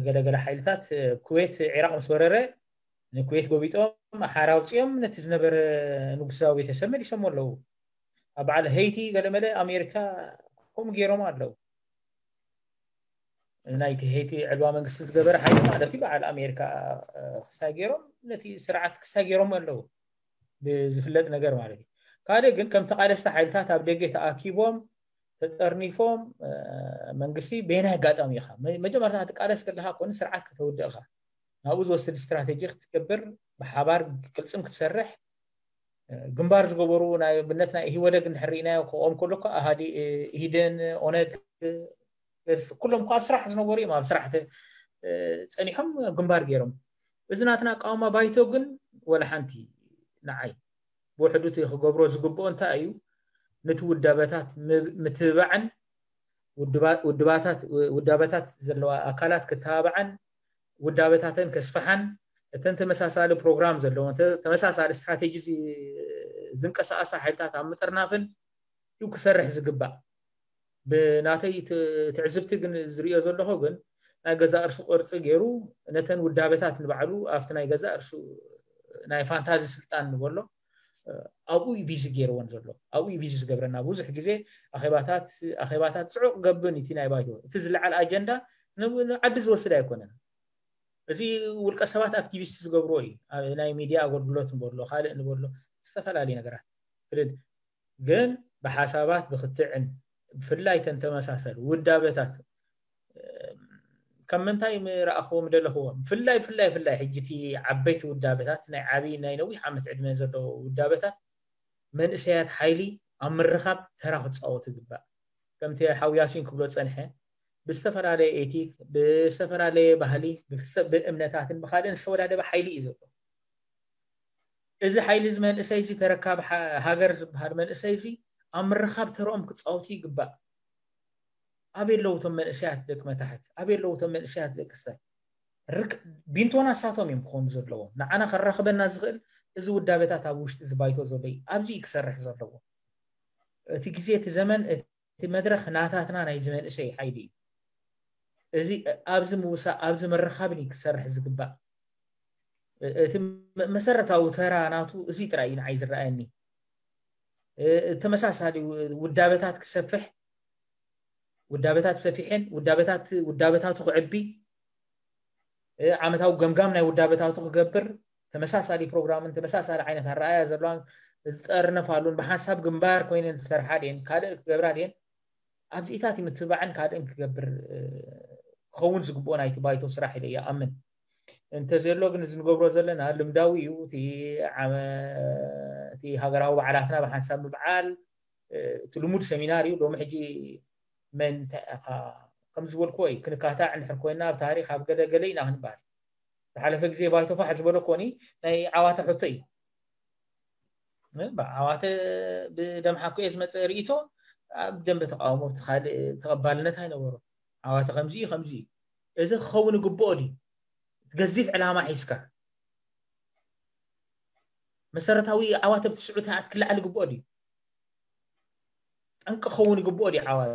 ገለገለ ሓይልታት ኩዌት ዒራቕ ምስ ወረረ ንኩዌት ጎቢጦም ሓራ ኣውፂኦም ነቲ ዝነበረ ንጉሳዊ ቤተሰብ መሊሶም ኣለዉ። ኣብ በዓል ሄይቲ ገለመለ ኣሜሪካ ከምኡ ገይሮም ኣለዉ። ናይቲ ሄይቲ ዕልዋ መንግስቲ ዝገበረ ሓይሊ ማለት እዩ። በዓል ኣሜሪካ ክሳይ ገይሮም ነቲ ስርዓት ክሳይ ገይሮም ኣለዉ ብዝፍለጥ ነገር ማለት እዩ። ካልእ ግን ከም ተቓለስቲ ሓይልታት ኣብ ደገ ተኣኪቦም ተጠርኒፎም መንግስቲ በየናይ ኣጋጣሚ ኢኻ መጀመርታ ክትቃለስ ከለካ ኮነ ስርዓት ከተውድእ ኢኻ ናብኡ ዝወስድ ስትራቴጂ ክትገብር ብሓባር ቅልፅም ክትሰርሕ ግንባር ዝገበሩ ናይ ኣብነት ናይ ኢህወደግ እንድሕር ርኢናዮ ክኦም ከሎ እኮ ኣሃዲ ኢህዴን ኦነግ ኩሎም እኮ ኣብ ስራሕ ዝነበሩ እዮም ኣብ ስራሕ ጸኒሖም ግንባር ገይሮም እዚ ናትና ኣቃውማ ባይቶ ግን ወላ ሓንቲ ንዓይ ብውሕዱ እቲ ክገብሮ ዝግብኦ እንታይ እዩ ነቲ ውዳበታት ምትብባዕን ውዳበታት ዘለዋ ኣካላት ክተባብዓን ውዳበታተን ከስፍሓን እተን ተመሳሳሊ ፕሮግራም ዘለዎን ተመሳሳሊ ስትራቴጂ ዝንቀሳቐሳ ሓይልታት ኣብ ምጥርናፍን እዩ ክሰርሕ ዝግባእ። ብናተይ ትዕዝብቲ ግን ዝሪኦ ዘለኹ ግን ናይ ገዛ እርሱ ቅርፂ ገይሩ ነተን ውዳበታት ንባዕሉ ኣብቲ ናይ ገዛ እርሱ ናይ ፋንታዚ ስልጣን ንበሎ ኣብኡ እዩ ቢዚ ገይርዎን ዘሎ ኣብኡ እዩ ቢዚ ዝገብረና ብዙሕ ግዜ ኣኼባታት ኣኼባታት ፅዑቕ ገብን እቲ ናይ ባይቶ እቲ ዝለዓል ኣጀንዳ ዓዲ ዝወስድ ኣይኮነን እዚ ውልቀ ሰባት ኣክቲቪስት ዝገብርዎ እዩ ናይ ሚድያ ኣገልግሎት ንበሎ ካልእ ንበሎ ዝተፈላለዩ ነገራት ክልል ግን ብሓሳባት ብክትዕን ብፍላይ ተን ተመሳሰል ውዳበታት ከም ምንታይ ምረኣኽዎም ደለኽዎም ብፍላይ ብፍላይ ብፍላይ ሕጂ እቲ ዓበይቲ ውዳበታት ናይ ዓብዪ ናይ ነዊሕ ዓመት ዕድመ ዘለዎ ውዳበታት መንእሰያት ሓይሊ ኣብ ምርኻብ ተራ ክፃወቱ ይግባእ ከምቲ ሓው ያሲን ክብሎ ፀንሐ ብዝተፈላለየ ኤቲክ ብዝተፈላለየ ባህሊ ብእምነታትን ብካልእን ዝተወዳደበ ሓይሊ እዩ ዘሎ እዚ ሓይሊ እዚ መንእሰይ እዚ ተረካቢ ሃገር ዝበሃል መንእሰይ እዚ ኣብ ምርኻብ ተረኦም ክፃወቱ ይግባእ። ኣበይ ኣለዉ እቶም መንእሰያት ደቂ መታሕት? ኣበይ ኣለዉ እቶም መንእሰያት ደቂ ስታይ? ቢንቶና እሳቶም እዮም ክኾኑ ዘለዎም። ንዓና ከራኽበና ዝኽእል እዚ ውዳበታት ኣብ ውሽጢ እዚ ባይቶ ዘሎ እዩ። ኣብዚ እዩ ክሰርሕ ዘለዎ። እቲ ግዜ እቲ ዘመን እቲ መድረኽ ናታትና ናይ ዝመንእሰይ ሓይሊ እዩ። እዚ ኣብዚ ምውሳእ ኣብዚ ምርኻብን እዩ ክሰርሕ ዝግባእ። እቲ መሰረታዊ ተራ ናቱ እዚ ጥራይ እዩ ንዓይ ዝረኣየኒ። ተመሳሳሊ ውዳበታት ክሰፍሕ ውዳበታት ሰፊሐን ውዳበታት ውዳበታቱ ክዕቢ ዓመታዊ ገምጋም ናይ ውዳበታቱ ክገብር ተመሳሳሊ ፕሮግራምን ተመሳሳሊ ዓይነት ኣረኣያ ዘለዋን ዝጠርነፋሉን ብሓንሳብ ግንባር ኮይነን ዝሰርሓ ድየን ካልእ ክገብራ ድየን ኣብዚኢታት ምትብባዕን ካልእን ክገብር ክኸውን ዝግብኦ ናይቲ ባይቶ ስራሕ ኢለ ይኣምን። እንተዘሎ ግን እዚ ንገብሮ ዘለና ልምዳዊ እዩ። እቲ ሃገራዊ በዓላትና ብሓንሳብ ምብዓል እቲ ልሙድ ሰሚናር እዩ። ሎሚ ሕጂ መን እንታይ ኢኻ ከም ዝበልክዎ እዩ ክንካታዕ እንድሕር ኮይና ኣብ ታሪክ ኣብ ገለ ገለ ኢና ክንበሃል። ዝሓለፈ ግዜ ባይቶ ፋሕ ዝበሎ ኮኒ ናይ ዓዋተ ሕቶ እዩ። ዓዋተ ብደምሓኩ እየ ዝመፀ ርእቶ ኣብ ደንበ ተቃውሞ እቲ ካልእ ተቐባልነት ኣይነበሮ። ዓዋተ ከምዚ እዩ፣ ከምዚ እዩ። እዚ ክኸውን ይግብኦ ድዩ? ገዚፍ ዕላማ ሒዝካ መሰረታዊ ዓዋተ ብትስዑ ተኣት ክልዓል ይግብኦ ድዩ? ጠንቂ ክኸውን ይግብኦ ድዩ? ዓዋተ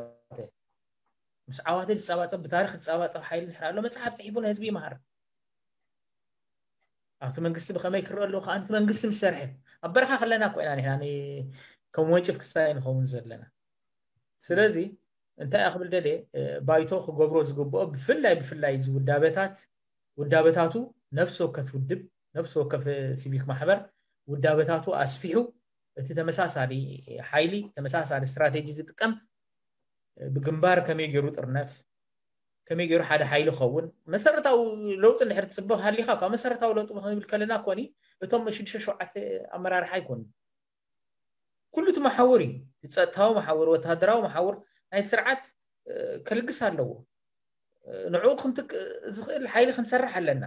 ምስ ዓዋተ ዝጸባጸብ፣ ብታሪኽ ዝጸባጸብ ሓይሊ እንድሕር ኣሎ፣ መጽሓፍ ጽሒፉ ንህዝቢ ይምሃር። ኣብቲ መንግስቲ ብኸመይ ክረአ ኣለዎ ከዓ፣ እቲ መንግስቲ ምስ ሰርሐ፣ ኣብ በረኻ ከለና እኮ ኢና ንሕና ን-፣ ከም ወንጭፍ ክሳይ ንኸውን ዘለና። ስለዚ እንታይ እያ ክብል ደልየ፣ እ፣ ባይቶ ክገብሮ ዝግብኦ፣ ብፍላይ ብፍላይ እዚ ውዳበታት፣ ውዳበታቱ፣ ነፍሲ ወከፍ ውድብ፣ ነፍሲ ወከፍ ሲቪክ ማሕበር ውዳበታቱ ኣስፊሑ፣ እቲ ተመሳሳሊ ሓይሊ፣ ተመሳሳሊ ስትራቴጂ ዝጥቀም፣ እ፣ ብግንባር ከመይ ገይሩ ጥርነፍ፣ ከመይ ገይሩ ሓደ ሓይሊ ኸውን፣ መሰረታዊ ለውጢ እንድሕር ትጽበ ሃሊኻ፣ ካብ መሰረታዊ ለውጢ ክንብል ከለና ኮኒ፣ እቶም ሽዱሽተ ሸውዓተ ኣመራርሓ ኣይኮኑን። ኩሉ እቲ መሓውር እዩ። እቲ ጸጥታዊ መሓውር፣ ወተሃደራዊ መሓውር ናይ ስርዓት፣ እ፣ ከልግስ ኣለዎ። እ፣ ንዕኡ ክንትክ-፣ ዝኽእል ሓይሊ ክንሰርሕ ኣለና።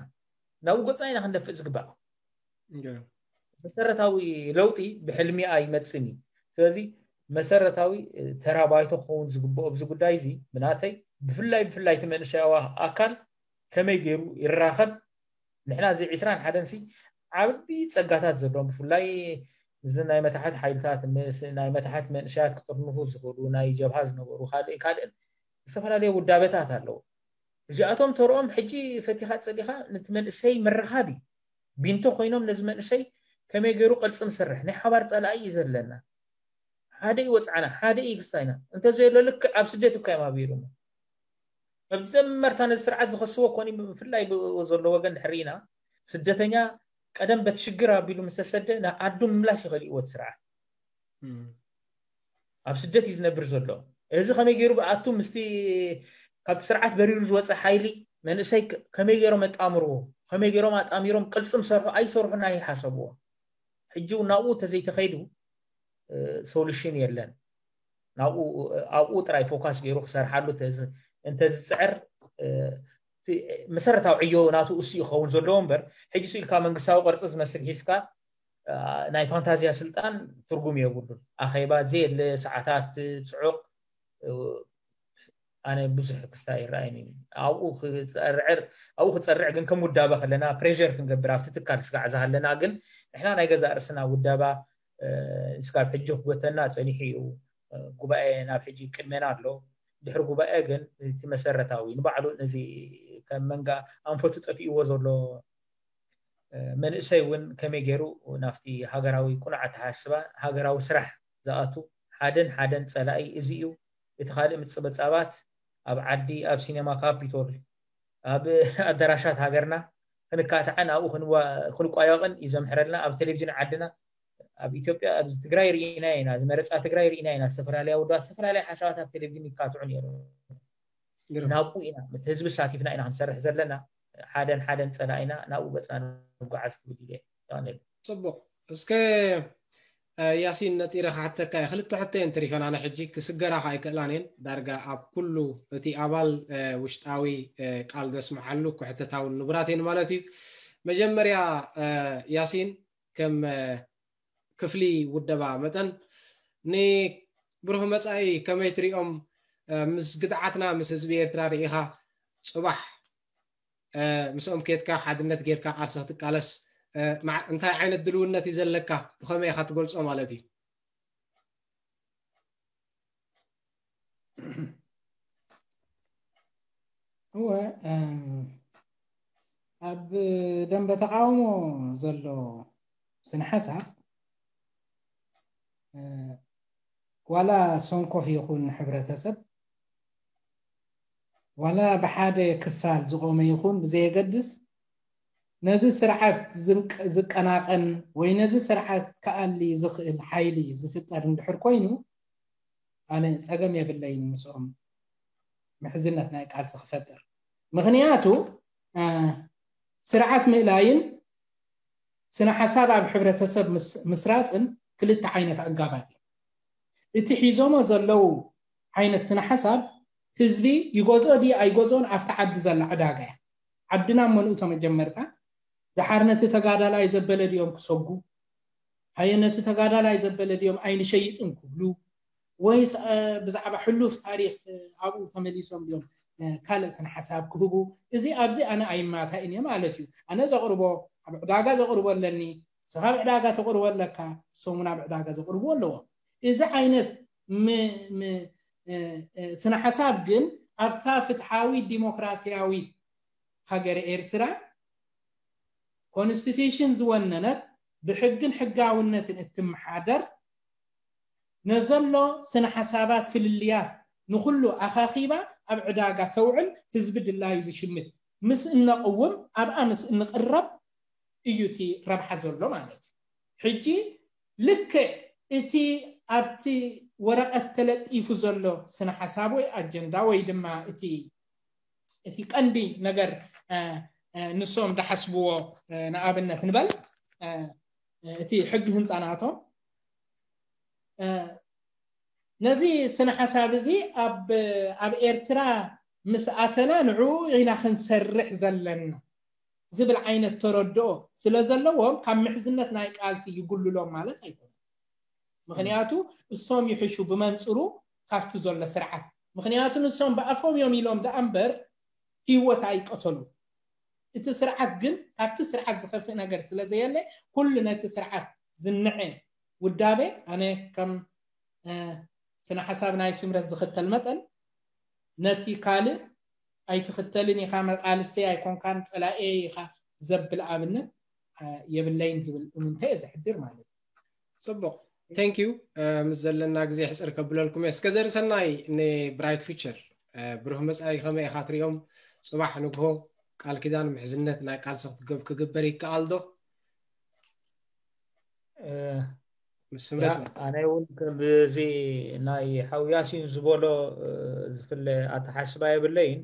ናብኡ ገጽና ኢና ክንደፍእ ዝግባእ። መሰረታዊ ለውጢ ብሕልሚ ኣይመጽእን እዩ። ስለዚ መሰረታዊ፣ እ፣ ተራ ባይቶ ክኸውን ዝግብኦ ኣብዚ ጉዳይ እዚ ብናተይ፣ ብፍላይ፣ ብፍላይ እቲ መንእሰያዊ ኣካል ከመይ ገይሩ ይራኸብ? ንሕና እዚ ዕስራን ሓደን ሲ ዓቢ ጸጋታት ዘለዎም፣ ብፍላይ እዚ ናይ መታሕት ሓይልታት፣ ምስ ናይ መታሕት መንእሰያት ክጥርንፉ ዝኽእሉ፣ ናይ ጀብሃ ዝነበሩ፣ ካልእ ካልእን ዝተፈላለዩ ውዳበታት ኣለዉ። እዚኣቶም ተርኦም ሕጂ ፈቲኻ ጸሊኻ ነቲ መንእሰይ ምርኻብ እዩ። ቢንቶ ኮይኖም ነዚ መንእሰይ ከመይ ገይሩ ቅልጽም ስርሕ፣ ናይ ሓባር ጸላኢ እዩ ዘለና። ሓደ እዩ ወጽዓና፣ ሓደ እዩ ክስታይና። እንተዘየሎ ልክዕ ኣብ ስደት እኳ እዮም ኣብሂሮሞ። መጀመርታ ነዚ ስርዓት ዝኸስዎ ኮኒ፣ ብፍላይ ብኡ ዘሎ ወገን ድሕር ኢና፣ ስደተኛ ቀደም በት ሽግር ኣቢሉ ምስ ተሰደ ናብ ዓዱ ምምላሽ ይኽእል እዩ እቲ ስርዓት። እም። ኣብ ስደት እዩ ዝነብር ዘሎ። እዚ ከመይ ገይሩ ብኣቱ ምስቲ ካብቲ ስርዓት በሪሩ ዝወፀ ሓይሊ መንእሰይ ከ-፣ ከመይ ገይሮም ኣጣምርዎ፣ ከመይ ገይሮም ኣጣሚሮም ቅልፅም ሰርሑ ኣይሰርሑን ኣይሓሰብዎ። ሕጂ እውን ናብኡ እንተዘይተኸይዱ፣ እ፣ ሶሉሽን የለን። ናብኡ፣ ኣብኡ ጥራይ ፎካስ ገይሩ ክሰርሓሉ እንተዝ-፣ እንተዝፅዕር፣ እ፣ እቲ መሰረታዊ ዕዮ ናቱ እሱ ይኸውን ዘለዎ እምበር፣ ሕጂ ስኢልካ መንግስታዊ ቅርፂ ዝመስል ሒዝካ፣ እ፣ ናይ ፋንታዝያ ስልጣን ትርጉም የብሉን። ኣኼባ ዘየለ፣ ሰዓታት ፅዑቕ፣ እ፣ ኣነ ብዙሕ ክስታ ይረኣይኒ። ኣብኡ ክፀርዕር፣ ኣብኡ ክፀርዕ ግን ከም ውዳበ ከለና ፕሬር ክንገብር ኣብቲ ትካል ስጋዕ ዝሃለና ግን ንሕና ናይ ገዛእ ርእስና ውዳባ፣ እ፣ እስካብ ሕጂ ክጎተና ፀኒሑ እዩ። እ፣ ጉባኤ ናብ ሕጂ ቅድሜና ኣሎ። ድሕሪ ጉባኤ ግን እቲ መሰረታዊ ንባዕሉ ነዚ ከም መንጋ ኣንፈቱ ጠፊእዎ ዘሎ፣ እ፣ መንእሰይ እውን ከመይ ገይሩ ናብቲ ሃገራዊ ቁኑዕ ኣተሓሳስባ ሃገራዊ ስራሕ ዝኣቱ ሓደን ሓደን ጸላኢ እዚ እዩ። እቲ ካልእ ምጽብጻባት ኣብ ዓዲ፣ ኣብ ሲኔማ ካፒቶል፣ ኣብ ኣዳራሻት ሃገርና ክንካታዕን ኣብኡ ክንዋ-፣ ክንቋየቕን እዩ ዘምሕረልና። ኣብ ቴሌቪዥን ዓድና ኣብ ኢትዮጵያ፣ ኣብዚ ትግራይ ርኢና ኢና፣ ዝመረፃ ትግራይ ርኢና ኢና። ዝተፈላለያ ውድባት ዝተፈላለያ ሓሳባት ኣብ ቴሌቪዥን ይካትዑ ነይሩ። ግርም። ናብኡ ኢና፣ ምስ ህዝቢ ሳቲፍና ኢና ክንሰርሕ ዘለና። ሓደን ሓደን ጸላኢና ናብኡ ገጽና ንጓዓዝ ክብል ኢለ። የቐንየለይ። ጽቡቕ። እስከ፣ እ፣ ያሲን፣ ነጢረ ክሓተካ እየ። ክልተ ሕቶ እየን ተሪፈን። ኣነ ሕጂ ክስገራ ከኣ ኣይክእላን እየን። ዳርጋ ኣብ ኩሉ እቲ ኣባል፣ እ፣ ውሽጣዊ፣ እ፣ ቃል ዘስምዓሉ ክሕተታ እውን ንቡራት እየን ማለት እዩ። መጀመርያ፣ እ፣ ያሲን፣ ከም፣ እ፣ ክፍሊ ውደባ መጠን ንብሩህ መጻኢ ከመይ ትሪኦም? እ፣ ምስ ግድዓትና ምስ ህዝቢ ኤርትራ ርኢኻ ጽባሕ፣ እ፣ ምስኦም ኬድካ ሓድነት ጌርካ ቃልሲ ክትቃለስ፣ እ፣ ማዕ-፣ እንታይ ዓይነት ድልውነት እዩ ዘለካ? ብኸመይ ኢኻ ትገልጾ ማለት እዩ? እወ፣ እም፣ ኣብ ደንበ ተቃውሞ ዘሎ ስነ ሓሳብ፣ እ፣ ዋላ ሰንኮፍ ይኹን ሕብረተሰብ፣ ዋላ ብሓደ ክፋል ዝቆመ ይኹን ብዘየገድስ፣ ነዚ ስርዓት ዝንቅ-፣ ዝቀናቐን ወይ ነዚ ስርዓት ክኣሊ ዝኽእል ሓይሊ ዝፍጠር እንድሕር ኮይኑ፣ ኣነ ጸገም የብለይን ምስኦም ምሕዝነት ናይ ቃልሲ ክፈጥር። ምኽንያቱ፣ እ፣ ስርዓት ምእላይን ስነ ሓሳብ ኣብ ሕብረተሰብ ምስ-፣ ምስራጽን ክልተ ዓይነት ኣጋባብ እዩ። እቲ ሒዞሞ ዘለዉ ዓይነት ስነ ሓሳብ ህዝቢ ይገዝኦ ድዩ ኣይገዝኦን ኣብቲ ዓዲ ዘላ ዕዳጋ እያ። ዓድና እሞ ንእቶ መጀመርታ ደሓር ነቲ ተጋዳላይ ዘበለ ድዮም ክሰጉ? ሃየ ነቲ ተጋዳላይ ዘበለ ድዮም ኣይንሸይጥን ክብሉ? ወይስ ብዛዕባ ሕሉፍ ታሪኽ ኣብኡ ተመሊሶም ድዮም ካልእ ስነ ሓሳብ ክህቡ? እዚ ኣብዚ ኣነ ኣይማታእን እየ ማለት እዩ። ኣነ ዘቕርቦ፣ ኣብ ዕዳጋ ዘቕርቦ ኣለኒ፣ ንስኻ ኣብ ዕዳጋ ተቕርቦ ኣለካ፣ እሶም እውን ኣብ ዕዳጋ ዘቕርቡ ኣለዎም። እዚ ዓይነት ስነ ሓሳብ ግን ኣብታ ፍትሓዊት ዲሞክራሲያዊት ሃገረ ኤርትራ ኮንስቲቱሽን ዝወነነት፣ ብሕግን ሕጋውነትን እትመሓደር፣ ነዘሎ ስነ ሓሳባት ፍልልያት ንኹሉ ኣኻኺባ ኣብ ዕዳጋ ተውዕል፣ ህዝቢ ድላዩ ዝሽምት ምስ እነቕውም፣ ኣብኣ ምስ እንቕረብ እዩ እቲ ረብሓ ዘሎ ማለት እዩ። ሕጂ ልክዕ እቲ ኣብቲ ወረቐት ተለጢፉ ዘሎ ስነ ሓሳብ ወይ ኣጀንዳ ወይ ድማ እቲ እቲ ቀንዲ ነገር ንሶም ዝሓስብዎ፣ ንኣብነት ንበል እቲ ሕጊ ህንፃ ናቶም፣ ነዚ ስነ ሓሳብ እዚ ኣብ ኤርትራ ምስ ኣተና ንዕኡ ኢና ክንሰርሕ ዘለና ዝብል ዓይነት ተረድኦ ስለ ዘለዎም፣ ካብ ምሕዝነት ናይ ቃልሲ ይጉልሎም ማለት ኣይኮነን። ምክንያቱ እሶም ይሕሹ ብመንፅሩ ካብቲ ዘሎ ስርዓት። ምክንያቱ ንሶም ብኣፎም እዮም ኢሎም ደኣ እምበር ህይወት ኣይቀተሉ። እቲ ስርዓት ግን ካብቲ ስርዓት ዝኸፍእ ነገር ስለ ዘየለ፣ ኩሉ ነቲ ስርዓት ዝንዐ ውዳቤ፣ ኣነ ከም ስነ ሓሳብ ናይ ስምረት ዝኽተል መጠን፣ ነቲ ካልእ ኣይትኽተልን ኢኻ፣ መቃልስተይ ኣይኮንካን፣ ጸላኤ ኢኻ ዘብል ኣብነት የብለይን ዝብል እምንተ እየ ዘሕድር ማለት እዩ። ጽቡቕ፣ thank you። ምስ ዘለና ግዜ ሕጽር ከብለልኩም እየ። እስከ ዘርሰናይ ንብራይት ፊቸር፣ ብሩህ መጻኢ ከመይ ኢኻ ትሪኦም? ጽባሕ ንግሆ ቃል ኪዳን ምሕዝነት ናይ ቃልሲ ክትገብ ክግበር ይከኣል ዶ? ምስ ስምረት ኣነ እውን ከምዚ ናይ ሓው ያሲን ዝበሎ ዝፍለ ኣተሓስባ የብለይን።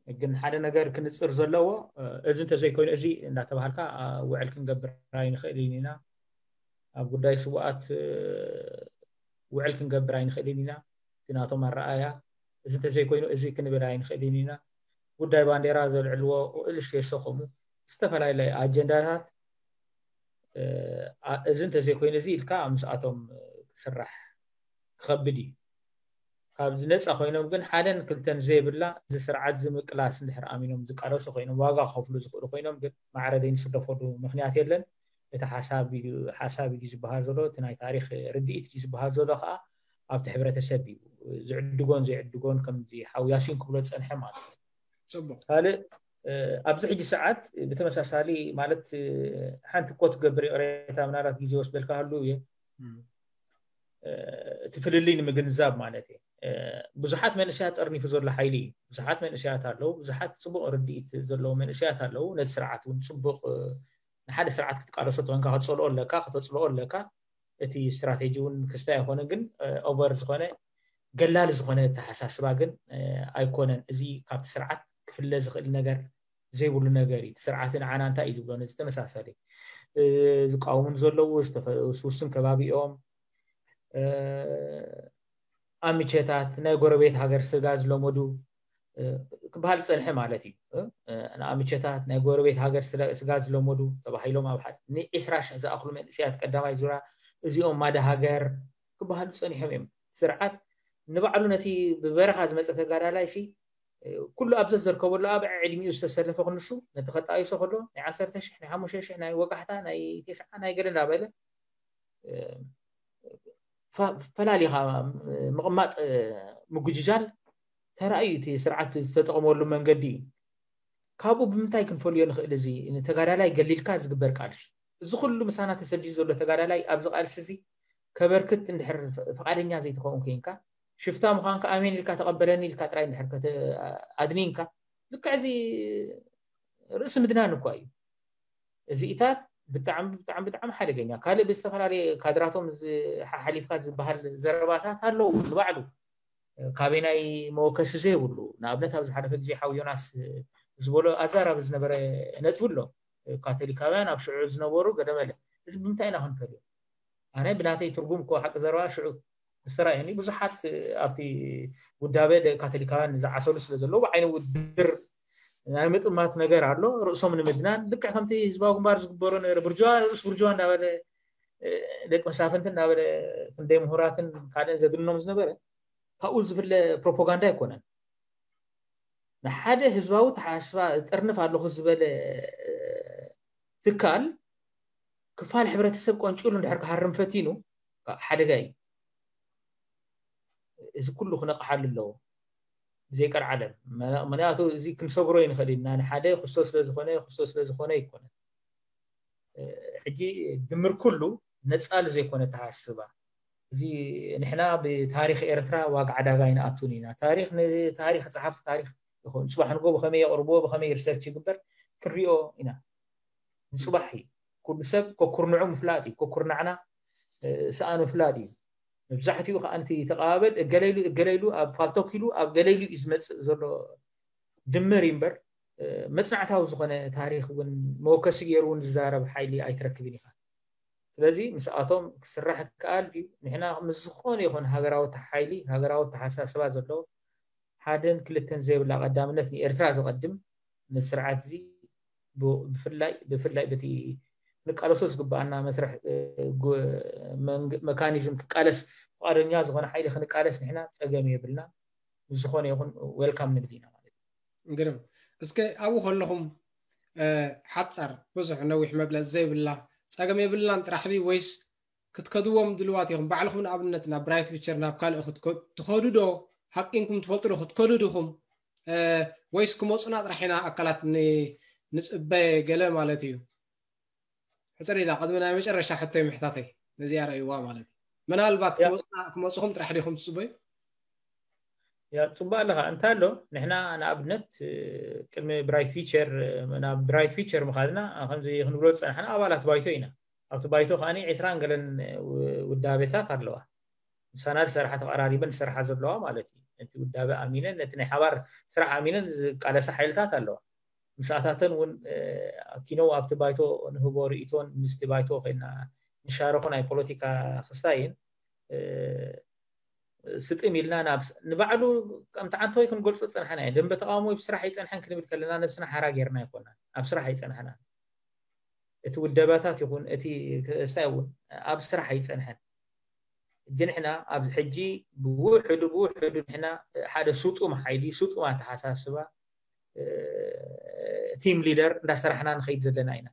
ግን ሓደ ነገር ክንፅር ዘለዎ፣ እዚ እንተዘይኮይኑ እዚ እንዳተባሃልካ ውዕል ክንገብር ኣይንኽእልን ኢና። ኣብ ጉዳይ ስውኣት ውዕል ክንገብር ኣይንኽእልን ኢና። እቲ ናቶም ኣረኣያ፣ እዚ እንተዘይኮይኑ እዚ ክንብል ኣይንኽእልን ኢና። ጉዳይ ባንዴራ ዘልዕልዎ እልሽ የሰኸሙ ዝተፈላለየ ኣጀንዳታት፣ እዚ እንተዘይኮይኑ እዚ ኢልካ ምስኣቶም ክስራሕ ክኸብድ እዩ። ካብ ዝነፃ ኮይኖም ግን ሓደን ክልተን ዘይብላ እዚ ስርዓት ዝምቅላስ እንድሕር ኣሚኖም ዝቃለሱ ኮይኖም ዋጋ ክኸፍሉ ዝኽእሉ ኮይኖም ግን ማዕረ ዘይንስደፈሉ ምክንያት የለን። እቲ ሓሳብ እዩ ሓሳብ እዩ ዝበሃል ዘሎ፣ እቲ ናይ ታሪኽ ርድኢት እዩ ዝበሃል ዘሎ ከዓ ኣብቲ ሕብረተሰብ እዩ ዝዕድጎን ዘይዕድጎን ከምዚ ሓው ያሲን ክብሎ ዝፀንሐ ማለት እዩ። ፅቡቅ። ካልእ ኣብዚ ሕጂ ሰዓት ብተመሳሳሊ ማለት ሓንቲ ኮት ክገብር ይቕሬታ ምናልባት ግዜ ወስደልካ ሃሉ እየ እቲ ፍልልይ ንምግንዛብ ማለት እየ። ብዙሓት መንእሰያት ጠርኒፉ ዘሎ ሓይሊ እዩ። ብዙሓት መንእሰያት ኣለዉ፣ ብዙሓት ፅቡቕ ርድኢት ዘለዉ መንእሰያት ኣለዉ። ነቲ ስርዓት እውን ፅቡቕ ንሓደ ስርዓት ክትቃለሶ ተኾንካ ክትፀልኦ ኣለካ፣ ከተፅልኦ ኣለካ። እቲ ስትራቴጂ እውን ክስታይ ኣይኮነን፣ ግን ኦቨር ዝኾነ ገላሊ ዝኾነ ኣተሓሳስባ ግን ኣይኮነን። እዚ ካብቲ ስርዓት ክፍለ ዝኽእል ነገር ዘይብሉ ነገር እዩ። እቲ ስርዓት ንዓና እንታይ እዩ ዝብሎ? ነዚ ተመሳሳሊ ዝቃወሙን ዘለዉ ውስውስን ከባቢ እዮም። ኣምቸታት ናይ ጎረቤት ሃገር ስጋ ዝለመዱ ክበሃል ዝፀንሐ ማለት እዩ። ንኣምቸታት ናይ ጎረቤት ሃገር ስጋ ዝለመዱ ተባሂሎም ኣብ ሓደ ንዒስራ ሽሕ ዝኣኽሉ መንእሰያት ቀዳማይ ዙራ እዚኦም ማዳ ሃገር ክበሃሉ ፀኒሖም እዮም። ስርዓት ንባዕሉ ነቲ ብበረኻ ዝመፀ ተጋዳላይ ሲ ኩሉ ኣብ ዘዘርከበሉ ኣብ ዕድሚኡ ዝተሰለፈ ክንሱ ነቲ ከጣይሶ ከሎ ናይ ዓሰርተ ሽሕ ናይ ሓሙሽተ ሽሕ ናይ ወጋሕታ ናይ ቴስዓ ናይ ገለ እንዳበለ ፈላሊኻ ምቕማጥ ምጉጅጃል ተራእዩ እቲ ስርዓት ዝተጠቐመሉ መንገዲ እዩ። ካብኡ ብምንታይ ክንፈልዮ ንኽእል? እዚ ንተጋዳላይ ገሊልካ ዝግበር ቃልሲ እዚ ኩሉ ምሳና ተሰዲዱ ዘሎ ተጋዳላይ ኣብዚ ቃልሲ እዚ ከበርክት እንድሕር ፍቓደኛ ዘይትኸውን ኮይንካ ሽፍታ ምዃንካ ኣሜን ኢልካ ተቐበለኒ ኢልካ ጥራይ እንድሕር ኣድኒንካ ልክዕ እዚ ርእሲ ምድናን እኳ እዩ። እዚኢታት ብጣዕሚ ብጣዕሚ ብጣዕሚ ሓደገኛ ካልእ ብዝተፈላለየ ካድራቶም ሓሊፍካ ዝበሃል ዘረባታት ኣለዉ ንባዕሉ ካበይ ናይ መወከሲ ዘይብሉ ንኣብነት ኣብ ዝሓለፈ ግዜ ሓው ዮናስ ዝበሎ ኣዛራቢ ዝነበረ ነጥቢ ኣሎ። ካቶሊካውያን ኣብ ሽዑ ዝነበሩ ገደመለ እዚ ብምንታይ ኢና ክንፈልዮ? ኣነ ብናተይ ትርጉም እኮ ሓቂ ዘረባ ሽዑ ዝተራእየኒ ብዙሓት ኣብቲ ውዳበ ካቶሊካውያን ዝዓሰሉ ስለ ዘለዉ ብዓይኒ ውድድር ናይ ምጥማት ነገር ኣሎ። ርእሶም ንምድናን ልክዕ ከምቲ ህዝባዊ ግንባር ዝግበሮ ነበረ ብርጅዋ ርእስ ብርጅዋ እንዳበለ ደቂ መሳፍንቲ እናበለ ክንደይ ምሁራትን ካልእን ዘግንኖም ዝነበረ ካብኡ ዝፍለ ፕሮፓጋንዳ ኣይኮነን። ንሓደ ህዝባዊ ተሓስባ ጠርንፍ ኣለኹ ዝበለ ትካል ክፋል ሕብረተሰብ ቆንጭሉ እንድሕር ክሃርም ፈቲኑ ሓደጋ እዩ። እዚ ኩሉ ክነቕሓሉ ኣለዎ ብዘይቀርዓለም። ምክንያቱ እዚ ክንሰግሮ ይንኽእል ኢና። ንሓደ ክሶ ስለዝኾነ ክሶ ስለዝኾነ ይኮነ። ሕጂ ድምር ኩሉ ነፃል ዘይኮነ ተሃስባ እዚ ንሕና ብታሪክ ኤርትራ ዋጋ ዕዳጋ ይንኣቱን ኢና። ታሪክ ንታሪክ ጸሓፍቲ ታሪክ ይኹን ጽባሕ ንጎ ብኸመይ የቕርብዎ ብኸመይ ሪሰርች ይግበር ክንሪኦ ኢና። ንጽባሕ እዩ። ኩሉ ሰብ ከኩርንዑ ምፍላጥ እዩ። ከኩርናዕና ሰኣኑ ምፍላጥ እዩ። መብዛሕትኡ ከዓ ንቲ ተቐባበል እገለይሉ እገለይሉ ኣብ ፋልቶክ ኢሉ ኣብ ገለይሉ እዩ ዝመፅእ ዘሎ ድምር እዩ እምበር መፅናዕታዊ ዝኾነ ታሪክ እውን መወከሲ ገይሩ እውን ዝዛረብ ሓይሊ ኣይትረክብን ኢኻ። ስለዚ ምስኣቶም ክስራሕ ይከኣል ድዩ? ንሕና ምስ ዝኾነ ይኹን ሃገራዊ ሓይሊ ሃገራዊ ተሓሳስባ ዘለዎ ሓደን ክልተን ዘይብላ ቀዳምነት ንኤርትራ ዘቐድም ነዚ ስርዓት እዚ ብፍላይ ብፍላይ በቲ ክንቃለሶ ዝግበኣና መስርሕ መካኒዝም ክቃለስ ፍቓደኛ ዝኾነ ሓይሊ ክንቃለስ ንሕና ፀገም የብልና። ምስ ዝኾነ ይኹን ዌልካም ንብል ኢና ማለት እዩ። ግርም። እስከ ኣብኡ ከለኹም ሓፃር ብዙሕ ነዊሕ መግለፂ ዘይብላ ፀገም የብልናን ጥራሕ ድዩ ወይስ ክትከድዎም ድልዋት ኢኹም? ባዕልኹም ንኣብነት ናብ ብራይት ፊቸር ናብ ካልእ ትኸዱ ዶ? ሓቂንኩም ትፈልጡ ዶ ክትከዱ ዲኹም? ወይስ ክመፁና ጥራሕ ኢና ኣካላት ንፅበ ገለ ማለት እዩ? ሕፅር ኢላ ቅድሚ ናይ መጨረሻ ሕቶይ ምሕታተይ ነዚኣ ረእይዋ ማለት እዩ። ምናልባት ክመፁኹም ጥራሕ ዲኹም ትፅበዩ? ያ ፅቡቅ ኣለካ እንታ ኣሎ ንሕና ንኣብነት ቅድሚ ብራይት ፊቸር ናብ ብራይት ፊቸር ምካድና ከምዚ ክንብሎ ዝፀናሕና ኣባላት ባይቶ ኢና። ኣብቲ ባይቶ ከዓ ዕስራን ገለን ውዳቤታት ኣለዋ። ምሳና ዝሰርሓ ተቀራሪበን ዝሰርሓ ዘለዋ ማለት እዩ። ነቲ ውዳቤ ኣሚነን ነቲ ናይ ሓባር ስራሕ ኣሚነን ዝቃለሳ ሓይልታት ኣለዋ። ምሳታተን እውን ኪነው ኣብቲ ባይቶ ንህቦ ርእቶን ምስቲ ባይቶ ኮይና ንሻረኮ ናይ ፖለቲካ ክስታይን ስጥም ኢልና ናብ ንባዕሉ ከምቲ ዓንተወይ ክንገልፆ ዝፀናሕና እዩ። ደንበ ተቃውሞ ብስራሕ ኣይፀንሐን ክንብል ከለና ነብስና ሓራ ጌርና ኣይኮናን። ኣብ ስራሕ ኣይፀናሕናን። እቲ ውደባታት ይኹን እቲ ክእሳ እውን ኣብ ስራሕ ኣይፀንሐን። እጂ ንሕና ኣብ ሕጂ ብውሕዱ ብውሕዱ ንሕና ሓደ ስጡም ሓይሊ ስጡም ኣተሓሳስባ ቲም ሊደር እንዳሰራሕና ንኸይድ ዘለና ኢና።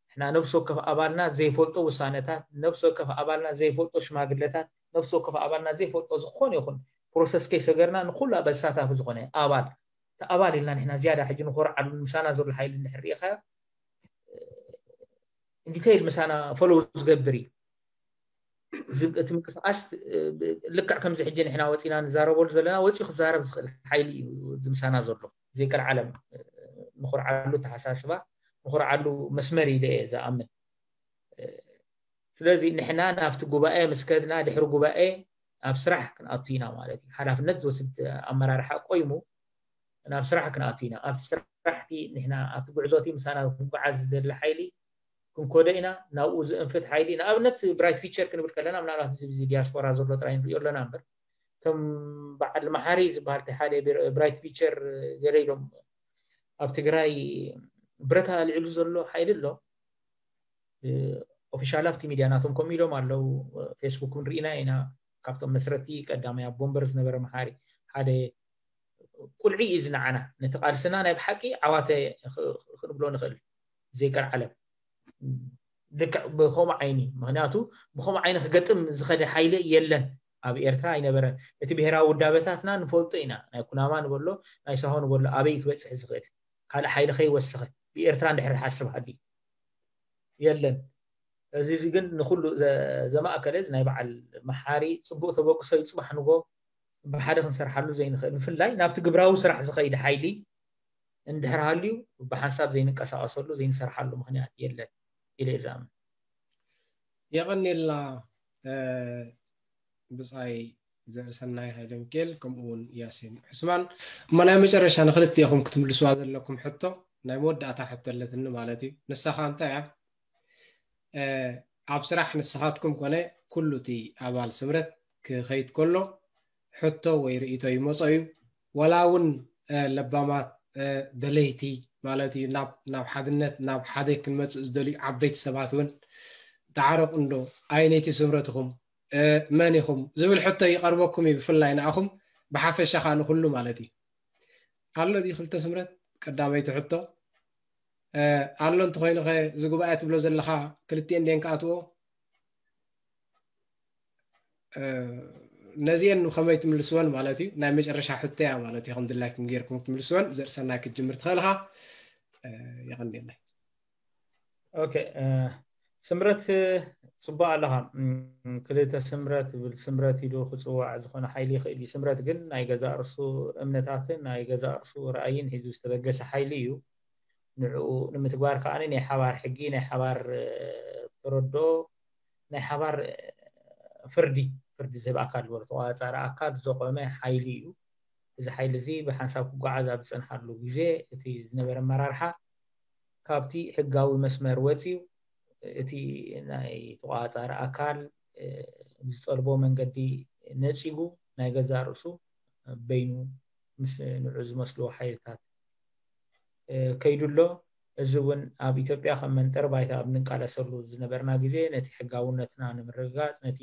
ንሕና ነብሲ ወከፍ ኣባልና ዘይፈልጦ ውሳነታት፣ ነብሲ ወከፍ ኣባልና ዘይፈልጦ ሽማግለታት፣ ነብሲ ወከፍ ኣባልና ዘይፈልጦ ዝኾነ ይኹን ፕሮሰስ ከይሰገርና ንኩሉ ኣበሳታፊ ዝኾነ ኣባል ኣባል ኢልና ንሕና ዝያዳ ሕጂ ንኮርዓሉ ምሳና ዘሎ ሓይሊ እንድሕር ርኢኻዮ ዲቴይል ምሳና ፎሎው ዝገብር እዩ። እቲ ምንቅስቃስ ልክዕ ከምዚ ሕጂ ንሕና ወፂና ንዛረበሉ ዘለና ወፂኡ ክዛረብ ዝኽእል ሓይሊ እዩ ዝምሳና ዘሎ። ዘይቀልዓለም ንኹርዓሉ ተሓሳስባ ንኹርዓሉ መስመር ኢለ እየ ዝኣምን። ስለዚ ንሕና ናብቲ ጉባኤ ምስ ከድና ድሕሪ ጉባኤ ኣብ ስራሕ ክንኣቱ ኢና ማለት እዩ። ሓላፍነት ዝወስድ ኣመራርሓ ቆይሙ ናብ ስራሕ ክንኣቱ ኢና። ኣብቲ ስራሕቲ ንሕና ኣብቲ ጉዕዞቲ ምሳና ክንጓዓዝ ዝደሊ ሓይሊ ክንኮደ ኢና። ናብኡ ዝእንፍት ሓይሊ ንኣብነት ብራይት ፊቸር ክንብል ከለና ምናልባት እዚ ዲያስፖራ ዘሎ ጥራይ ንሪኦ ኣለና እምበር ከም በዓል መሓሪ ዝበሃል ሓደ ብራይት ፊቸር ገለ ኢሎም ኣብ ትግራይ ብረታ ኣልዕሉ ዘሎ ሓይሊ ኣሎ። ኦፊሻል ኣብቲ ሚድያ ናቶም ከም ኢሎም ኣለው። ፌስቡክ እውን ርኢና ኢና። ካብቶም መስረቲ ቀዳማይ ኣብ ቦምበር ዝነበረ መሓሪ ሓደ ቁልዒ እዩ ዝነዓና። ነቲ ቃልስና ናይ ብሓቂ ዓዋተ ክንብሎ ንኽእል ዘይቀር ዓለም ልክዕ ብኸምኡ ዓይኒ ምክንያቱ ብኸምኡ ዓይኒ ክገጥም ዝኸደ ሓይሊ የለን። ኣብ ኤርትራ ኣይነበረን። እቲ ብሄራዊ ውዳበታትና ንፈልጦ ኢና። ናይ ኩናማ ንበሎ ናይ ሳሆ ንበሎ ኣበይ ክበፅሕ ዝኽእል ካልእ ሓይሊ ከይወሰኸ ብኤርትራ እንድሕር ሓስብ ሃልዩ የለን። እዚ ግን ንኩሉ ዘማእከለ ናይ በዓል መሓሪ ፅቡቅ ተበግሶ እዩ። ፅባሕ ንጎ ብሓደ ክንሰርሓሉ ዘይንኽእል ብፍላይ ናብቲ ግብራዊ ስራሕ ዝኸይድ ሓይሊ እንድሕር ሃልዩ ብሓንሳብ ዘይንቀሳቀሰሉ ዘይንሰርሓሉ ምክንያት የለን ኢለ እየ ዝኣምን። የቐኒልና ብፃይ ዘርእሰናይ ሃይለሚካኤል ከምኡ እውን ያሲን ዑስማን። እሞ ናይ መጨረሻ ንክልቲኦኹም ክትምልስዋ ዘለኩም ሕቶ ናይ መወዳእታ ሕቶ ኣለትኒ ማለት እዩ። ንሳኻ እንታይ እያ? ኣብ ስራሕ ንስኻትኩም ኮነ ኩሉ እቲ ኣባል ስምረት ክኸይድ ከሎ ሕቶ ወይ ርእቶ ይመጾ እዩ። ዋላ እውን ለባማት ደለይቲ ማለት እዩ ናብ ሓድነት ናብ ሓደ ክንመፅእ ዝደልዩ ዓበይቲ ሰባት እውን ተዓረቑ እንዶ፣ ኣየነይቲ ስምረት ኢኹም፣ መን ኢኹም ዝብል ሕቶ ይቐርበኩም እዩ፣ ብፍላይ ንኣኹም፣ ብሓፈሻ ኸኣ ንኹሉ ማለት እዩ። ኣሎ ድዩ ክልተ ስምረት? ቀዳመይቲ ሕቶ ኣሎ እንተኾይኑ፣ ኸ እዚ ጉባኤ ትብሎ ዘለኻ ክልቲኤን ድየን ክኣትዎ? ነዚኤን ከመይ ትምልስወን ማለት እዩ? ናይ መጨረሻ ሕቶ እያ ማለት እዩ። ከም ድላይኩም ጌርኩም ትምልስወን። ዘርእሰናይ ክትጅምር ትኽእል ኢኻ። የቐንየለይ። ኦኬ፣ ስምረት፣ ጽቡቕ ኣለኻ። ክልተ ስምረት ብል፣ ስምረት ኢሉ ክጽዋዕ ዝኾነ ሓይሊ ይኽእል እዩ። ስምረት ግን ናይ ገዛእ ርእሱ እምነታትን ናይ ገዛእ ርእሱ ራእይን ሒዙ ዝተበገሰ ሓይሊ እዩ። ንዕኡ ንምትግባር ከኣ ናይ ሓባር ሕጊ፣ ናይ ሓባር ተረድኦ፣ ናይ ሓባር ፍርዲ፣ ፍርዲ ዝህብ ኣካል ዝበሎ ተቋጻሪ ኣካል ዘቆመ ሓይሊ እዩ። እዚ ሓይሊ እዚ ብሓንሳብ ክጓዓዝ ኣብ ዝጸንሓሉ ግዜ እቲ ዝነበረ ኣመራርሓ ካብቲ ሕጋዊ መስመር ወጺኡ እቲ ናይ ተቋጻሪ ኣካል ዝጠልቦ መንገዲ ነጺጉ ናይ ገዛእ ርእሱ በይኑ ምስ ንዑ ዝመስልዎ ሓይልታት ከይዱ ኣሎ። እዚ እውን ኣብ ኢትዮጵያ ከም መንጠሪ ባይታ ኣብ ንቃለሰሉ ዝነበርና ግዜ ነቲ ሕጋውነትና ንምርግጋጽ ነቲ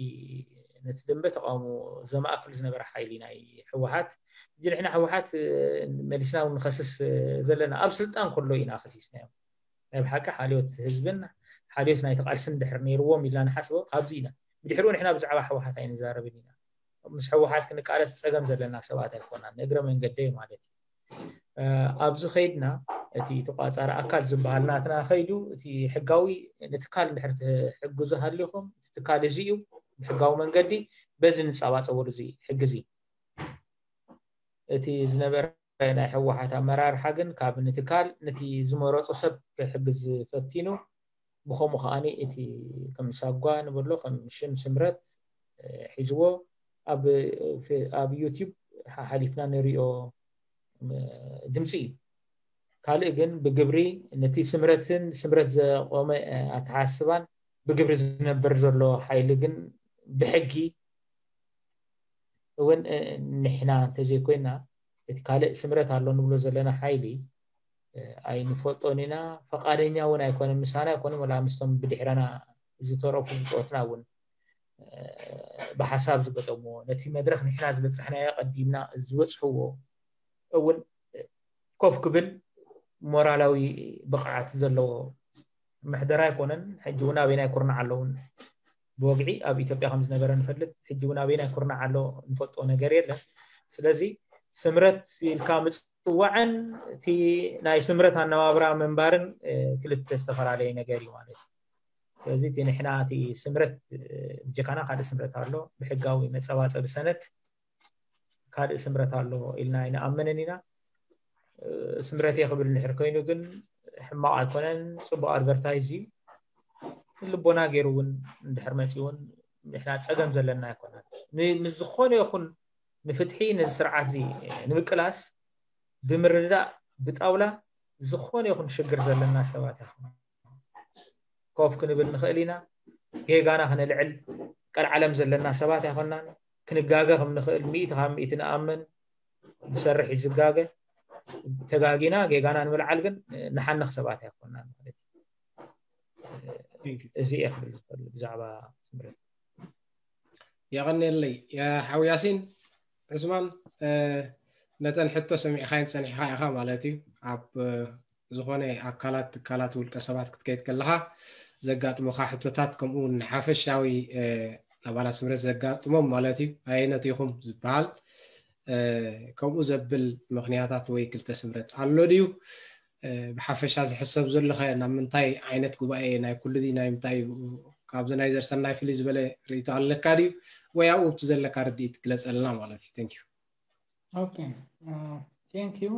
ነቲ ደንበ ተቃውሞ ዘማእክል ዝነበረ ሓይሊ ናይ ህወሓት ሕጂ ንሕና ህወሓት መሊስና እውን ንኸስስ ዘለና ኣብ ስልጣን ከሎ ኢና ከሲስናዮም። ናይ ብሓቂ ሓልዮት ህዝብን ሓልዮት ናይቲ ቃልስን ድሕር ነይርዎም ኢልና ንሓስቦ ካብዚ ኢና። ብድሕሪኡ ንሕና ብዛዕባ ህወሓት ኣይንዛረብን ኢና። ምስ ህወሓት ክንቃለስ ፀገም ዘለና ሰባት ኣይኮናን፣ ንእግረ መንገደይ ማለት እዩ። ኣብዚ ከይድና እቲ ተቋፃሪ ኣካል ዝበሃል ናትና ከይዱ እቲ ሕጋዊ ንትካል እንድሕር ትሕግዙ ሃሊኹም እቲ ትካል እዚ እዩ ብሕጋዊ መንገዲ በዚ ንፃባፀበሉ እዚ ሕጊ እዚ እቲ ዝነበረ ናይ ህወሓት ኣመራርሓ ግን ካብ ንትካል ነቲ ዝመረፆ ሰብ ክሕግዝ ፈቲኑ ብኸምኡ ከዓኒ እቲ ከም ሳጓ ንብሎ ከም ሽም ስምረት ሒዝዎ ኣብ ዩቲብ ሓሓሊፍና ንሪኦ ድምፂ እዩ። ካልእ ግን ብግብሪ ነቲ ስምረትን ስምረት ዘቆመ ኣተሓስባን ብግብሪ ዝነብር ዘሎ ሓይሊ ግን ብሕጊ እውን ንሕና እንተዘይኮይና እቲ ካልእ ስምረት ኣሎ ንብሎ ዘለና ሓይሊ ኣይንፈልጦን ኢና። ፈቃደኛ እውን ኣይኮነን፣ ምሳና ኣይኮነን፣ ወላ ምስቶም ብድሕረና ዝተረፉ ብፆትና እውን ብሓሳብ ዝገጠምዎ ነቲ መድረክ ንሕና ዝበፃሕናዮ ቀዲምና ዝበፅሕዎ እውን ኮፍ ክብል ሞራላዊ ብቕዓት ዘለዎ ምሕደራ ኣይኮነን። ሕጂ እውን ኣበይናይ ኩርናዕ ኣለውን ብወግዒ ኣብ ኢትዮጵያ ከም ዝነበረ ንፈልጥ። ሕጂ እውን ኣበይናይ ኩርናዕ ኣሎ ንፈልጦ ነገር የለን። ስለዚ ስምረት ኢልካ ምፅዋዕን እቲ ናይ ስምረት ኣነባብራ ምንባርን ክልተ ዝተፈላለየ ነገር እዩ ማለት እዩ። ስለዚ እቲ ንሕና እቲ ስምረት ብጀካና ካልእ ስምረት ኣሎ ብሕጋዊ መፀባፀቢ ሰነድ ካልእ ስምረት ኣሎ ኢልና ኣይንኣምንን ኢና። ስምረት እየ ክብል እንድሕር ኮይኑ ግን ሕማቕ ኣይኮነን፣ ፅቡቕ ኣድቨርታይዝ እዩ። ልቦና ገይሩ እውን እንድሕር መፂኡ እውን ንሕና ፀገም ዘለና ኣይኮነን። ምስ ዝኾነ ይኹን ንፍትሒ ነዚ ስርዓት እዚ ንምቅላስ ብምርድዳእ ብጣውላ ዝኾነ ይኹን ሽግር ዘለና ሰባት ኢና። ኮፍ ክንብል ንኽእል ኢና። ጌጋና ክነልዕል ቀልዓለም ዘለና ሰባት ኣይኮናን። ክንጋገ ከም ንኽእል ሚእቲ ካብ ሚእቲ ንኣምን። ዝሰርሕ እዩ ዝጋገ። ተጋጊና ጌጋና ንምልዓል ግን ንሓንኽ ሰባት ኣይኮናን ማለት እዩ። እዚ እየ ክብል ዝኽእል ብዛዕባ ስምረት። የቐንየለይ ሓው ያሲን። ዕስማን፣ ነተን ሕቶ ሰሚዕኻይን ፀኒሕኻ ኢኻ ማለት እዩ። ኣብ ዝኾነ ኣካላት፣ ትካላት፣ ውልቀ ሰባት ክትከይድ ከለኻ ዘጋጥሙኻ ሕቶታት፣ ከምኡ እውን ንሓፈሻዊ ኣባላት ስምረት ዘጋጥሞም ማለት እዩ። ኣየነት ኢኹም ዝበሃል ከምኡ ዘብል ምኽንያታት ወይ ክልተ ስምረት ኣሎ ድዩ? ብሓፈሻ ዝሕሰብ ዘሎ ኸ ናብ ምንታይ ዓይነት ጉባኤ፣ ናይ ኩሉ ድዩ ናይ ምንታይ እዩ? ካብዚ ናይ ዘርሰናይ ፍልይ ዝበለ ርእይቶ ኣለካ ድዩ? ወይ ኣብኡ ኣብቲ ዘለካ ርድኢት ግለፀልና ማለት እዩ። Thank you. Okay. Thank you.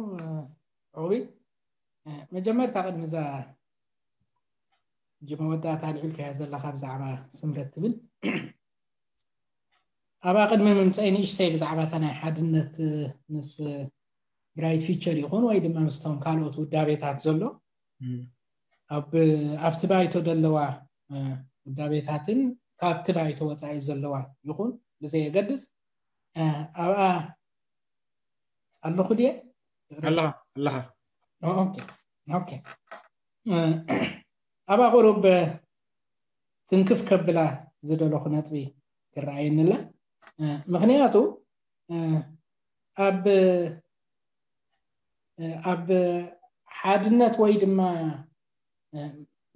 ኦቢ፣ መጀመርታ ቅድሚ እዛ ሕጂ መወዳእታ ኣልዒልካያ ዘለኻ ብዛዕባ ስምረት ትብል፣ ኣብኣ ቅድሚ ምምፀይ ንእሽተይ ብዛዕባ እታ ናይ ሓድነት ምስ ብራይት ፊቸር ይኹን ወይ ድማ ምስቶም ካልኦት ውዳቤታት ዘሎ ኣብ ኣብቲ ባይቶ ዘለዋ ውዳቤታትን ካብቲ ባይቶ ወፃኢ ዘለዋ ይኹን ብዘየገድስ ኣብኣ ኣለኹ ድየ? ኣለኻ ኣለኻ። ኦኬ ኦኬ። ኣብኣ ቁሩብ ትንክፍ ከብላ ዝደለኹ ነጥቢ ይረኣየኒ ኣላ። ምክንያቱ ኣብ ኣብ ሓድነት ወይ ድማ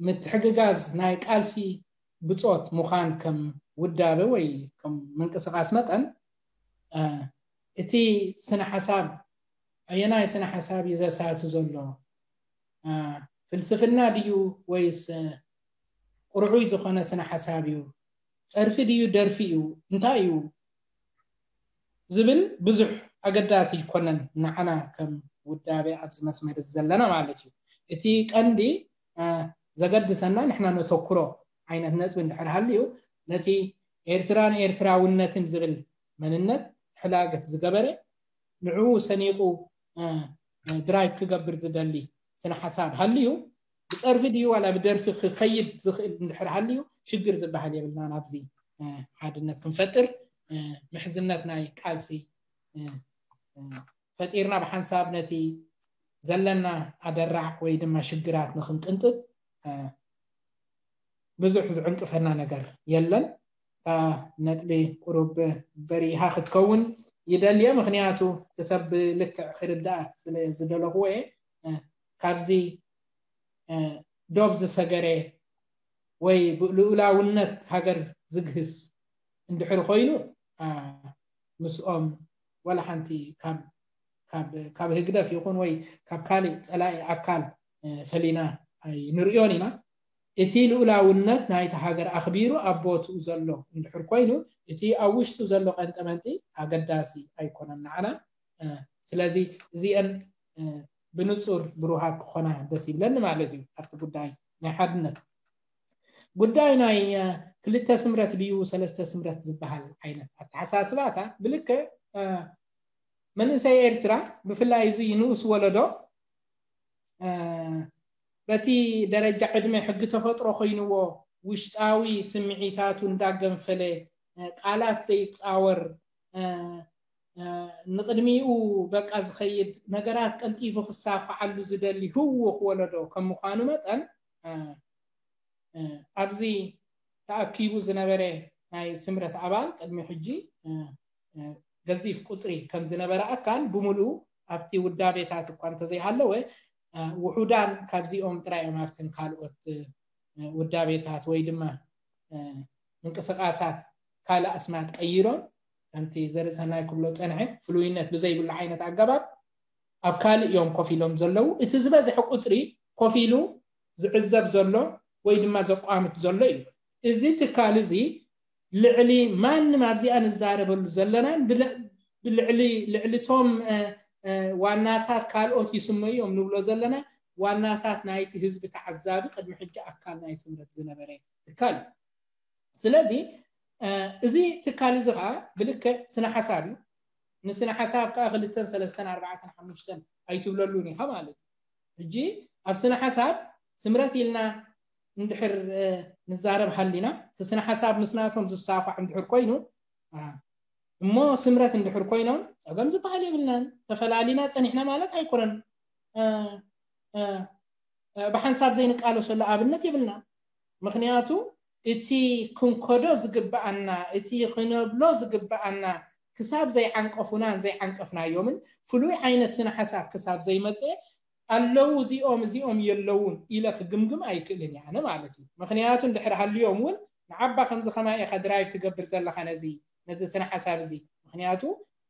ምትሕግጋዝ ናይ ቃልሲ ብጾት ምዃን ከም ውዳበ ወይ ከም ምንቅስቃስ መጠን እቲ ስነ ሓሳብ ኣየናይ ስነ ሓሳብ እዩ ዘሳሲ ዘሎ? ፍልስፍና ድዩ ወይስ ቁርዑይ ዝኾነ ስነ ሓሳብ እዩ? ጸርፊ ድዩ ደርፊ እዩ? እንታይ እዩ ዝብል ብዙሕ ኣገዳሲ ይኮነን ንዓና ከም ውዳቤ ኣብዚ መስመር ዘለና ማለት እዩ። እቲ ቀንዲ ዘገድሰና ንሕና ነተኩሮ ዓይነት ነጥቢ እንድሕር ሃልዩ ነቲ ኤርትራን ኤርትራውነትን ዝብል መንነት ሕላገት ዝገበረ ንዕኡ ሰኒቑ ድራይቭ ክገብር ዝደሊ ስነ ሓሳብ ሃልዩ ብጸርፊ ድዩ ዋላ ብደርፊ ክኸይድ ዝኽእል እንድሕር ሃልዩ ሽግር ዝበሃል የብልና። ናብዚ ሓድነት ክንፈጥር ምሕዝነት ናይ ቃልሲ ፈጢርና ብሓንሳብ ነቲ ዘለና ኣደራዕ ወይ ድማ ሽግራት ንክንቅንጥጥ ብዙሕ ዝዕንቅፈና ነገር የለን። ነጥቢ ቁሩብ በሪሃ ክትከውን ይደልየ፣ ምክንያቱ እቲ ሰብ ብልክዕ ክርዳእ ስለ ዝደለኽዎ እየ። ካብዚ ዶብ ዝሰገረ ወይ ብልኡላውነት ሃገር ዝግህስ እንድሕር ኮይኑ ምስኦም ዋላ ሓንቲ ካብ ህግደፍ ይኹን ወይ ካብ ካልእ ጸላኢ ኣካል ፈሊና ኣይንርእዮን ኢና። እቲ ልኡላውነት ናይቲ ሃገር ኣኽቢሩ ኣብ ቦትኡ ዘሎ እንድሕር ኮይኑ እቲ ኣብ ውሽጡ ዘሎ ቀንጠመንጢ ኣገዳሲ ኣይኮነን ንዓና። ስለዚ እዚአን ብንጹር ብሩሃት ክኾና ደስ ይብለኒ ማለት እዩ። ኣብቲ ጉዳይ ናይ ሓድነት ጉዳይ ናይ ክልተ ስምረት ድዩ ሰለስተ ስምረት ዝበሃል ዓይነት ኣተሓሳስባታት ብልክዕ መንእሰይ ኤርትራ ብፍላይ እዚ ንኡስ ወለዶ በቲ ደረጃ ዕድመ ሕጊ ተፈጥሮ ኮይንዎ ውሽጣዊ ስምዒታቱ እንዳገንፈለ ቃላት ዘይጻወር ንቕድሚኡ በቃ ዝኸይድ ነገራት ቀልጢፉ ክሳፋዓሉ ዝደሊ ህውኽ ወለዶ ከም ምዃኑ መጠን ኣብዚ ተኣኪቡ ዝነበረ ናይ ስምረት ኣባል ቅድሚ ሕጂ ገዚፍ ቁፅሪ ከም ዝነበረ ኣካል ብምሉኡ ኣብቲ ውዳቤታት እኳ እንተዘይሃለወ ውሑዳን ካብዚኦም ጥራይ እዮም ኣብትን ካልኦት ውዳቤታት ወይ ድማ ምንቅስቃሳት ካልእ ኣስማት ቀይሮም ከምቲ ዘርእሰናይ ክብሎ ፀንሐ ፍሉይነት ብዘይብሉ ዓይነት ኣገባብ ኣብ ካልእ እዮም ኮፍ ኢሎም ዘለዉ። እቲ ዝበዝሐ ቁፅሪ ኮፍ ኢሉ ዝዕዘብ ዘሎ ወይ ድማ ዘቋምት ዘሎ እዩ። እዚ ትካል እዚ ልዕሊ ማንም ኣብዚኣ ንዛረበሉ ዘለናን ልዕሊ ልዕሊቶም ዋናታት ካልኦት ይስመዩ እዮም ንብሎ ዘለና ዋናታት ናይቲ ህዝቢ ተዓዛቢ ቅድሚ ሕጂ ኣካል ናይ ስምረት ዝነበረ ትካል እዩ። ስለዚ እዚ ትካል እዚ ከዓ ብልክዕ ስነ ሓሳብ እዩ። ንስነ ሓሳብ ከዓ ክልተን ሰለስተን ኣርባዕተን ሓሙሽተን ኣይትብለሉን ኢኻ ማለት እዩ። ሕጂ ኣብ ስነ ሓሳብ ስምረት ኢልና እንድሕር ንዛረብ ሃሊና እቲ ስነ ሓሳብ ምስናቶም ዝሳኳዕ እንድሕር ኮይኑ እሞ ስምረት እንድሕር ኮይኖም ፀገም ዝበሃል የብልናን። ተፈላሊና ፀኒሕና ማለት ኣይኮነን። ብሓንሳብ ዘይንቃለሰሉ ኣብነት የብልና። ምክንያቱ እቲ ክንከዶ ዝግበኣና እቲ ክነብሎ ዝግበኣና ክሳብ ዘይዓንቀፉናን ዘይዓንቀፍናዮምን ፍሉይ ዓይነት ስነ ሓሳብ ክሳብ ዘይመፀ ኣለዉ እዚኦም እዚኦም የለውን ኢለ ክግምግም ኣይክእልን እየ ኣነ ማለት እዩ። ምክንያቱ እንድሕር ሃልዮም እውን ንዓባ ከምዚ ከማይ ኢካ ድራይቭ ትገብር ዘለካ ነዚ ነዚ ስነ ሓሳብ እዚ ምክንያቱ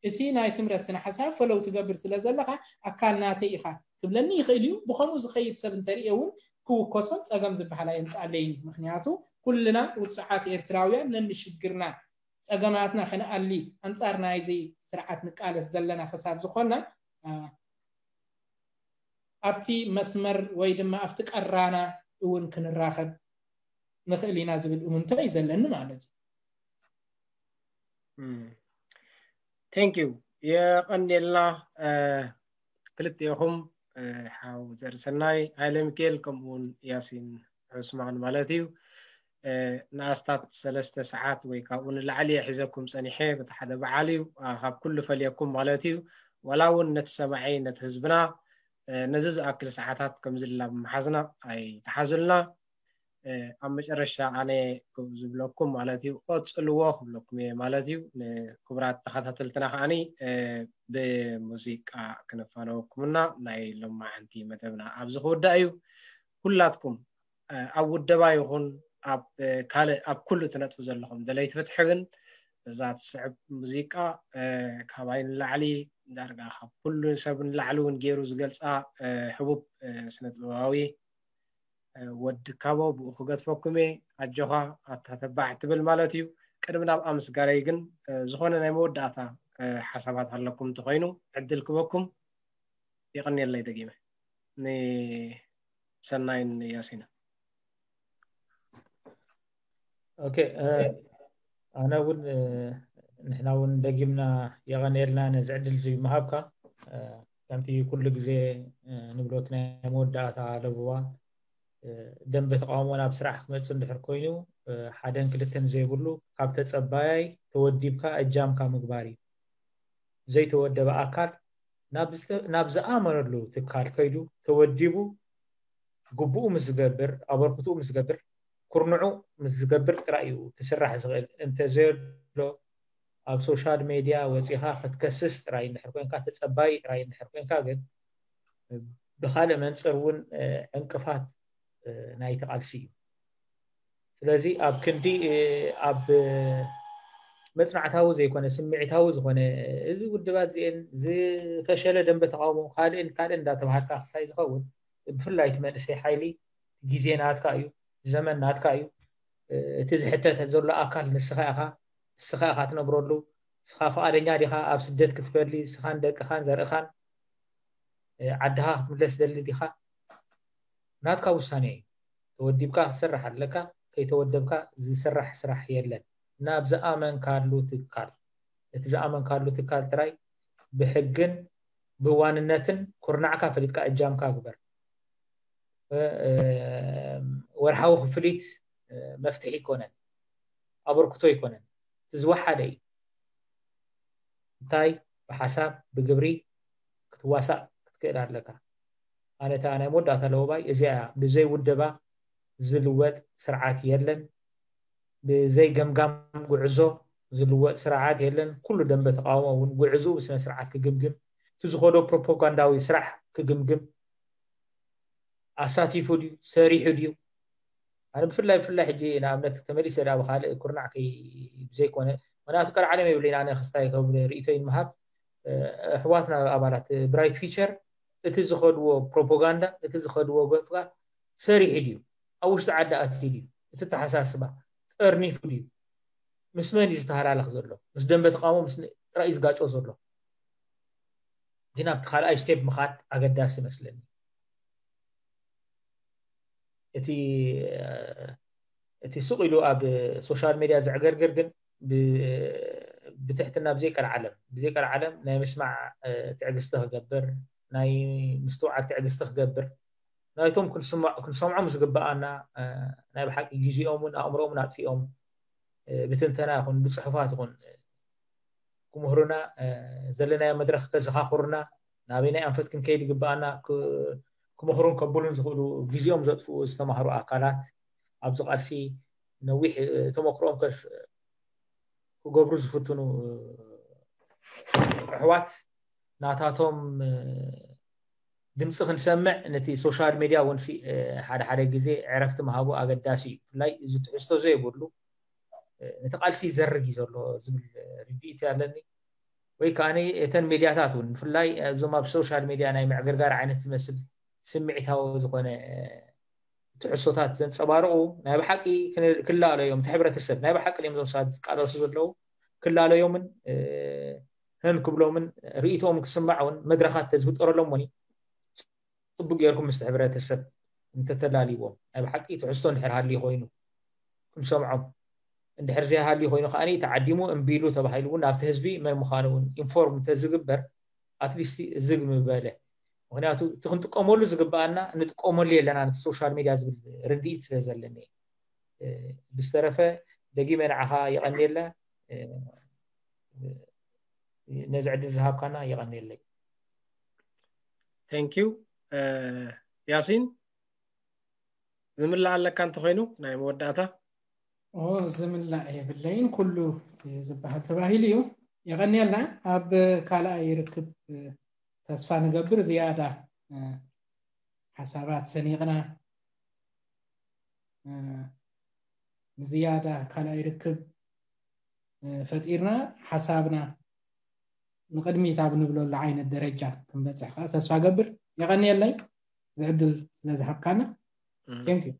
እቲ ናይ ስምረት ስነ ሓሳብ ፈለው ትገብር ስለ ዘለካ ኣካል ናተይ ኢካ ክብለኒ ይኽእል እዩ። ብከምኡ ዝኸይድ ሰብ እንተርእየ እውን ክውከሶን ፀገም ዝበሃል ኣየምፅኣለይን እዩ። ምክንያቱ ኩልና ውፅዓት ኤርትራውያን ነንሽግርና ፀገማትና ከነኣሊ ኣንፃር ናይዚ ስርዓት ንቃለስ ዘለና ክሳብ ዝኾና ኣብቲ መስመር ወይ ድማ ኣብቲ ቀራና እውን ክንራኸብ ንኽእል ኢና ዝብል እምንቶ እዩ ዘለኒ ማለት እዩ። Thank you የቐንየልና ክልቲኦኹም ሓው ዘርሰናይ ሃይለ ሚካኤል ከምኡውን ያሲን ዑስማን ማለት እዩ። ንኣስታት ሰለስተ ሰዓት ወይ ካብኡ ንላዕሊ እየ ሒዘኩም ፀኒሐ በቲ ሓደ በዓል እዩ። ካብ ኩሉ ፈልየኩም ማለት እዩ። ዋላ እውን ነቲ ሰማዒ ነቲ ህዝብና ነዚ ዝኣክል ሰዓታት ከምዚ ላ ብምሓዝና ኣይተሓዙልና። ኣብ መጨረሻ ኣነ ዝብለኩም ማለት እዩ፣ ቀፅልዎ ክብለኩም እየ ማለት እዩ። ንክቡራት ተኸታተልትና ከዓኒ ብሙዚቃ ክነፋነወኩምና ናይ ሎማዓንቲ መደብና ኣብዚ ክውዳእ እዩ። ኩላትኩም ኣብ ውደባ ይኹን ኣብ ካልእ ኣብ ኩሉ ትነጥፉ ዘለኹም ደለይቲ ፍትሒ ግን እዛ ትስዕብ ሙዚቃ ካባይ ንላዕሊ ዳርጋ ካብ ኩሉ ሰብ ንላዕሊ እውን ገይሩ ዝገልፃ ሕቡብ ስነጥበባዊ ወዲ ካቦ ብኡ ክገድፈኩም እየ። ኣጆኻ ኣታ ተባዕ ትብል ማለት እዩ። ቅድሚ ናብ ኣምስጋረይ ግን ዝኾነ ናይ መወዳእታ ሓሳባት ኣለኩም እንተኾይኑ ዕድል ክበኩም። የቐንየለይ ደጊመ ንሰናይን ያሲንን። ኦኬ፣ ኣነ እውን ንሕና እውን ደጊምና የቐንየልና ነዚ ዕድል እዚ ምሃብካ። ከምቲ ኩሉ ግዜ ንብሎት ናይ መወዳእታ ለብዋ ደንበ ተቃውሞ ናብ ስራሕ ክመፅእ እንድሕር ኮይኑ ሓደን ክልተን ዘይብሉ ካብ ተፀባያይ ተወዲብካ እጃምካ ምግባር እዩ። ዘይተወደበ ኣካል ናብ ዝኣመነሉ ትካል ከይዱ ተወዲቡ ግቡኡ ምስ ዝገብር ኣበርክትኡ ምስ ዝገብር ኩርንዑ ምስ ዝገብር ጥራይ እዩ ክስራሕ ዝኽእል። እንተዘየሎ ኣብ ሶሻል ሜድያ ወፂኻ ክትከስስ ጥራይ እንድሕር ኮንካ ተፀባይ ጥራይ እንድሕር ኮንካ ግን ብካልእ መንፅር እውን ዕንቅፋት ናይቲ ቃልሲ እዩ። ስለዚ ኣብ ክንዲ ኣብ መፅናዕታዊ ዘይኮነ ስምዒታዊ ዝኾነ እዚ ውድባት እዚአን ዝፈሸለ ደንበ ተቃውሞ ካልእን ካልእን እንዳተባሃልካ ክሳይ ዝኸውን ብፍላይ እቲ መንእሰይ ሓይሊ ግዜ ናትካ እዩ፣ ዘመን ናትካ እዩ። እቲ ዝሕተት ዘሎ ኣካል ንስኻ ኢኻ፣ ንስኻ ኢኻ ትነብረሉ። ንስኻ ፍቓደኛ ዲኻ ኣብ ስደት ክትፈሊ ንስኻን ደቅኻን ዘርእኻን ዓድኻ ክትምለስ ደሊ ዲኻ? ናትካ ውሳኔ እዩ። ተወዲብካ ክትሰርሕ ኣለካ። ከይተወደብካ ዝስራሕ ስራሕ የለን። ናብ ዝኣመንካሉ ትካል፣ እቲ ዝኣመንካሉ ትካል ጥራይ ብሕግን ብዋንነትን ኩርናዕካ ፈሊጥካ እጃምካ ግበር። ወርሓዊ ክፍሊት መፍትሒ ይኮነን፣ ኣበርክቶ ይኮነን። እቲ ዝወሓደ እዩ። እንታይ ብሓሳብ ብግብሪ ክትዋሳእ ክትክእል ኣለካ። ኣነ እታ ናይ መወዳእታ ለወባይ እዚኣ እያ። ብዘይ ውደባ ዝልወጥ ስርዓት የለን። ብዘይ ገምጋም ጉዕዞ ዝልወጥ ስርዓት የለን። ኩሉ ደንበ ተቃውሞ እውን ጉዕዞኡ ብስነ ስርዓት ክግምግም፣ እቲ ዝኸዶ ፕሮፓጋንዳዊ ስራሕ ክግምግም፣ ኣሳቲፉ ድዩ ሰሪሑ ድዩ? ኣነ ብፍላይ ብፍላይ ሕጂ ንኣብነት ተመሊሰ ዳ ብካልእ ኩርናዕ ከይ ብዘይኮነ፣ ምክንያቱ ቀልዓለም የብለይን ኣነ ክስታይ ከም ርእይቶይ ንምሃብ። ኣሕዋትና ኣባላት ብራይት ፊቸር እቲ ዝኸድዎ ፕሮፓጋንዳ እቲ ዝኸድዎ ገፍካ ሰሪሑ ድዩ? ኣብ ውሽጢ ዓዲ ኣትዩ ድዩ? እቲ ተሓሳስባ ጠርኒፉ ድዩ? ምስ መን እዩ ዝተሃላለኽ ዘሎ? ምስ ደንበ ተቃውሞ ምስ ጥራይ እዩ ዝጋጮ ዘሎ። እቲ ናብቲ ካልኣይ ስቴፕ ምኻድ ኣገዳሲ ይመስለኒ። እቲ እቲ ሱቕ ኢሉ ኣብ ሶሻል ሜድያ ዘዕገርግር ግን ብትሕትና ብዘይ ቀልዓለም ብዘይ ቀልዓለም ናይ ምስማዕ ትዕግስቲ ክገብር፣ ናይ ምስትውዓል ትዕግስቲ ክገብር፣ ናይቶም ክንሰምዖም ዝግብኣና ናይ ብሓቂ ግዜኦምን ኣእምሮኦምን ኣጥፊኦም ብትንተና ይኹን ብፅሑፋት ይኹን ክምህሩና፣ ዘለናዮ መድረክ ከዘኻኽሩና፣ ናበይናይ ኣንፈት ክንከይድ ይግብኣና ክመኽሩን ከብሉን ዝኽእሉ ግዜኦም ዘጥፍኡ ዝተማህሩ ኣካላት ኣብዚ ቃልሲ ነዊሕ ተመክሮኦም ክገብሩ ዝፍትኑ ኣሕዋት ናታቶም ድምፂ ክንሰምዕ ነቲ ሶሻል ሜድያ እውን ሓደ ሓደ ግዜ ዕረፍቲ ምሃቡ ኣገዳሲ እዩ። ብፍላይ እዚ ትሕዝቶ ዘይብሉ ነቲ ቃልሲ ይዘርግ እዩ ዘሎ ዝብል ርድኢት ኣለኒ። ወይ ከዓ እተን ሜድያታት እውን ብፍላይ እዞም ኣብ ሶሻል ሜድያ ናይ ምዕግርጋር ዓይነት ዝመስል ስምዒታዊ ዝኾነ ትሕዝቶታት ዘንፀባርቑ ናይ ብሓቂ ክላለዮዮም፣ እቲ ሕብረተሰብ ናይ ብሓቂ እዮም እዞም ሰባት ዝቃለሱ ዘለዉ ክላለዮምን ህን ክብሎምን ርእይቶኦም ክስማዕ እውን መድረኻት ተዝፍጠረሎም እውን ፅቡቅ ጌርኩም ምስቲ ሕብረተሰብ እንተተላልይዎም ናይ ብሓቂ ትሕዝቶ እንድሕር ሃልዩ ኮይኑ ክንሰምዖም፣ እንድሕር ዘይሃልዩ ኮይኑ ከዓ ተዓዲሙ እምቢ ኢሉ ተባሂሉ እውን ናብቲ ህዝቢ መን ምዃኑ እውን ኢንፎርም እንተዝግበር ኣትሊስት ዝግ ምበለ። ምክንያቱ እቲ ክንጥቀመሉ ዝግብኣና ንጥቀመሉ የለና ነቲ ሶሻል ሚድያ ዝብል ርድኢት ስለ ዘለኒ። ብዝተረፈ ደጊመ ንዓኻ የቐንየለ ነዚ ዕድል ዝሃብካና የቐንየለይ። Thank you ያሲን። ዝምላእ ኣለካ እንተኾይኑ ናይ መወዳእታ። ኦ ዝምላእ የብለይን፣ ኩሉ ዝበሃል ተባሂሉ እዩ። የቐንየልና። ኣብ ካልኣይ ርክብ ተስፋ ንገብር ዝያዳ ሓሳባት ሰኒቕና ንዝያዳ ካልኣይ ርክብ ፈጢርና ሓሳብና ንቕድሚት ኣብ ንብለሉ ዓይነት ደረጃ ክንበፅሕ ከዓ ተስፋ ገብር። የቐንየለይ ዝዕድል ስለ ዝሃብካና። Thank you።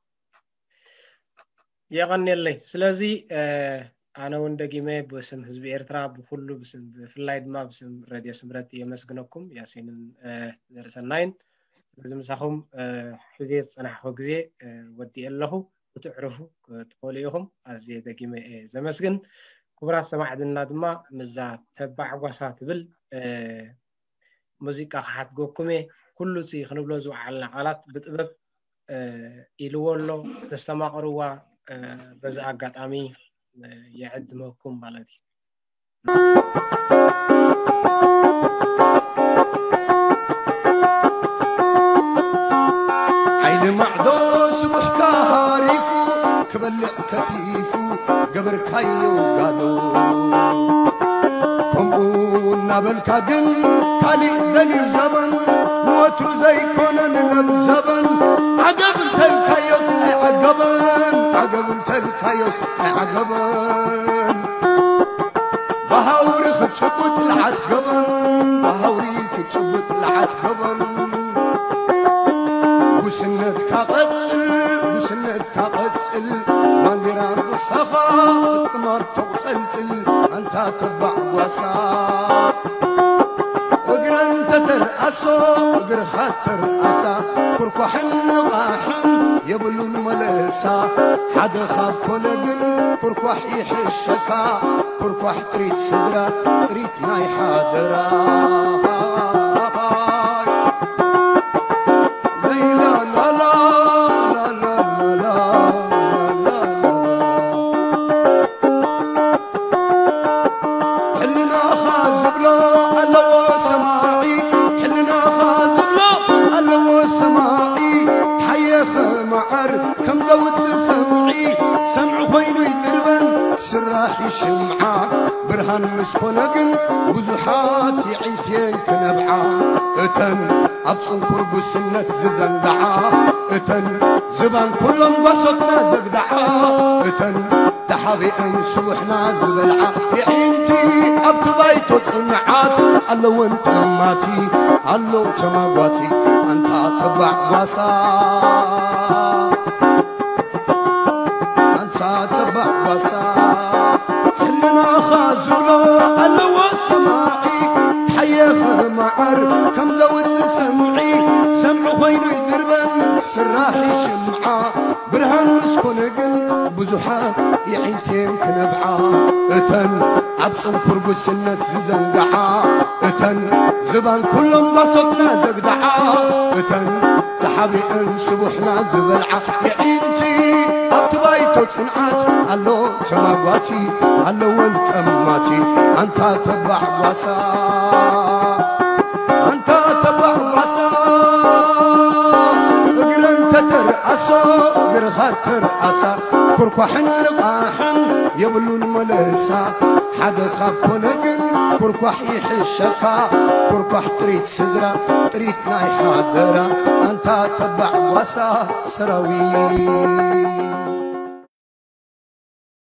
የቐንየለይ። ስለዚ ኣነ እውን ደጊመ ብስም ህዝቢ ኤርትራ ብኩሉ ብስም ብፍላይ ድማ ብስም ሬድዮ ስምረት የመስግነኩም፣ ያሲንን ዘርሰናይን። ስለዚ ምሳኹም ሕዜ ዝፀናሕኩ ግዜ ወዲእ ኣለኹ። ክትዕርፉ ክትኽእሉ ኢኹም። ኣዝየ ደጊመ እየ ዘመስግን። ክቡራት ሰማዕትና ድማ ምዛ ተባዕ ጓሳ ትብል ሙዚቃ ክሓትገኩም እየ። ኩሉ እቲ ክንብሎ ዝወዓልና ቃላት ብጥበብ ኢልዎ ኣሎ። ተስተማቕርዋ በዚ ኣጋጣሚ የዕድመኩም ማለት እዩ። ዓይኒ ማዕዶ ስቡሕካ ሃሪፉ ክበልዕ ከቲፉ ገበርካዮ ጋዶ። ከምኡ እናበልካ ግን ካሊእ ደልዩ ዘበን ንወትሩ ዘይኮነ ንለብ ዘበን ዓገብ እንተልካዮስ ኣይዓገበን ዓገብ እንተልካዮስ ኣይዓገበን። ብሃውሪ ክትጭብጥ ልዓት ገበን ብሃውሪ ክትጭብጥ ልዓት ገበን። ጉስነትካ ቀጽል ጉስነትካ ቀጽል ባንዲራ ንሳኻ ክትማር ተቑጸልጽል ኣንታ ተባዕ ጓሳ። እግረን ተተርኣሶ እግርኻ ተርኣሳ ኩርኳሕን ንቓሕን የብሉን መለሳ። ሓደ ካብ ኮነ ግን ኩርኳሕ ይሕሸካ ኩርኳሕ ጥሪት ስድራ ጥሪት ናይ ሓደራ። ሕልናኻ ዝብሎ ኣለዎ ሰማዒ ሕልናኻ ዝብሎ ኣለዎ ሰማዒ። ሓየኸ መዓር ከም ዘውፅእ ሰምዒ ሰምዒ ኮይኑ ይድርበን ስራሕ ይሽምዓ። ብርሃን ምስ ኮነ ግን ብዙሓት የዒንትየን ክነብዓ። እተን ኣብ ጽንኩር ጉስነት ዝዘንግዓ እተን ዝባን ኩሎም ጓሶትና ዘግድዓ እተን ተሓቢአን ስቡሕና ዝበልዓ የዒንቲ ኣብቲ ባይቶ ጽንዓት ኣለወን ጠማቲ ኣሎ ተማጓቲ ኣንታ ተባዕ ጓሳ። ኣንታ ተባዕ ጓሳ ሕልናኻ ዝብሎ ኣለዎ ሰማዒ። ሓየኸ መዓር ከም ዘውፅእ ሰምዒ ሰምዒ ኮይኑ ይድርበን ስራሕ ይሽምዓ። ብርሃን ምስ ኮነ ግን ብዙሓት የዒንቴን ክነብዓ። እተን ኣብ ፅንኩር ጉስነት ዝዘንግዓ እተን ዝባን ኩሎም ጓሶትና ዘግድዓ እተን ተሓቢአን ስቡሕና ዝበልዓ የዒንቲ ኣብቲ ባይቶ ጽንዓት ኣሎ ተማጓቲ ኣለወን ጠማቲ ኣንታ ተባዕ ጓሳ። ኣንታ ተባዕ ጓሳ እግረን ተተርኣሶ እግርኻ ተርኣሳ ኩርኳሕን ልቓሕን የብሉን መለሳ። ሓደ ካብ ኮነ ግን ኩርኳሕ ይሕሸካ ኩርኳሕ ጥሪት ስድራ ጥሪት ናይ ሓደራ ኣንታ ተባዕ ጓሳ ሰራዊት።